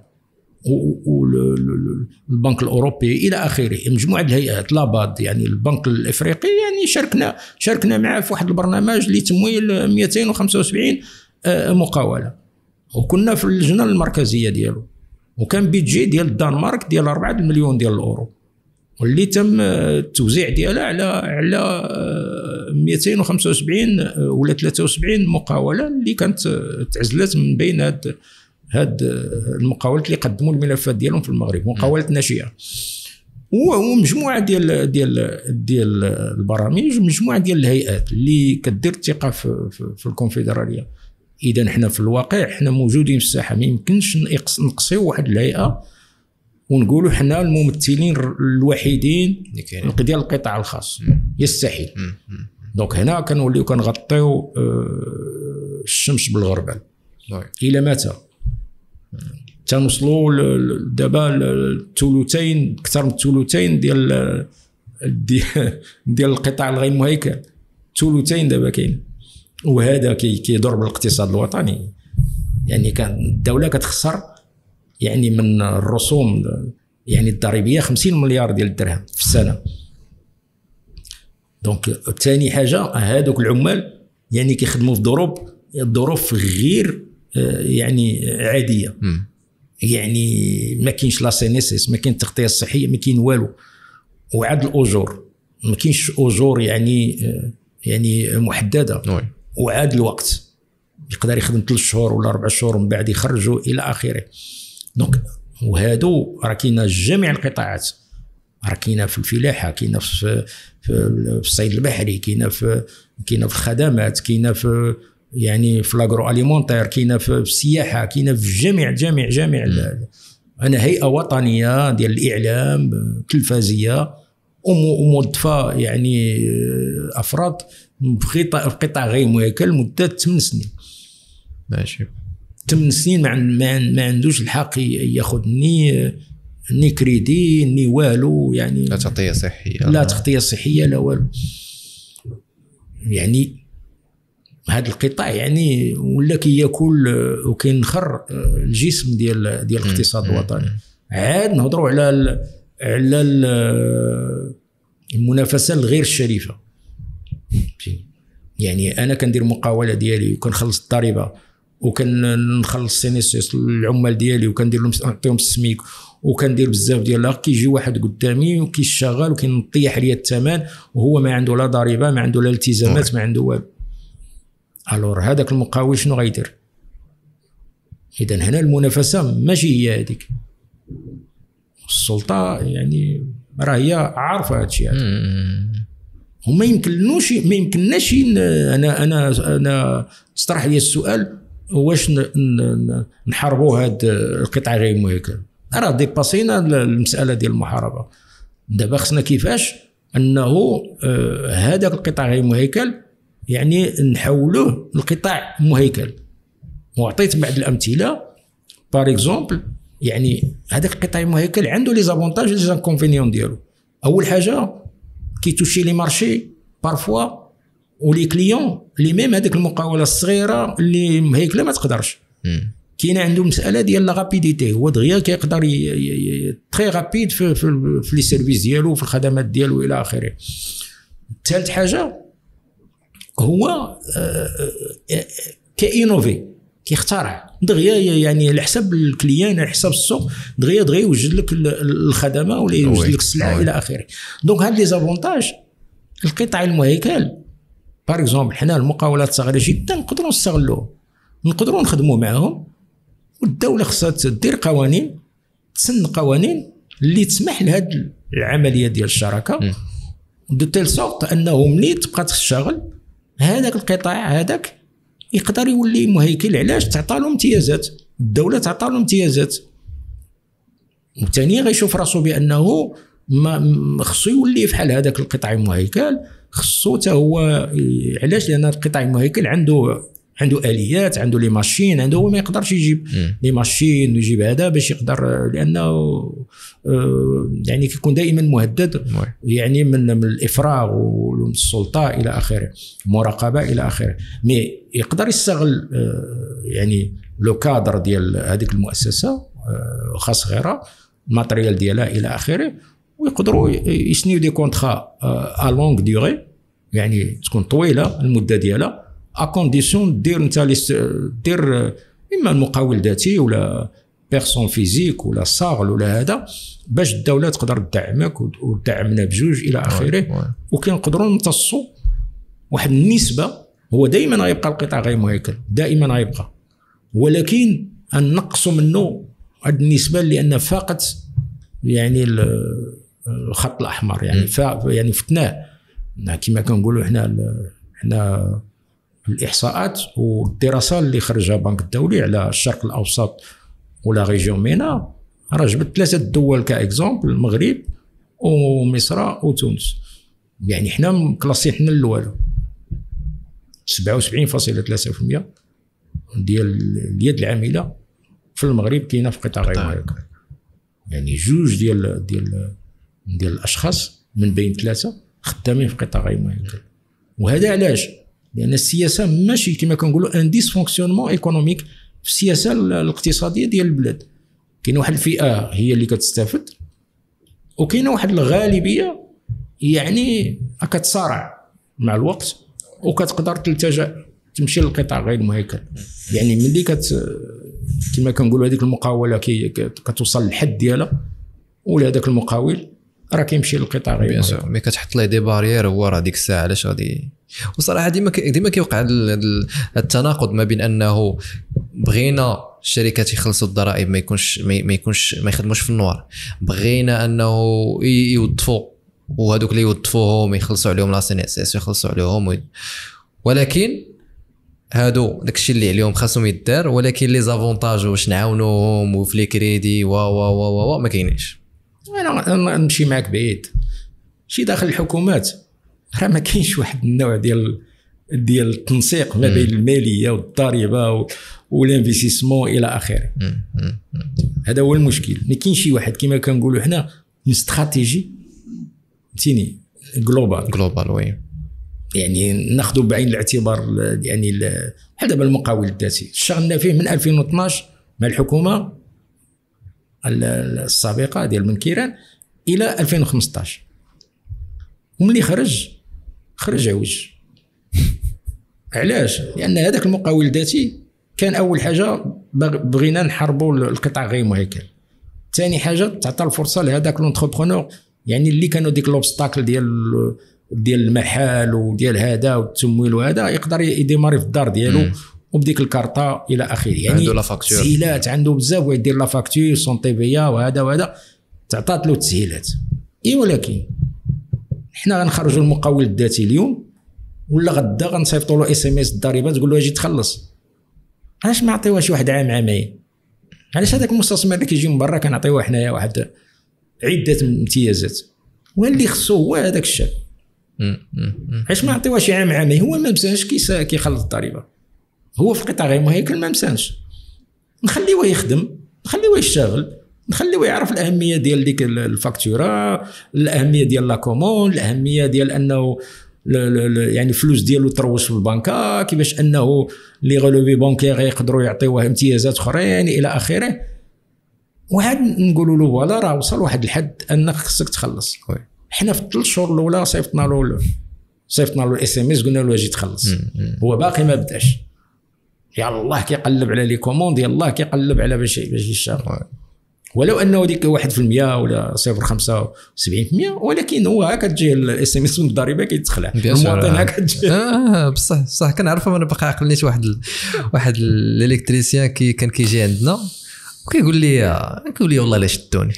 B: والبنك الاوروبي الى اخره، مجموعة الهيئات، la BAD يعني البنك الافريقي، يعني شاركنا معاه في واحد البرنامج لتمويل 275 مقاوله، وكنا في اللجنة المركزية ديالو، وكان budget ديال الدنمارك ديال 4 المليون ديال الاورو، واللي تم التوزيع ديالها على 275 ولا 73 مقاوله اللي كانت تعزلت من بين هاد المقاولات اللي قدموا الملفات ديالهم في المغرب، مقاولات ناشئة، ومجموعة ديال ديال ديال البرامج، ومجموعة ديال الهيئات اللي كدير الثقة في الكونفدراليه. اذا حنا في الواقع حنا موجودين في الساحة، ما يمكنش نقصيو واحد الهيئة ونقولوا حنا الممثلين الوحيدين ديال القطاع الخاص، يستحيل. donc هنا كنوليو كنغطيو الشمس بالغربال. الى متى؟ تنوصلوا دابا الثلثين، اكثر من الثلثين ديال ديال القطاع الغير مهيكل، الثلثين دابا كاين، وهذا كيضر بالاقتصاد الوطني. يعني كان الدولة كتخسر يعني من الرسوم يعني الضريبية 50 مليار ديال الدرهم في السنة. donc ثاني حاجة، هذوك العمال يعني كيخدموا في ظروف غير يعني عادية. يعني ما كاينش la CNSS، ما كاين التغطية الصحية، ما كاين والو، وعاد الاجور ما كاينش اجور يعني محددة، وعاد الوقت يقدر يخدم 3 شهور ولا 4 شهور ومن بعد يخرجوا الى اخره. donc وهادو راه كاينه جميع القطاعات، راه كاينه في الفلاحة، كاينه في الصيد البحري، كاينه في الخدمات، كاينه في يعني في l'agroalimentaire، كاينه في السياحة، كاينه في جميع جميع جميع. انا هيئة وطنية ديال الاعلام تلفزيه وموظفه يعني افراد في قطاع غير مهيكل مده 8 سنين.
A: ماشي
B: 8 سنين ما عندوش الحق ياخذ ni crédit ni والو، يعني
A: لا تغطيه صحية،
B: لا تغطيه صحية لا والو. يعني هذا القطاع يعني ولا كياكل وكينخر الجسم ديال الاقتصاد الوطني. عاد نهضروا على على المنافسة الغير الشريفة. يعني انا كندير مقاوله ديالي وكنخلص الضريبة وكنخلص CNSS العمال ديالي وكندير لهم نعطيهم السميك وكندير بزاف ديال، كيجي واحد قدامي وكيشتغل وكينطيح ليا الثمن وهو ما عنده لا ضريبة، ما عنده لا التزامات، ما عنده والو. alors هذاك المقاول شنو غيدير؟ اذا هنا المنافسة ماشي هي هذيك. السلطة يعني راه هي عارفه هادشي هذا، وما يمكنلوش، ما يمكنناش. انا انا انا تطرح لي السؤال واش نحاربوا هاد القطاع غير المهيكل؟ راه dépassينا المسالة ديال المحاربة. دابا خصنا كيفاش انه هذاك القطاع غير المهيكل يعني نحولوه لقطاع مهيكل. وعطيت بعض الامثلة، par exemple يعني هذاك القطاع المهيكل عنده les avantages les inconvénients ديالو. اول حاجة كي toucher les marchés parfois و les clients les mêmes، هذيك المقاوله الصغيرة اللي مهيكله ما تقدرش. كاينه عنده مسالة ديال la rapidité، هو دغيا كيقدر très rapide في les services ديالو في الخدمات ديالو الى اخره. ثالث حاجة هو كي innover، كيخترع دغيا، يعني على حساب ال client على حساب السوق دغيا دغيا يوجد لك الخدمة ولا يوجد لك السلعة الى اخره. donc هاد les avantages القطاع المهيكل par exemple حنا المقاولات الصغيرة جدا نقدروا نستغلوه، نقدروا نخدموا معاهم، والدولة خصها تدير قوانين، تسن قوانين اللي تسمح لهاد العملية ديال الشراكة de telle sorte انه ملي تبقى تشتغل هذاك القطاع هذاك يقدر يولي مهيكل. علاش؟ تعطى له امتيازات، الدولة تعطى له امتيازات، وثاني غيشوف راسو بانه ما خصو يولي فحال هذاك القطاع المهيكل، خصو حتى هو. علاش؟ لان القطاع المهيكل عنده اليات، عنده les machines، عنده هو ما يقدرش يجيب les machines ويجيب هذا باش يقدر، لانه يعني كيكون دائما مهدد يعني من الافراغ ومن السلطة الى اخره، مراقبة الى اخره. mais يقدر يستغل يعني le cadre ديال هذيك المؤسسة واخا صغيرة، ال matériel ديالها الى اخره، ويقدروا يسنيو des contrats à longue durée، يعني تكون طويلة المدة ديالها، à condition دير انت دير اما المقاول ذاتي ولا personne physique ولا SARL ولا هذا، باش الدولة تقدر تدعمك وتدعمنا بجوج الى اخره. وكنقدروا نمتصوا واحد النسبة. هو دائما غيبقى القطاع غير مهيكل، دائما غيبقى، ولكن نقصوا منه هذه النسبة لان فاقت يعني الخط الاحمر، يعني يعني فتناه كما كنقولوا حنا الاحصاءات والدراسة اللي خرجها البنك الدولي على الشرق الاوسط و la région MENA، راه جبت 3 الدول ك exemple، المغرب ومصر وتونس. يعني حنا classés حنا الاول 77.3% ديال اليد العاملة في المغرب كاينه في قطاع غير مهيكل، يعني جوج ديال ديال ديال الاشخاص من بين 3 خدامين في قطاع غير مهيكل. وهذا علاش؟ لان السياسة ماشي كما كنقولوا un dysfonctionnement économique في السياسة الاقتصادية ديال البلاد. كاين واحد الفئة هي اللي كتستافد، وكاينه واحد الغالبية يعني كتصارع مع الوقت وكتقدر تلتجأ تمشي للقطاع غير المهيكل. يعني ملي كما كنقولوا هذيك المقاوله كتوصل للحد ديالها ولا هذاك المقاول راه كيمشي للقطاع غير المهيكل.
A: mais كتحط ليه des barrières، هو راه ديك الساعة علاش غادي وصراحة ديما كيوقع التناقض ما بين انه بغينا الشركات يخلصوا الضرائب، ما يكونش ما يخدموش في ال noir، بغينا انه يوظفوا، وهذوك اللي يوظفوهم يخلصوا عليهم la CNSS، يخلصوا عليهم ولكن هادو داكشي اللي عليهم خاصهم يدار، ولكن les avantages واش نعاونوهم وفي les crédits و و و و ما كاينينش.
B: انا نمشي معاك بعيد، شي داخل الحكومات راه ما كاينش واحد النوع ديال التنسيق ما بين المالية والضريبه و l'investissement الى اخره. هذا هو المشكل، ما كاينش شي واحد كما كنقولوا حنا استراتيجي، فهمتيني، globale.
A: globale، oui.
B: يعني ناخذ بعين الاعتبار يعني بحال دابا المقاول الذاتي، اشتغلنا فيه من 2012 مع الحكومة السابقة ديال بنكيران الى 2015، وملي خرج خرج عوج. علاش؟ لان هذاك المقاول الذاتي كان اول حاجة بغينا نحاربوا القطاع غير مهيكل، ثاني حاجة تعطى الفرصة لهذاك l'entrepreneur، يعني اللي كانوا ديك l'obstacle ديال المحل وديال هذا والتمويل وهذا، يقدر ي démarrer في الدار ديالو وبديك الكارطه الى اخره. يعني
A: عنده la facture.
B: تسهيلات عنده بزاف، ويدير la facture sans TVA وهذا وهذا، تعطات له تسهيلات. اي ولكن حنا غنخرجوا المقاول الذاتي اليوم ولا غدا غنصيفطوا له SMS الضريبة تقول له اجي تخلص. علاش ما عطيوهاش واحد عام عامين؟ علاش هذاك المستثمر اللي كيجي من برا كنعطيوه حنايا واحد عده امتيازات، واللي خصو هو هذاك الشاب؟ علاش ما نعطيوهش عام عامين؟ هو ما مسانش كيخلص الضريبه، هو في القطاع غير مهيكل ما مسانش. نخليوه يخدم، نخليوه يشتغل، نخليوه يعرف الاهمية ديال ديك ال facture، الاهمية ديال la commande، الاهمية ديال انه يعني الفلوس ديالو تروج في البنكه، كيفاش انه les relevés bancaires يقدروا يعطيوه امتيازات اخرين الى اخره. وعاد نقولوا له voilà راه وصل واحد الحد انك خصك تخلص. حنا في ال3 شهور الاولى صيفطنا له ال SMS، قلنا له اجي تخلص. هو باقي ما بداش، يلاه كيقلب على les commandes، يلاه كيقلب على باش يشتغل، ولو انه ديك 1% ولا 0.75%، ولكن هو هكا تجي ال SMS من الضريبة كيتخلع المواطن هكا تجي.
A: اه بصح بصح كنعرفها، انا باقي عقلنيت واحد l'électricien كي كان كيجي عندنا وكيقول لي كيقول لي والله لا شدوني،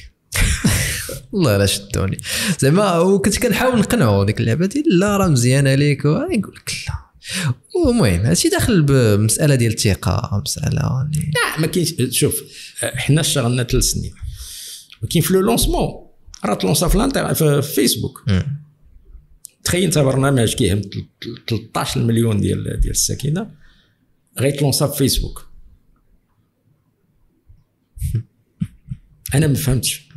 A: والله لا شدوني زعما. وكنت كنحاول نقنعو ديك اللعبة ديال لا راه مزيانه ليك، يقول لك لا. المهم هادشي داخل بمسالة ديال الثقه، مسالة
B: لا ما كاينش. شوف، حنا اشتغلنا 3 سنين، ولكن في le lancement راه تلونسا في فيسبوك. تخيل انت برنامج كيهم 13 مليون ديال الساكنة غيتلونسا في فيسبوك. انا ما فهمتش.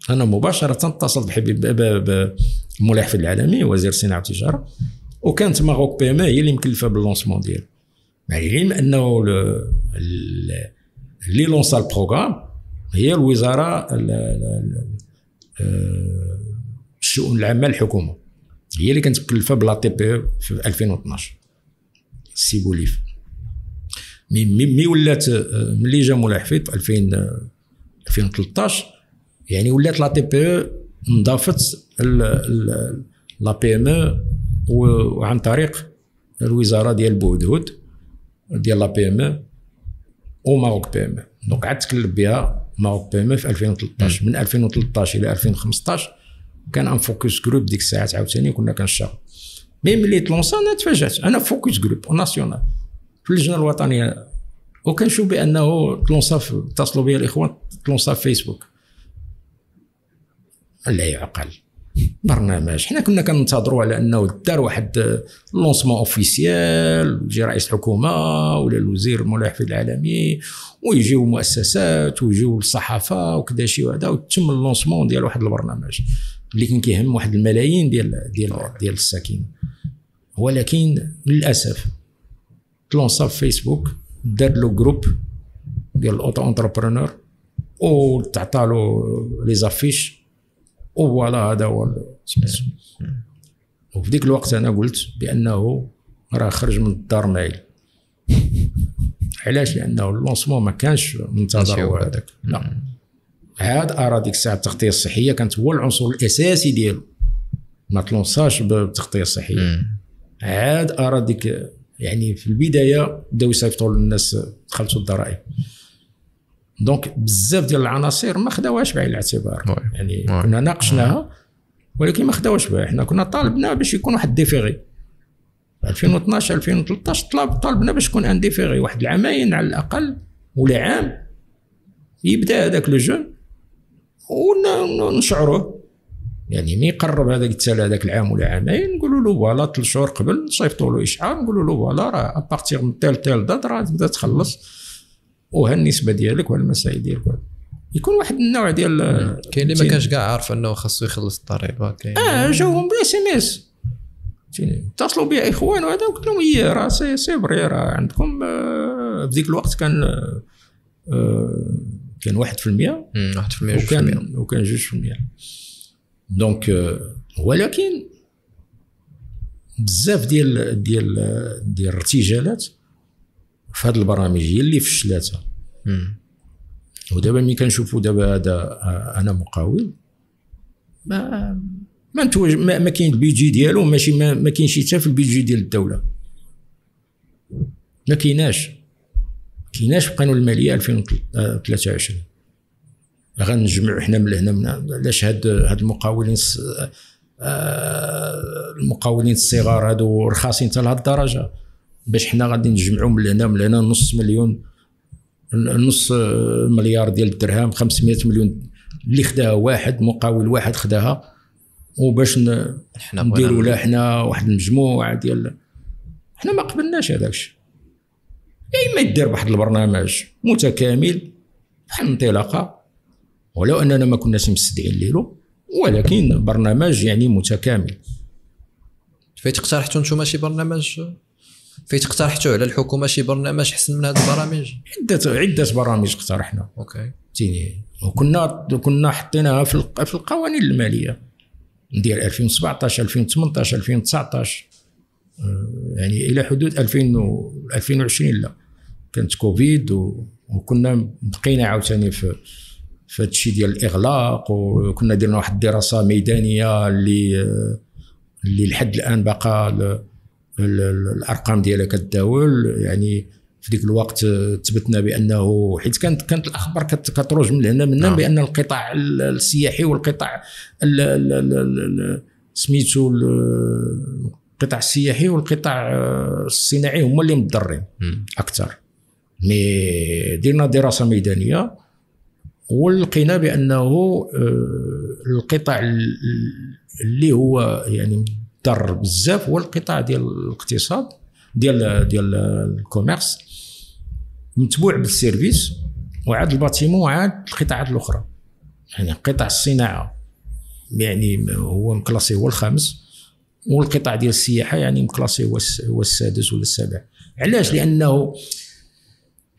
B: انا مباشرة اتصلت بحبيب بمولاي حفيظ العلمي وزير الصناعة والتجاره، وكانت Maroc PME هي اللي مكلفة بال lancement ديالو، مع العلم انه اللي lança ال programme هي الوزارة الشؤون العامة للحكومه، هي اللي كانت مكلفة ب la TPE في 2012 سي بوليف. mais ولات ملي جا مولاي حفيظ في 2013، يعني ولات la TPE انضافت la PME، وعن طريق الوزارة ديال بوهدهد ديال la PME و Maroc PME. donc عاد تكلف بها Maroc PME في 2013. من 2013 الى 2015 كان un focus group ديك الساعات عاوتاني كنا كنشتغل. mais ملي تلونسا انا تفاجات، انا focus group national في اللجنة الوطنيه، وكنشوف بانه تلونسا، اتصلوا بي الاخوان، تلونسا في فيسبوك. لا يعقل برنامج حنا كنا كننتظروا على انه دار واحد lancement officiel، يجي رئيس الحكومة ولا الوزير مولاي حفيظ العلمي ويجيو مؤسسات ويجيو الصحافة وكذا شي وهذا، وتم ال lancement ديال واحد البرنامج اللي كان كيهم واحد الملايين ديال الساكنه. ولكن للاسف تلونسا في فيسبوك، دار له groupe ديال ال auto-entrepreneurs وتعطى له les affiches و voilà هذا هو. وفي ديك الوقت انا قلت بانه راه خرج من الدار مايل. علاش؟ لانه ال lancement ما كانش منتظر هو هذاك. لا عاد ارى ديك الساعة التغطية الصحية كانت هو العنصر الاساسي ديالو، ما تلونساش بالتغطيه الصحيه. عاد ارى ديك يعني في البداية بداو يصيفطوا للناس خلصوا الضرائب. donc بزاف ديال العناصر ما خداوهاش بعين الاعتبار. يعني كنا ناقشناها ولكن ما خداوهاش بها. حنا كنا طالبنا باش يكون واحد différé 2012 2013 طالبنا باش يكون un différé واحد العامين على الاقل ولا عام، يبدا هذاك le jeune ونشعروه، يعني ملي يقرب هذاك التسال هذاك العام ولا عامين نقولوا له voilà 3 شهور قبل نصيفطوا له اشعار نقولوا له voilà راه à partir من telle telle date راه تبدا تخلص، وها النسبة ديالك وها المسائل ديالك. يكون واحد النوع ديال
A: كاين اللي ما كانش كاع عارف انه خاصو يخلص الضريبة. كاين
B: جاوهم بال SMS، اتصلوا بي اخوان وهذا، قلت لهم هي راه c'est vrai راه عندكم في ذيك الوقت كان كان 1% 1% وكان 2%. donc ولكن بزاف ديال ديال ديال الارتجالات في هذه البرامج هي اللي فشلاتها. ودابا ملي كنشوفوا دابا هذا انا مقاول ما ما ما كاين ال budget ديالو ماشي ما كاينش حتى في ال budget ديال الدولة، ما كايناش في قانون المالية 2023. غنجمعوا حنا من هنا من علاش هاد المقاولين المقاولين الصغار هادو رخاصين حتى لهاد الدرجة باش حنا غادي نجمعوا من هنا من هنا نص مليار ديال الدرهم، 500 مليون اللي خداها واحد مقاول واحد خداها، وباش نديروا له حنا واحد المجموعة ديال حنا ما قبلناش هذاك الشيء. يا اما يدير واحد البرنامج متكامل بحال انطلاقة، ولو اننا ما كناش مستدعين ليلو، ولكن برنامج يعني متكامل.
A: فايت اقترحتوا نتوما شي برنامج؟ فايت اقترحتوا على الحكومة شي برنامج احسن من هذه البرامج؟
B: عده برامج اقترحنا.
A: OK
B: فهمتيني، وكنا حطيناها في القوانين المالية ديال 2017 2018 2019، يعني الى حدود 2020 لا كانت كوفيد، وكنا بقينا عاوتاني في هذا الشيء ديال الاغلاق، وكنا درنا واحد الدراسة ميدانية اللي لحد الان باقا الارقام ديالها كتداول. يعني في ديك الوقت ثبتنا بانه حيت كانت الاخبار كتروج من هنا من هنا بان القطاع السياحي والقطاع سميتو القطاع السياحي والقطاع الصناعي هما اللي متضررين اكثر. mais درنا دراسة ميدانية ولقينا بانه القطاع اللي هو يعني مضر بزاف هو القطاع ديال الاقتصاد ديال ال commerce، متبوع بال service وعاد ال bâtiment وعاد القطاعات الاخرى. يعني قطاع الصناعة يعني هو مكلاسي هو الخامس، والقطاع ديال السياحة يعني مكلاسي هو السادس ولا السابع. علاش؟ لانه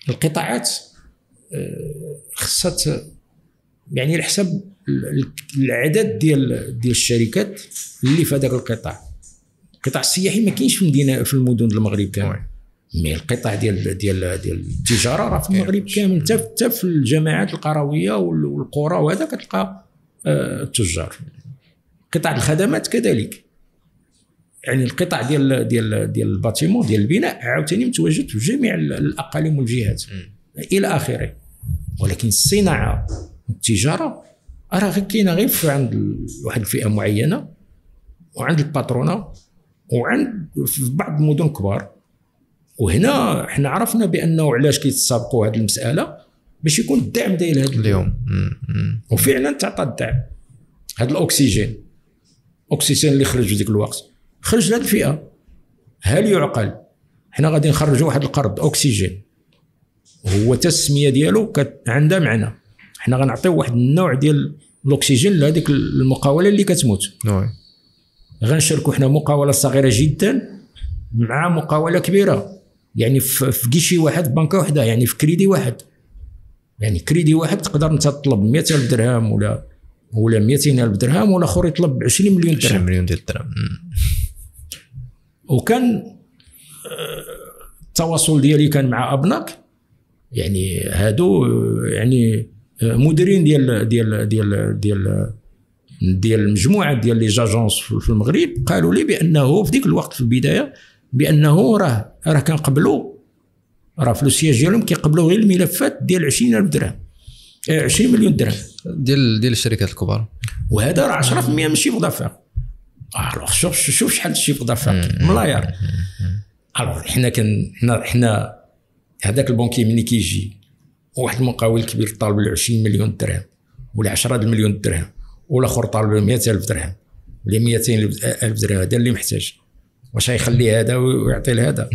B: القطاعات خصها يعني على حسب العدد ديال الشركات اللي في هذاك القطاع. القطاع السياحي ما كاينش في المدينة في المدن المغرب كامل، mais القطاع ديال ديال ديال التجارة راه في المغرب كامل، حتى في الجماعات القرويه والقرى وهذا كتلقى التجار. قطاع الخدمات كذلك، يعني القطاع ديال ديال ديال ال bâtiment ديال البناء عاوتاني متواجد في جميع الاقاليم والجهات الى اخره. ولكن الصناعة والتجارة راه غير كاينه غير عند واحد الفئة معينة وعند ال patronat وعند في بعض المدن الكبار. وهنا حنا عرفنا بانه علاش كيتسابقوا هذه المسالة باش يكون الدعم ديال هذا
A: اليوم،
B: وفعلا تعطى الدعم. هذا الاكسجين اللي خرج في ذيك الوقت خرج لهذه الفئة. هل يعقل حنا غادي نخرجوا واحد القرض اكسجين هو التسمية ديالو عندها معنى، حنا غنعطيو واحد النوع ديال الاكسجين لهذيك المقاوله اللي كتموت. غنشاركوا حنا مقاوله صغيرة جدا مع مقاوله كبيرة، يعني في guichet واحد، بنكه واحدة، يعني في كريدي واحد. يعني كريدي واحد تقدر انت تطلب 100,000 درهم ولا 200,000 درهم، ولا اخر يطلب 20 مليون درهم.
A: 20 مليون ديال الدرهم.
B: وكان التواصل ديالي كان مع ابناك، يعني هادو يعني مديرين ديال ديال ديال ديال ديال المجموعة ديال les agences في المغرب، قالوا لي بانه في ديك الوقت في البداية بانه راه كنقبلوا، راه في le siège ديالهم كيقبلوا غير الملفات ديال 20000 درهم، 20 مليون درهم
A: ديال الشركات الكبار،
B: وهذا راه 10% من ال chiffre d'affaires. alors شوف شحال ال chiffre d'affaires ملاير. alors حنا حنا هذاك ال banquier ملي كيجي واحد المقاول كبير طالب له 20 مليون درهم ولا 10 مليون درهم، والاخر طالب له 100000 درهم ولا 200000 درهم، هذا اللي محتاج، واش غيخلي هذا ويعطي لهذا؟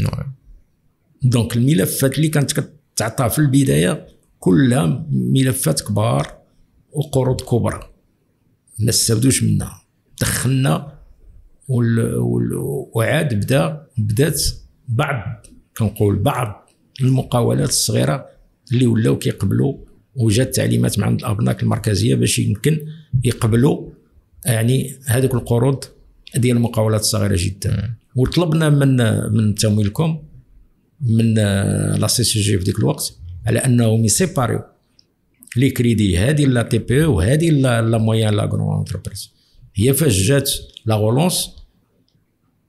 B: donc الملفات اللي كانت كتعطى في البداية كلها ملفات كبار وقروض كبرى، ما استفدوش منها. دخلنا وعاد بدات بعض، كنقول بعض المقاولات الصغيرة اللي ولاو كيقبلوا، وجات تعليمات من عند الابناك المركزية باش يمكن يقبلوا يعني هذوك القروض ديال المقاولات الصغيرة جدا. وطلبنا من تمويلكم من la CCG في ديك الوقت على انهم يسيباريو les crédits، هذه la TPE وهذه la moyenne la grande entreprise. هي فاش جات la relance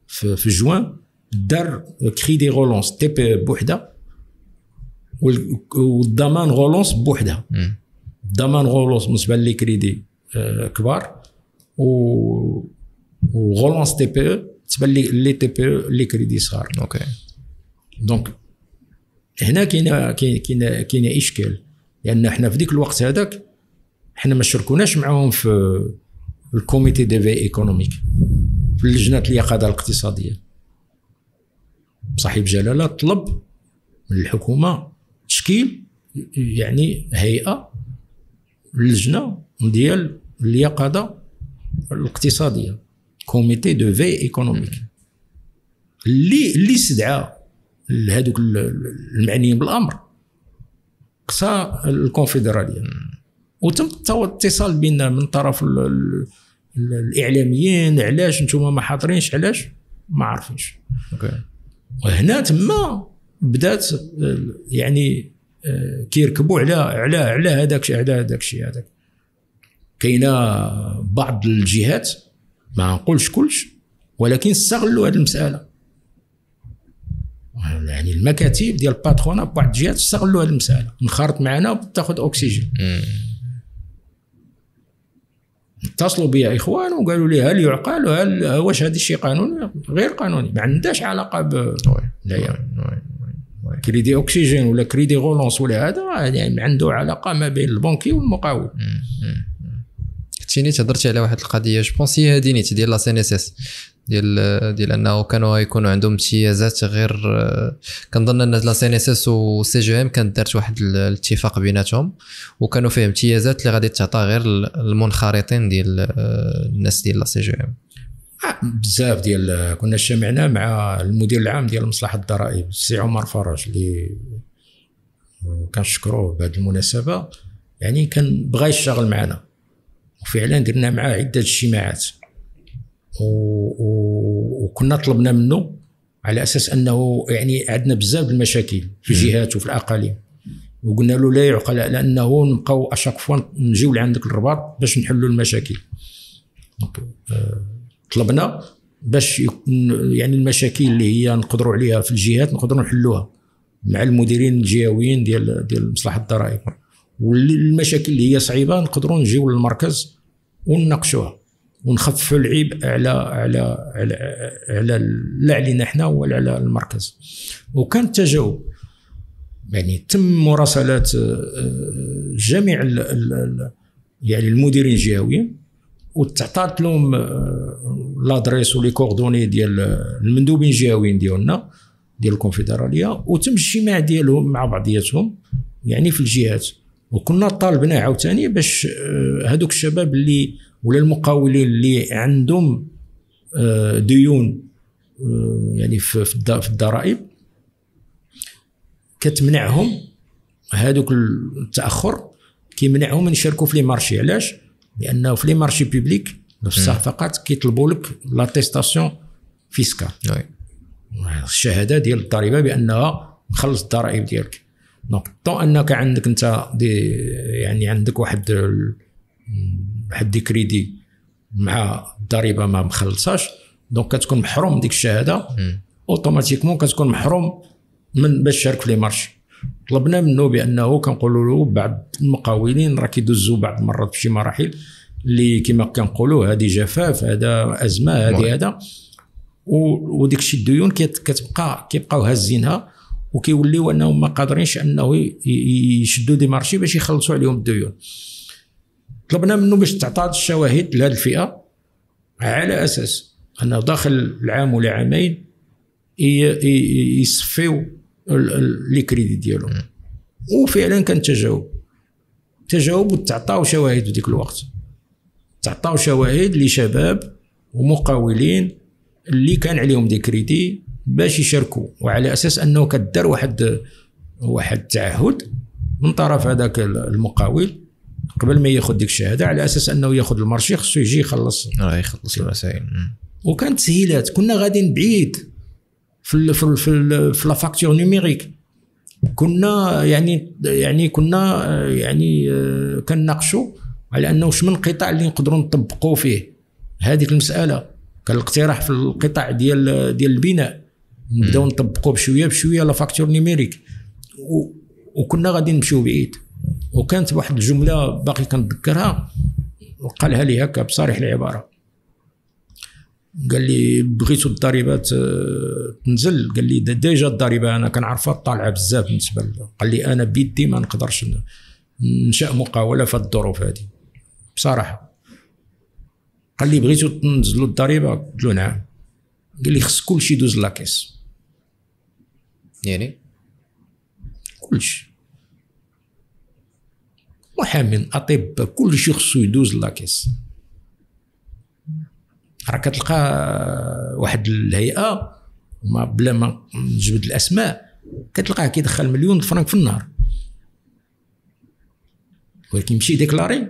B: في جوان، دار crédit relance TPE بوحده والضمان relance بوحدها. الضمان relance بالنسبة les crédits كبار، و relance TPE بالنسبة les TPE les crédits صغار.
A: OK.
B: donc هنا كاينه كاينه كاينه اشكال، لان حنا في ديك الوقت هذاك حنا ما شاركوناش معاهم في ال comité de veille économique، في اللجنة اليقظة الاقتصادية. صاحب جلاله طلب من الحكومة تشكيل يعني هيئة لجنة ديال اليقظة الاقتصادية، comité de veille économique، اللي استدعى لهذوك المعنيين بالامر قصى الكونفدراليه، وتم الاتصال بيننا من طرف الاعلاميين، علاش نتوما ما حاضرينش، علاش ما عارفينش.
A: OK.
B: وهنا تما بدات يعني كيركبوا على على على هذاك على هذاك الشيء هذاك. كاينه بعض الجهات، ما نقولش كلش، ولكن استغلوا هذه المسالة، يعني المكاتب ديال ال patronat بعض الجهات استغلوا هذه المسالة، انخرط معنا وتاخذ اكسجين. اتصلوا بي اخوان وقالوا لي هل يعقل، هل واش هذا الشيء قانوني؟ غير قانوني، ما عندهاش علاقة ب لا crédit oxygène ولا crédit relance ولا هذا، يعني عنده علاقة ما بين ال banquier والمقاول.
A: كنتي نيت هضرتي على واحد القضية، je pense هي هذه نيت ديال la CNSS، ديال انه كانوا يكونوا عندهم امتيازات غير. كنظن ان la CNSS و CGEM كانت دارت واحد الاتفاق بيناتهم، وكانوا فيه امتيازات اللي غادي تعطى غير المنخرطين ديال الناس ديال la CGEM.
B: بزاف ديال كنا اجتمعنا مع المدير العام ديال مصلحة الضرائب السي عمر فرج اللي كنشكروه بهذه المناسبة، يعني كان بغى يشتغل معنا، وفعلا درنا معاه عده اجتماعات، وكنا طلبنا منه على اساس انه يعني عندنا بزاف المشاكل في الجهات وفي الاقاليم، وقلنا له لا يعقل لانه نبقاو à chaque fois نجيو لعندك الرباط باش نحلوا المشاكل. طلبنا باش يعني المشاكل اللي هي نقدروا عليها في الجهات نقدروا نحلوها مع المديرين الجهويين ديال مصلحة الضرائب، والمشاكل اللي هي صعيبة نقدروا نجيو للمركز ونناقشوها ونخففوا العيب على على على على لا علينا حنا ولا على المركز. وكان التجاوب، يعني تم مراسلات جميع يعني المديرين الجهويين، وتعطات لهم l'adresse و les coordonnées ديال المندوبين الجهويين ديالنا ديال الكونفدراليه، وتم الاجتماع ديالهم مع بعضياتهم يعني في الجهات. وكنا طالبنا عاوتاني باش هذوك الشباب اللي ولا المقاولين اللي عندهم ديون يعني في الضرائب كتمنعهم هذوك التاخر، كيمنعهم من يشاركوا في les marchés. علاش؟ لانه في les marchés publics في الصفقات كيطلبوا لك l'attestation fiscale، الشهادة ديال الضريبة بانها مخلص الضرائب ديالك. donc tant انك عندك انت des يعني عندك واحد des crédits مع الضريبة ما مخلصاش، donc كتكون محروم من ديك الشهادة automatiquement، كتكون محروم من باش تشارك في les marchés. طلبنا منه بانه كنقولوا له بعض المقاولين راه كيدوزوا بعض المرات في شي مراحل اللي كما كنقولوا هذه جفاف، هذا ازمة، هذه هذا، وديك الشيء الديون كتبقى كيبقاو هازينها وكيوليو انهم ما قادرينش انه يشدوا des marchés باش يخلصوا عليهم الديون. طلبنا منه باش تعطى الشواهد لهذه الفئة على اساس انه داخل العام ولا عامين يصفيو les crédits ديالهم، وفعلا كان تجاوب وتعطاو شواهد في ديك الوقت، تعطاو شواهد لشباب ومقاولين اللي كان عليهم des crédits باش يشاركوا، وعلى اساس انه كدار واحد التعهد من طرف هذاك المقاول قبل ما ياخذ ديك الشهادة، على اساس انه ياخذ ال marché خصو يجي يخلص،
A: يخلص المسائل.
B: وكانت تسهيلات، كنا غاديين بعيد في في في, في la facture numérique، كنا يعني كنا يعني كنناقشوا على انه واش من قطاع اللي نقدروا نطبقوا فيه هذيك المسالة. كان الاقتراح في القطاع ديال البناء نبداو نطبقوا بشوية بشوية la facture numérique، وكنا غادي نمشيو بعيد. وكانت واحد الجملة باقي كنتذكرها وقالها لي هكا بصريح العبارة، قال لي بغيتو الضريبات تنزل، قال لي déjà الضريبة انا كنعرفها طالعه بزاف بالنسبة، قال لي انا بيدي ما نقدرش ننشا مقاوله في الظروف هذه بصراحة. قال لي بغيتو تنزلوا الضريبة؟ قلت له نعم. قال لي خص كلشي يدوز la caisse،
A: يعني
B: كلشي، محامين، اطباء، كلشي خصو يدوز la caisse. راه كتلقى واحد الهيئة وما بلا ما نجبد الاسماء، كتلقاه كيدخل 1,000,000 فرنك في النهار، ولكن يمشي déclarer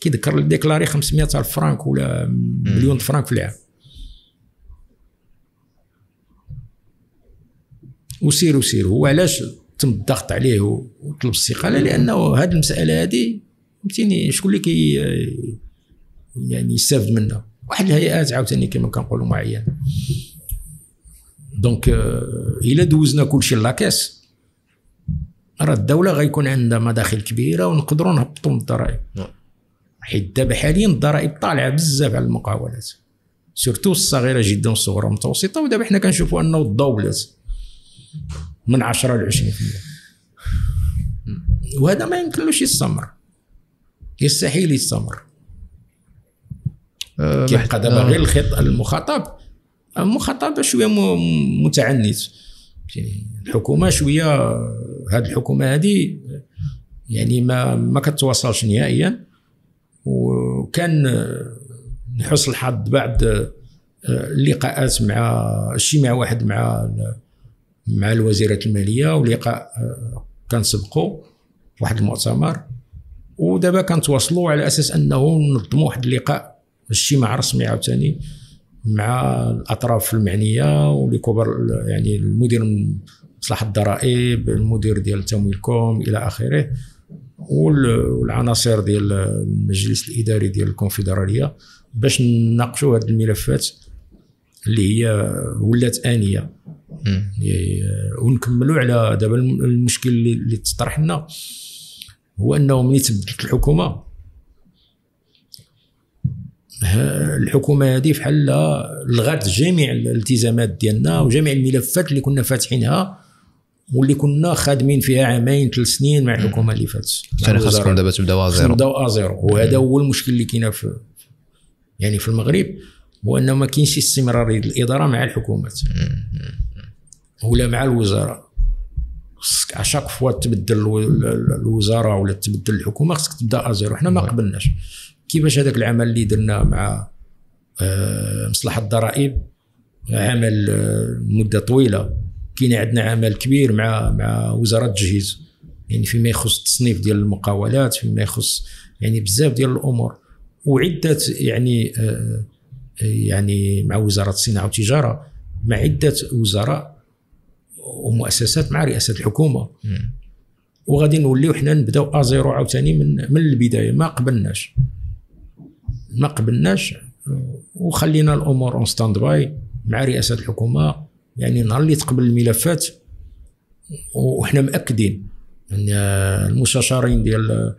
B: كيذكر déclarer 500,000 فرنك ولا 1,000,000 فرنك في العام. وسير وسير. هو علاش تم الضغط عليه وطلب الاستقالة؟ لانه هذه المسالة هذه فهمتيني شكون اللي كي يعني يستافد منها؟ واحد الهيئات عاوتاني كما كنقولوا معينة. donc الا دوزنا كلشي la caisse راه الدولة غيكون عندها مداخل كبيرة ونقدروا نهبطوا من الضرائب، حيت دابا حاليا الضرائب طالعه بزاف على المقاولات، surtout الصغيرة جدا والصغرى والمتوسطة. ودابا حنا كنشوفوا انه الضوبلات من 10 ل 20%، وهذا ما يمكنلوش يستمر، يستحيل يستمر. كيبقى دابا غير الخط المخاطب شوية متعنت، الحكومة شوية، هذه الحكومة هذه يعني ما كتواصلش نهائيا. وكان لحسن الحظ بعد اللقاءات مع اجتماع واحد مع الوزيرة المالية، ولقاء كان سبقوا واحد المؤتمر، ودابا كنتواصلوا على اساس انه ننظموا واحد اللقاء اجتماع رسمي عاوتاني مع الاطراف المعنية ولكبار، يعني المدير مصلحة الضرائب، المدير ديال تمويلكم الى اخره، والعناصر ديال المجلس الاداري ديال الكونفدراليه، باش نناقشوا هذه الملفات اللي هي ولات انية، ونكملوا على دابا المشكل اللي تطرح لنا هو انه ملي تبدلت الحكومة، الحكومة هذه فحال لغات جميع الالتزامات ديالنا وجميع الملفات اللي كنا فاتحينها واللي كنا خادمين فيها عامين 3 سنين مع الحكومة اللي فاتت.
A: يعني خاصكم دابا تبداو à zéro،
B: نبداو à zéro. وهذا هو المشكل اللي كاين في يعني في المغرب، هو انه ما كاينش استمرارية الادارة مع الحكومات ولا مع الوزراء. خصك à chaque fois تبدل الوزارة ولا تبدل الحكومة خصك تبدا à zéro. حنا ما قبلناش. كيفاش هذاك العمل اللي درنا مع مصلحة الضرائب، عمل مده طويلة، كاين عندنا عمل كبير مع وزارة التجهيز، يعني فيما يخص التصنيف ديال المقاولات، فيما يخص يعني بزاف ديال الامور، وعده يعني يعني مع وزارة الصناعة والتجارة، مع عده وزراء ومؤسسات، مع رئاسة الحكومة. وغادي نوليو حنا نبداو à zéro عاوتاني من البداية. ما قبلناش وخلينا الامور en stand-by مع رئاسة الحكومة. يعني نهار اللي تقبل الملفات، وحنا مأكدين ان المستشارين ديال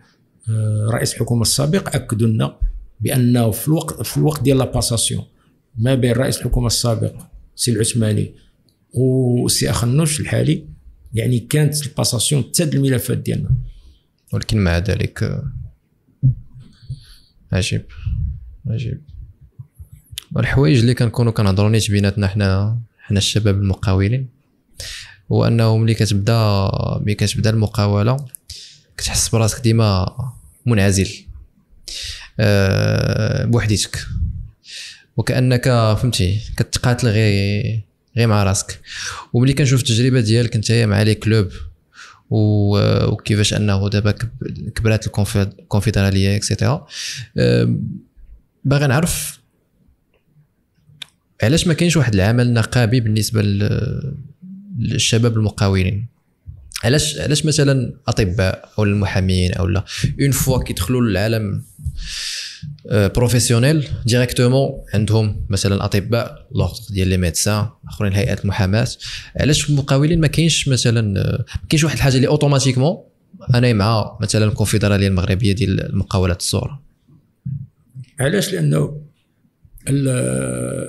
B: رئيس الحكومة السابق اكدوا لنا بانه في الوقت ديال la passation ما بين رئيس الحكومة السابق سي العثماني وسي اخنوش الحالي، يعني كانت ال passation تاد الملفات ديالنا.
A: ولكن مع ذلك عجيب عجيب والحوايج اللي كنكونوا كنهضروا نيت بيناتنا حنا الشباب المقاولين، هو انه ملي كتبدا المقاوله كتحس براسك ديما منعزل بوحديتك، وكانك فهمتي كتقاتل غير مع راسك. وملي كنشوف التجربة ديالك انت مع les clubs وكيفاش انه دابا كبرات الكونفدراليه et cetera، باغي نعرف علاش ما كاينش واحد العمل نقابي بالنسبة للشباب المقاولين. علاش مثلا اطباء او المحامين او لا une fois كيدخلوا للعالم professionnel directement عندهم مثلا اطباء l'ordre ديال les médecins، اخرين هيئات المحاماة، علاش في المقاولين ما كاينش مثلا ما كاينش واحد الحاجة اللي automatiquement انا مع مثلا الكونفدراليه المغربية ديال المقاولات الصغرى؟
B: علاش؟ لانه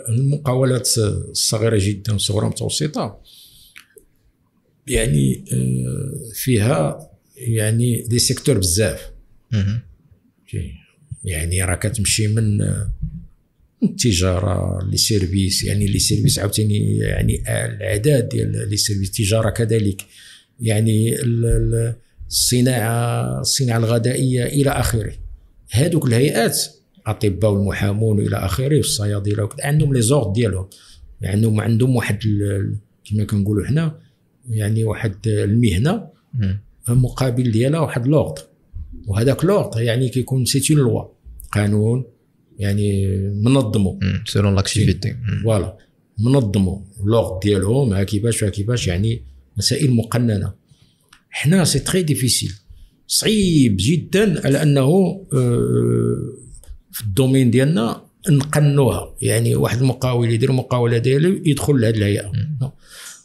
B: المقاولات الصغيرة جدا والصغرى المتوسطة يعني فيها يعني des secteurs بزاف. يعني راه كتمشي من التجارة les services، يعني les services عاوتاني يعني العدد ديال les services، التجارة كذلك، يعني الصناعة الغذائية الى اخره. هادوك الهيئات الاطباء والمحامون الى اخره والصيادله عندهم les ordres ديالهم، يعني عندهم واحد كما كنقولوا حنا يعني واحد المهنة مقابل ديالها واحد l'ordre، وهذاك l'ordre يعني كيكون c'est une loi، قانون يعني منظمو
A: selon l'activité،
B: voilà منظمو l'ordre ديالهم ها كيفاش ها كيفاش، يعني مسائل مقننه. حنا c'est très difficile، صعيب جدا على انه في ال domaine ديالنا نقنوها. يعني واحد المقاول يدير مقاوله ديالو يدخل لهاد الهيئة.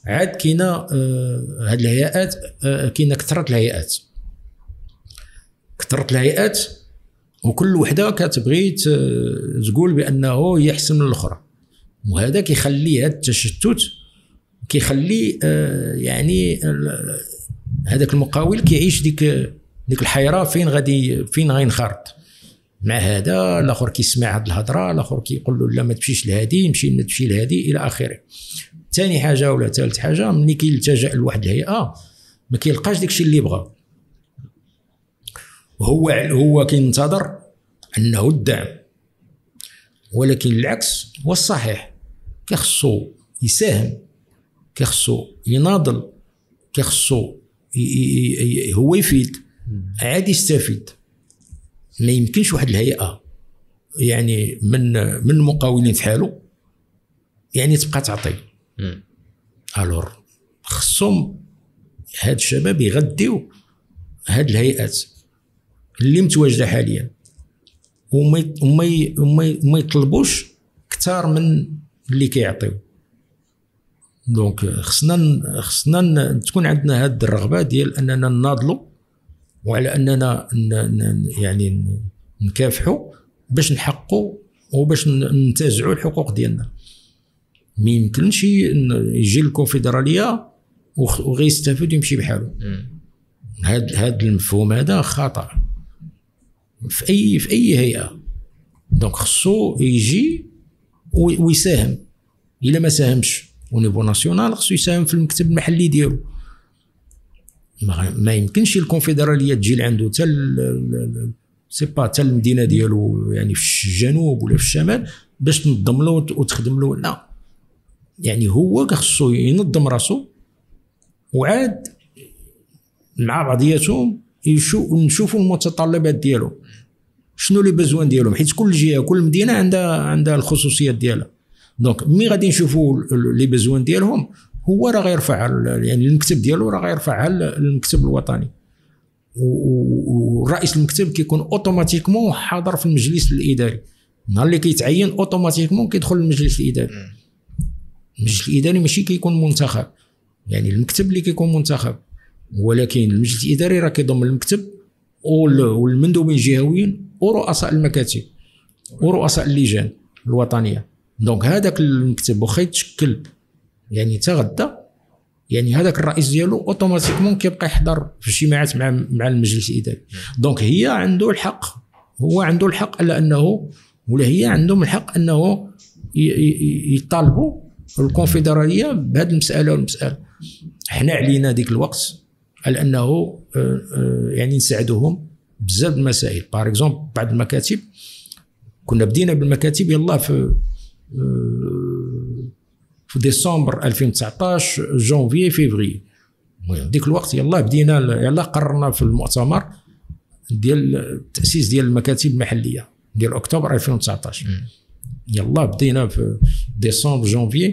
B: عاد كاينه هاد الهيئات، كاينه كثرة الهيئات، كثرة الهيئات، وكل وحده كتبغي تقول بانه هي احسن من الاخرى، وهذا كيخلي هذا التشتت، كيخلي يعني هذاك المقاول كيعيش ديك الحيرة، فين غادي فين غينخرط مع هذا، الاخر كيسمع هذه الهضرة، الاخر كيقول له لا ما تمشيش لهادي، مشي ما تمشي لهادي الى اخره. ثاني حاجة ولا ثالث حاجة، ملي كيلتجأ لواحد الهيئة ما كيلقاش داكشي اللي بغى، هو كينتظر انه الدعم، ولكن العكس هو الصحيح. كيخصو يساهم، كيخصو يناضل، كيخصو هو يفيد، عاد يستفيد. ما يمكنش واحد الهيئة يعني من المقاولين في حاله يعني تبقى تعطي. alors خصهم هاد الشباب يغديو هاد الهيئات اللي متواجدة حاليا، وما يطلبوش كثار من اللي كيعطيو. donc خصنا تكون عندنا هاد الرغبة ديال اننا نناضلوا، وعلى اننا يعني نكافحوا باش نحققوا وباش ننتزعوا الحقوق ديالنا. ما يمكنش يجي الكونفدراليه وغيستافد ويمشي بحاله. هذا المفهوم هذا خطا في اي هيئة. donc خصو يجي ويساهم. الا ما ساهمش au niveau national خصو يساهم في المكتب المحلي ديالو. ما يمكنش الكونفدراليه تجي لعندو حتى c'est pas حتى المدينة ديالو، يعني في الجنوب ولا في الشمال، باش تنظم له وتخدم له. لا، يعني هو خصو ينظم راسو، وعاد مع بعضياتهم نشوفوا المتطلبات ديالو، شنو les besoins ديالهم، حيت كل جهة كل مدينة عندها الخصوصيات ديالها. donc ملي غادي نشوفوا les besoins ديالهم، هو راه غيرفع يعني المكتب ديالو راه غيرفعها للمكتب الوطني، ورئيس المكتب كيكون automatiquement حاضر في المجلس الاداري. النهار اللي كيتعين automatiquement كيدخل للمجلس الاداري. المجلس الاداري ماشي كيكون منتخب، يعني المكتب اللي كيكون منتخب، ولكن المجلس الاداري راه كيضم المكتب والمندوبين الجهويين ورؤساء المكاتب ورؤساء اللجان الوطنية. donc هذاك المكتب واخا يتشكل يعني حتى غدا، يعني هذاك الرئيس ديالو automatiquement كيبقى يحضر في الاجتماعات مع المجلس الاداري. donc هي عنده الحق، هو عنده الحق على انه، ولا هي عندهم الحق انه يطالبوا الكونفدراليه بهذه المسالة والمسالة. حنا علينا ديك الوقت على انه يعني نساعدوهم بزاف المسائل. par exemple بعض المكاتب كنا بدينا بالمكاتب يلا في ديسمبر 2019 janvier février، المهم ديك الوقت يلا بدينا، يلا قررنا في المؤتمر ديال التاسيس ديال المكاتب المحلية ديال اكتوبر 2019. يلا بدينا في décembre janvier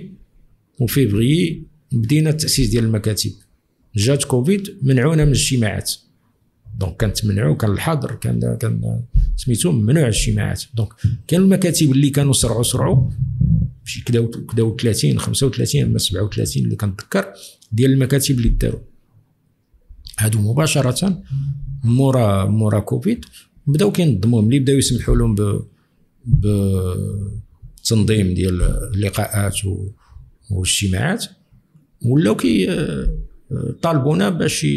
B: و février بدينا التاسيس ديال المكاتب. جات كوفيد منعونا من الاجتماعات، donc كانت منعو، كان الحظر، كان سميتو ممنوع الاجتماعات. donc كان المكاتب اللي كانوا سرعوا شي كداو 30 35 اما 37 اللي كنتذكر ديال المكاتب اللي داروا هادو مباشرة مورا كوفيد بداو كينظموا. ملي بداو يسمحوا لهم بتنظيم ديال اللقاءات والاجتماعات، ولاو كي طالبونا باش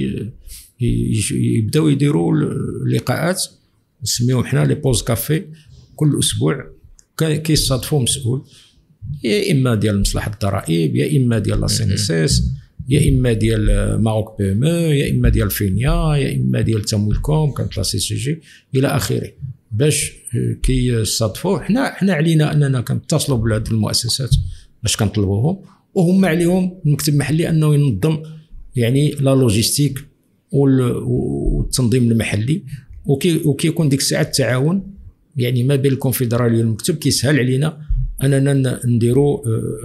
B: يبداو يديروا لقاءات نسميهم حنا les pauses café، كل اسبوع كيصادفوا مسؤول، يا اما ديال مصلحة الضرائب، يا اما ديال la CNSS، يا اما ديال Maroc PME، يا اما ديال فينيا، يا اما ديال تمويلكم كانت la CCG الى اخره، باش كيصادفوا. حنا علينا اننا كنتصلوا بهذه المؤسسات باش كنطلبوهم، وهم عليهم المكتب المحلي انه ينظم يعني la logistique والتنظيم المحلي، وكيكون ديك الساعة التعاون يعني ما بين الكونفدراليه والمكتب كيسهل علينا اننا نديروا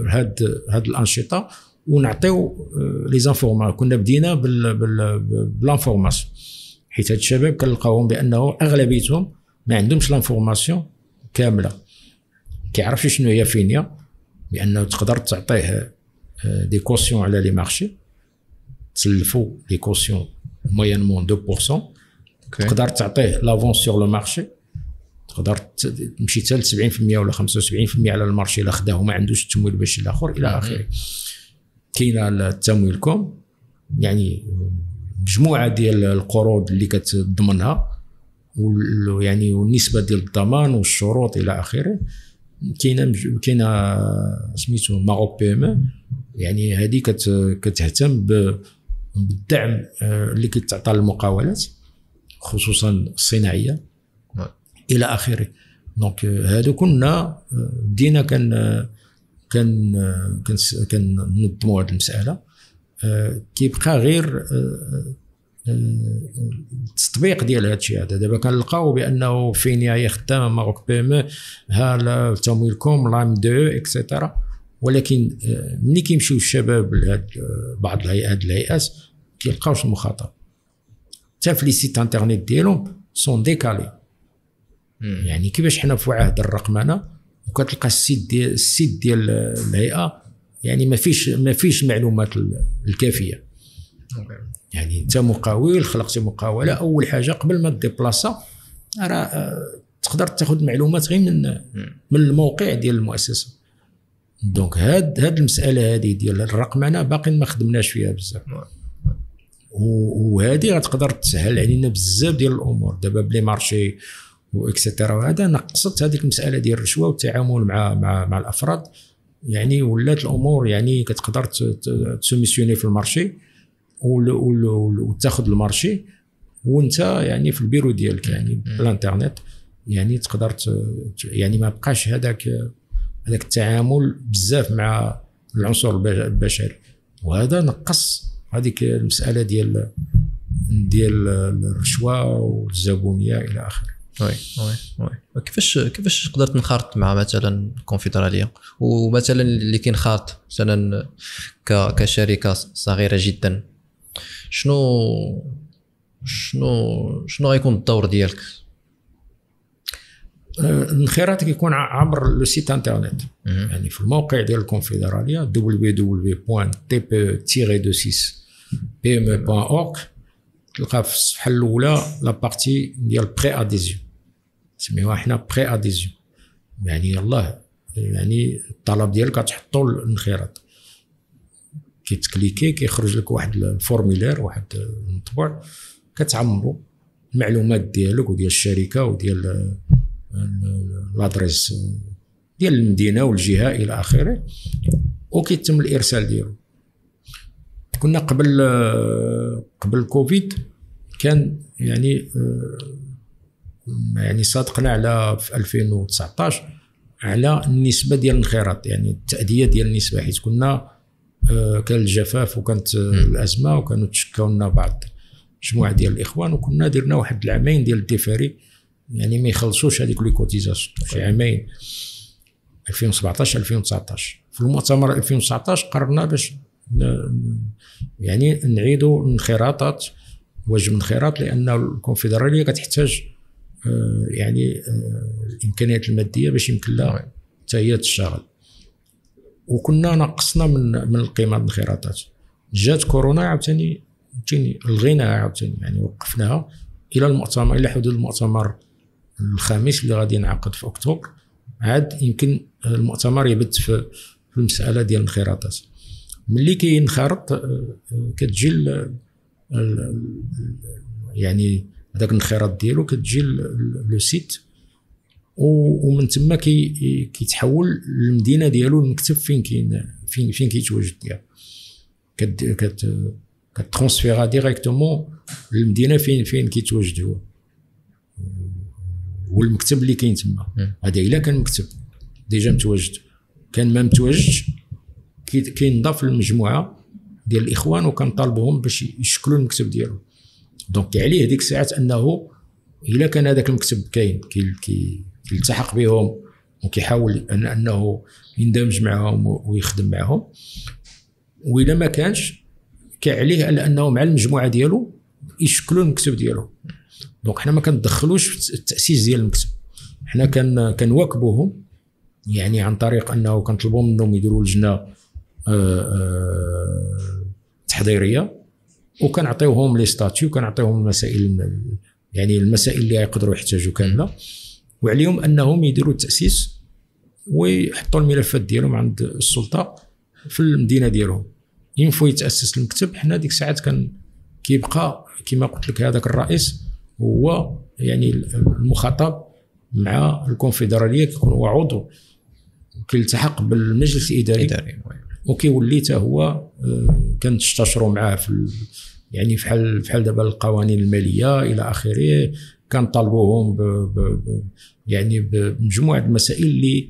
B: هاد الانشطة ونعطيو les informations. كنا بدينا ب l'information، حيت هاد الشباب كنلقاوهم بانه اغلبيتهم ما عندهمش l'information كاملة، كيعرفش شنو هي فينيا، بانه تقدر تعطيه des cautions على les marchés، تسلفوا les cautions moyennement 2%، تقدر تعطيه l'avance sur le marché، تقدر تمشي حتى ل 70% ولا 75% على ال marché الا خداه وما عندوش التمويل باش الاخر الى اخره. كاينه التمويلكم يعني مجموعة ديال القروض اللي كتضمنها، يعني والنسبه ديال الضمان والشروط الى اخره. كاينه سميتو Maroc PME، يعني هذه كتهتم بالدعم اللي كيتعطى للمقاولات خصوصا الصناعية الى اخره. donc هادو كنا بدينا كان كننظموا هذه المسالة. كيبقى غير التطبيق ديال هذا الشيء هذا. دابا كنلقاو بانه فينيا هي خدامه، Maroc PME، ها تمويلكم، l'AMDE et cetera، ولكن ملي كيمشيو الشباب لهاد بعض الهيئات كيلقاوش المخاطب، حتى في les sites internet ديالهم sont décalés. يعني كيفاش حنا في عهد الرقمنه وكتلقى ال site ديال الهيئة يعني ما فيش المعلومات الكافيه. يعني انت مقاول، خلقتي مقاوله، اول حاجة قبل ما déplacer راه تقدر تاخذ معلومات غير من الموقع ديال المؤسسة. donc هاد المسالة هذه ديال الرقمنه باقي ما خدمناش فيها بزاف، وهذه غتقدر تسهل علينا بزاف ديال الامور. دابا ب les marchés و et cetera، وهذا نقصت هذيك المسالة ديال الرشوة والتعامل مع مع مع الافراد، يعني ولات الامور يعني كتقدر ت soumissionner في ال marché وتاخذ ال marché وانت يعني في البيرو ديالك، يعني بالانترنت، يعني تقدر يعني ما بقاش هذاك التعامل بزاف مع العنصر البشري، وهذا نقص هذيك المسالة ديال الرشوة والزبونيه الى اخره.
A: oui oui oui. كيفاش تقدر تنخرط مع مثلا الكونفدراليه، ومثلا اللي كينخرط مثلا كشركة صغيرة جدا، شنو شنو شنو غيكون الدور ديالك؟
B: الانخراط كيكون عبر le site internet، يعني في الموقع ديال الكونفدراليه www.tpe-26pme.org، تلقى في الصفحة الاولى la partie ديال préadhésion، نسميوها حنا préadhésion، يعني يلاه يعني الطلب ديالك كتحطو الانخراط، كيتكليكي كيخرج لك واحد ال formulaire، واحد المطبوع، كتعمرو المعلومات ديالك وديال الشركة وديال l'adresse ديال المدينة والجهة الى اخره، وكيتم الارسال ديالو. كنا قبل كوفيد كان يعني صادقنا على في 2019 على النسبة ديال الانخراط، يعني التاديه ديال النسبه، حيت كنا كان الجفاف وكانت الازمة وكانوا تشكاو لنا بعض مجموعة ديال الاخوان، وكنا درنا واحد العامين ديال ال différé، يعني ما يخلصوش هذيك les cotisations في عامين 2017 2019. في المؤتمر 2019 قررنا باش يعني نعيدوا الانخراطات، واجب الانخراط، لان الكونفدراليه كتحتاج يعني الامكانيات المادية باش يمكن لها حتى هي تشتغل، وكنا نقصنا من القيمة الانخراطات. جات كورونا عاوتاني لغيناها عاوتاني، يعني وقفناها الى المؤتمر، الى حدود المؤتمر الخامس اللي غادي ينعقد في اكتوبر، عاد يمكن المؤتمر يبت في المسالة ديال الانخراطات. ملي كينخرط كتجي يعني هذاك الانخراط ديالو كتجي le site، ومن تما كيتحول للمدينة ديالو، المكتب فين كاين، فين كيتواجد ديالو، كت كترونسفيرا directement للمدينة فين كيتواجد هو والمكتب اللي كاين تما. هذا الا كان مكتب déjà متواجد، كان ما متواجدش كينضاف للمجموعة ديال الاخوان وكنطالبوهم باش يشكلوا المكتب ديالو. donc عليه ديك الساعات انه الا كان هذاك المكتب كاين كيلتحق بهم وكيحاول انه يندمج معهم ويخدم معهم، والا ما كانش كعليه على انه مع المجموعة ديالو يشكلوا المكتب ديالو. donc حنا ما كندخلوش في التاسيس ديال المكتب، حنا كنواكبوهم يعني عن طريق انه كنطلبوا منهم يديروا لجنة تحضيرية، وكنعطيوهم les statuts، وكنعطيوهم المسائل، يعني المسائل اللي يقدروا يحتاجوا كاملة، وعليهم انهم يديروا التاسيس ويحطوا الملفات ديالهم عند السلطة في المدينة ديالهم. une fois يتاسس المكتب، حنا ديك الساعات كان كيبقى كما قلت لك هذاك الرئيس هو يعني المخاطب مع الكونفدراليه، كيكون هو عضو كيلتحق بالمجلس الاداري وكيولي حتى هو كنستشروا معاه في يعني فحال دابا القوانين المالية الى اخره، كنطالبوهم يعني بمجموعه المسائل اللي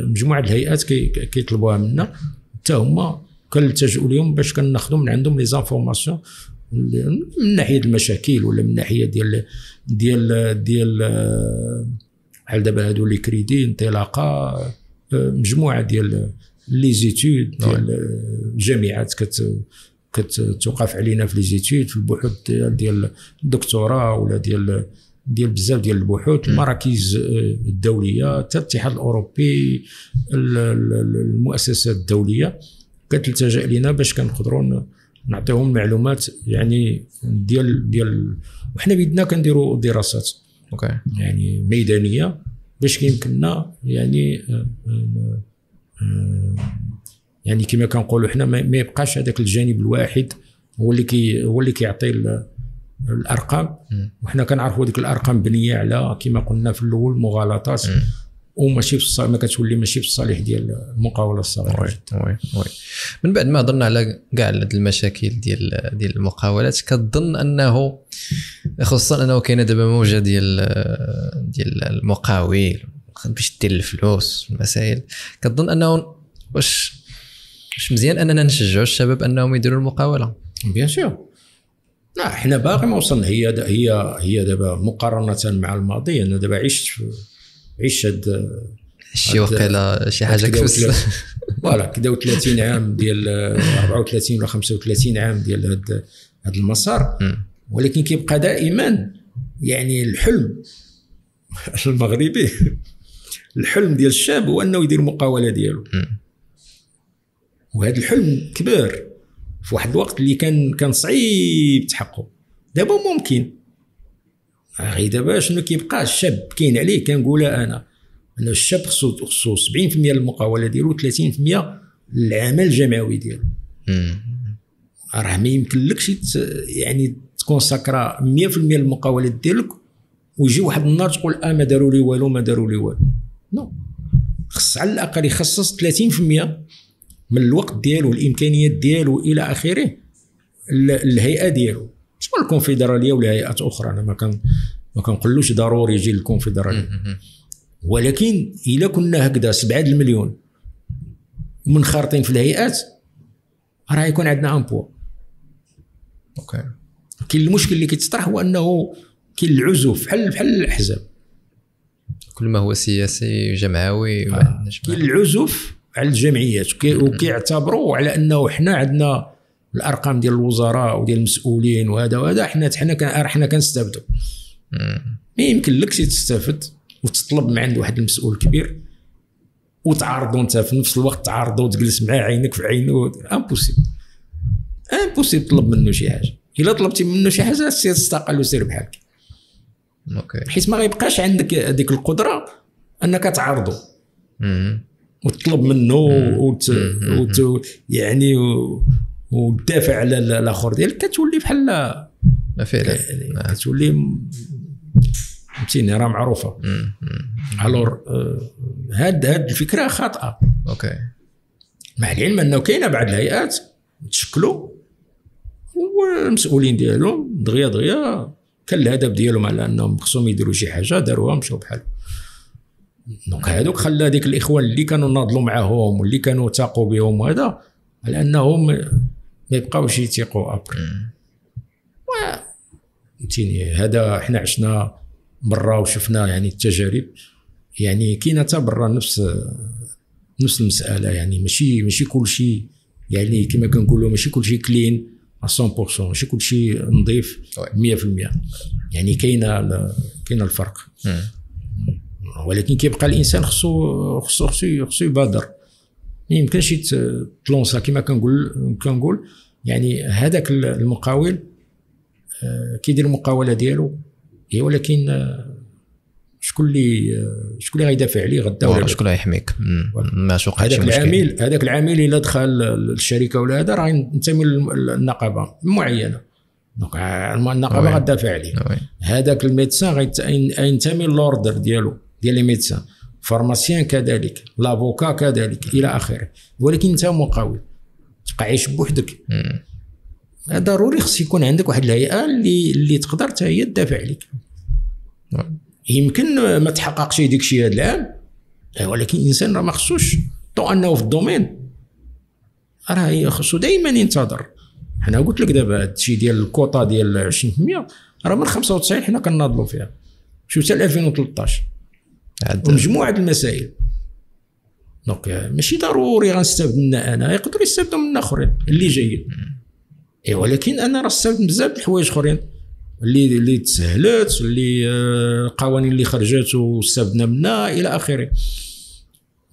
B: مجموعة الهيئات كيطلبوها منا، حتى هما كنلتجؤوا لهم باش كناخذوا من عندهم les informations من ناحية المشاكل ولا من ناحية ديال ديال ديال بحال دابا هادو les crédits، انطلاقة، مجموعة ديال les études ديال الجامعات كتوقف علينا في les études، في البحوث ديال الدكتوراه ولا ديال بزاف ديال البحوث، المراكز الدولية، حتى الاتحاد الاوروبي، المؤسسات الدولية كتلتجأ لينا باش كنقدروا نعطيهم معلومات يعني ديال وحنا بيدنا كنديروا دراسات
A: okay
B: يعني ميدانية باش كيمكننا يعني يعني كما كنقولوا حنا ما يبقاش هذاك الجانب الواحد هو اللي كيعطي الارقام، وحنا كنعرفوا ديك الارقام بنيه على كما قلنا في الاول مغالطات وماشي في ما كتولي ماشي في الصالح ديال المقاوله الصغيرة.
A: oui oui من بعد ما هضرنا على كاع المشاكل ديال المقاولات، كتظن انه خصوصا انه كاينه دابا موجه ديال المقاول باش دير الفلوس المسائل، كتظن انه واش مزيان اننا نشجعوا الشباب انهم يديروا المقاوله؟
B: bien sûr، لا حنا باقي ما وصلنا. هي دابا مقارنة مع الماضي، انا دابا عشت هاد
A: شي وقيله شي حاجة كفس
B: voilà كدا 30 عام ديال 34 ولا 35 عام ديال هاد المسار، ولكن كيبقى دائما يعني الحلم المغربي الحلم ديال الشاب هو انه يدير المقاوله ديالو. وهذا الحلم كبر في واحد الوقت اللي كان صعيب تحققه. دابا ممكن، غير دابا شنو كيبقى الشاب كاين عليه، كنقولها انا ان الشاب خصو 70% المقاوله ديالو، 30% العمل الجمعوي ديالو. راه ما يمكنلكش يعني تكونساكرا 100% المقاولات ديالك ويجي واحد النهار تقول ما داروا لي والو ما داروا لي والو. non، خص على الاقل يخصص 30% من الوقت ديالو، الامكانيات ديالو الى اخره، الهيئة ديالو، سواء الكونفدراليه ولا هيئات اخرى. انا ما كنقولوش ضروري يجي الكونفدراليه، ولكن الا كنا هكذا 7 المليون منخرطين في الهيئات راه يكون عندنا un poids.
A: okay.
B: كاين المشكل اللي كيتطرح هو انه كاين العزوف بحال الاحزاب،
A: كل ما هو سياسي جمعوي
B: كاين العزوف على الجمعيات، وكيعتبروا على انه حنا عندنا الارقام ديال الوزراء وديال المسؤولين وهذا وهذا، حنا كنستافدوا. ما يمكن لكش تستافد وتطلب من عند واحد المسؤول كبير وتعارضوا انت في نفس الوقت، تعارضوا وتجلس معاه عينك في عينه، impossible impossible تطلب منه شي حاجة. الا طلبتي منه شي حاجة سير تستقل وسير بحالك.
A: okay.
B: حيت ما غيبقاش عندك هذيك القدرة انك تعارضه وتطلب منه يعني وتدافع على الاخر ديالك، كتولي بحال
A: فعلا
B: كتولي فهمتيني، راه معروفة. alors هاد الفكرة خاطئه.
A: okay.
B: مع العلم انه كاينه بعض الهيئات تشكلوا والمسؤولين ديالهم دغيا دغيا كان الهدف ديالهم على انهم خصهم يديروا شي حاجة، داروها مشاو بحال. donc هادوك خلى ديك الاخوان اللي كانوا ناضلوا معاهم واللي كانوا تاقوا بهم وهذا على انهم ما يبقاوش يثيقوا après. فهمتيني، هذا حنا عشنا برا وشفنا يعني التجارب، يعني كاينه حتى برا نفس المسالة، يعني ماشي كل شيء، يعني كما كنقولوا ماشي كل شيء clean 100%، ماشي كل شيء نظيف 100%، يعني كاينه الفرق. ولكن كيبقى الانسان خصو خصو خصو يبادر، ما يمكنش تلونسا كما كنقول يعني هذاك المقاول كيدير المقاوله ديالو، ولكن شكون اللي غيدافع عليه غدا ولا
A: شكون اللي غيحميك؟ ما شوقعش شي مشكل.
B: هذاك العامل الا دخل الشركة ولا هذا راه ينتمي للنقابه معينة، donc النقابة غتدافع عليه. هذاك ال médecin غينتمي l'ordre ديالو ديال les médecins، pharmacien كذلك، l'avocat كذلك الى اخره. ولكن انت مقاول تبقى عايش بوحدك، ضروري خص يكون عندك واحد الهيئة اللي تقدر حتى هي تدافع عليك. يمكن ما تحققش ديك الشيء هذا العام، ولكن الانسان راه ما خصوش tant انه في ال domaine راه خصو دائما ينتظر. حنا قلت لك دابا هذا الشيء ديال الكوطا ديال 20% راه من 95 حنا كنناضلوا فيها، شوف حتى 2013 ومجموعة المسائل. donc ماشي ضروري غنستافد منا انا، يقدروا يستافدوا من اخرين اللي جايين، ولكن انا راه استافدت بزاف د الحوايج اخرين اللي تسهلت، اللي القوانين اللي خرجت واستفدنا منها الى اخره.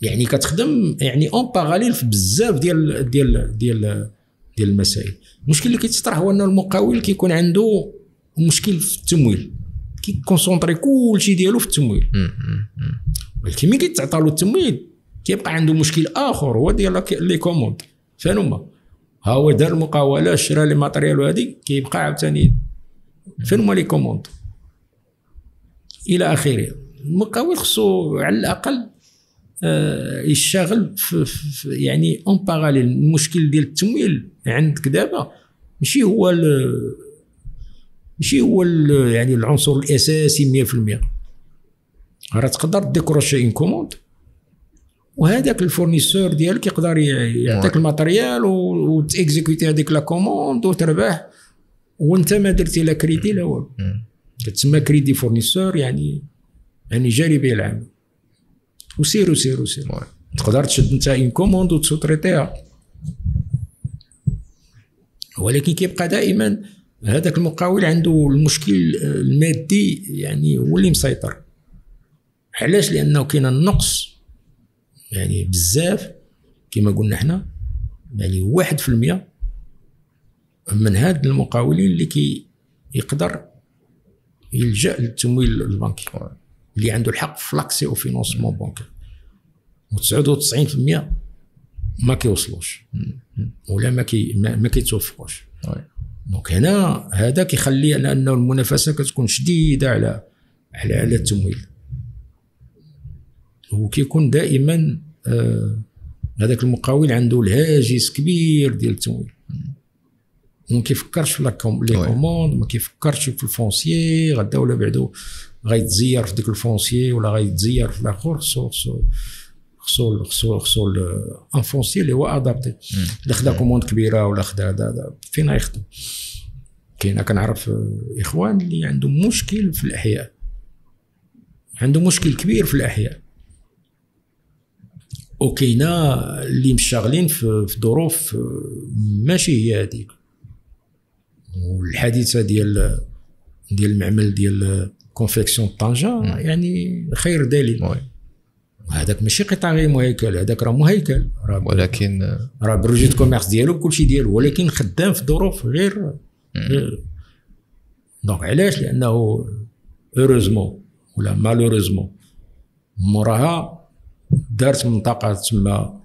B: يعني كتخدم يعني en parallèle في بزاف ديال ديال ديال ديال المسائل. المشكل اللي كيتطرح هو ان المقاول كيكون عنده مشكل في التمويل، كي concentrer كلشي ديالو في التمويل، ولكن ملي كيتعطى له التمويل كيبقى عنده مشكل اخر هو ديال les commandes. فين ها هو دار المقاوله، شرا les matériels وهذه، كيبقى عاوتاني فين هما les commandes الى اخره. المقاول خصو على الاقل يشتغل في يعني en parallèle. المشكل ديال التمويل عندك دابا ماشي هو يعني العنصر الاساسي 100%. راه تقدر décrocher une commande وهذاك ال fournisseur ديالك يقدر يعطيك ال matériel وت exécuter هذيك la commande وتربح، وانت ما درتي لا كريدي لا والو. كتسمى crédit fournisseur، يعني جاري به العمل وسير وسير وسير. تقدر تشد انت une commande وت sous-traiter ها، ولكن كيبقى دائما هذاك المقاول عنده المشكل المادي، يعني هو اللي مسيطر. علاش؟ لانه كاين النقص يعني بزاف كما قلنا حنا، يعني 1% من هاد المقاولين اللي كي يقدر يلجا للتمويل البنكي، اللي عنده الحق في l'accès au financement bancaire، و99% ما كيوصلوش ولا ما كيتوفقوش. donc هنا هذا كيخلي على انه المنافسة كتكون شديدة على على على التمويل، وكيكون دائما هذاك المقاول عنده الهاجس كبير ديال التمويل، وما كيفكرش في les commandes، ما كيفكرش في ال foncier، غدا ولا بعدو غيتزير في ديك ال foncier ولا غيتزير في الاخر. خصو خصو خصو خصو خصو un foncier اللي هو adapté. اللي خدا commande كبيرة ولا خدا هذا فين غيخدم؟ كاين كنعرف اخوان اللي عندهم مشكل في الاحياء، عنده مشكل كبير في الاحياء، وكاينه اللي مشغلين في ظروف ماشي هي هذيك. والحادثه ديال المعمل ديال confection طنجه يعني خير دليل. هذاك ماشي قطاع غير مهيكل، هذاك راه مهيكل، راه
A: ولكن
B: راه ب registre de commerce ديالو بكلشي ديالو، ولكن خدام في ظروف غير. donc علاش؟ لانه heureusement ولا malheureusement موراها دارت منطقة تما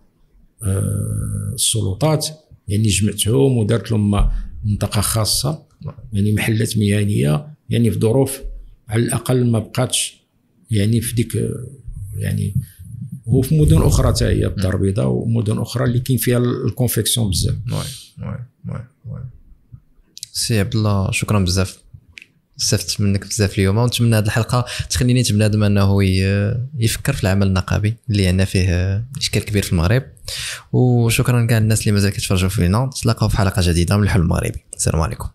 B: السلطات، يعني جمعتهم ودارت لهم منطقة خاصة، يعني محلات مهنية، يعني في ظروف على الاقل ما بقاتش يعني في ديك، يعني وفي مدن اخرى حتى هي الدار البيضاء ومدن اخرى اللي كاين فيها ال confection بزاف.
A: oui oui oui سي عبد الله، شكرا بزاف، استفدت منك بزاف اليوم، ونتمنى هذه الحلقة تخليني بنادم انه يفكر في العمل النقابي اللي عندنا فيه اشكال كبير في المغرب. وشكرا كاع الناس اللي مازال كيتفرجوا فينا، نتلاقاو في حلقة جديدة من الحلم المغربي. السلام عليكم.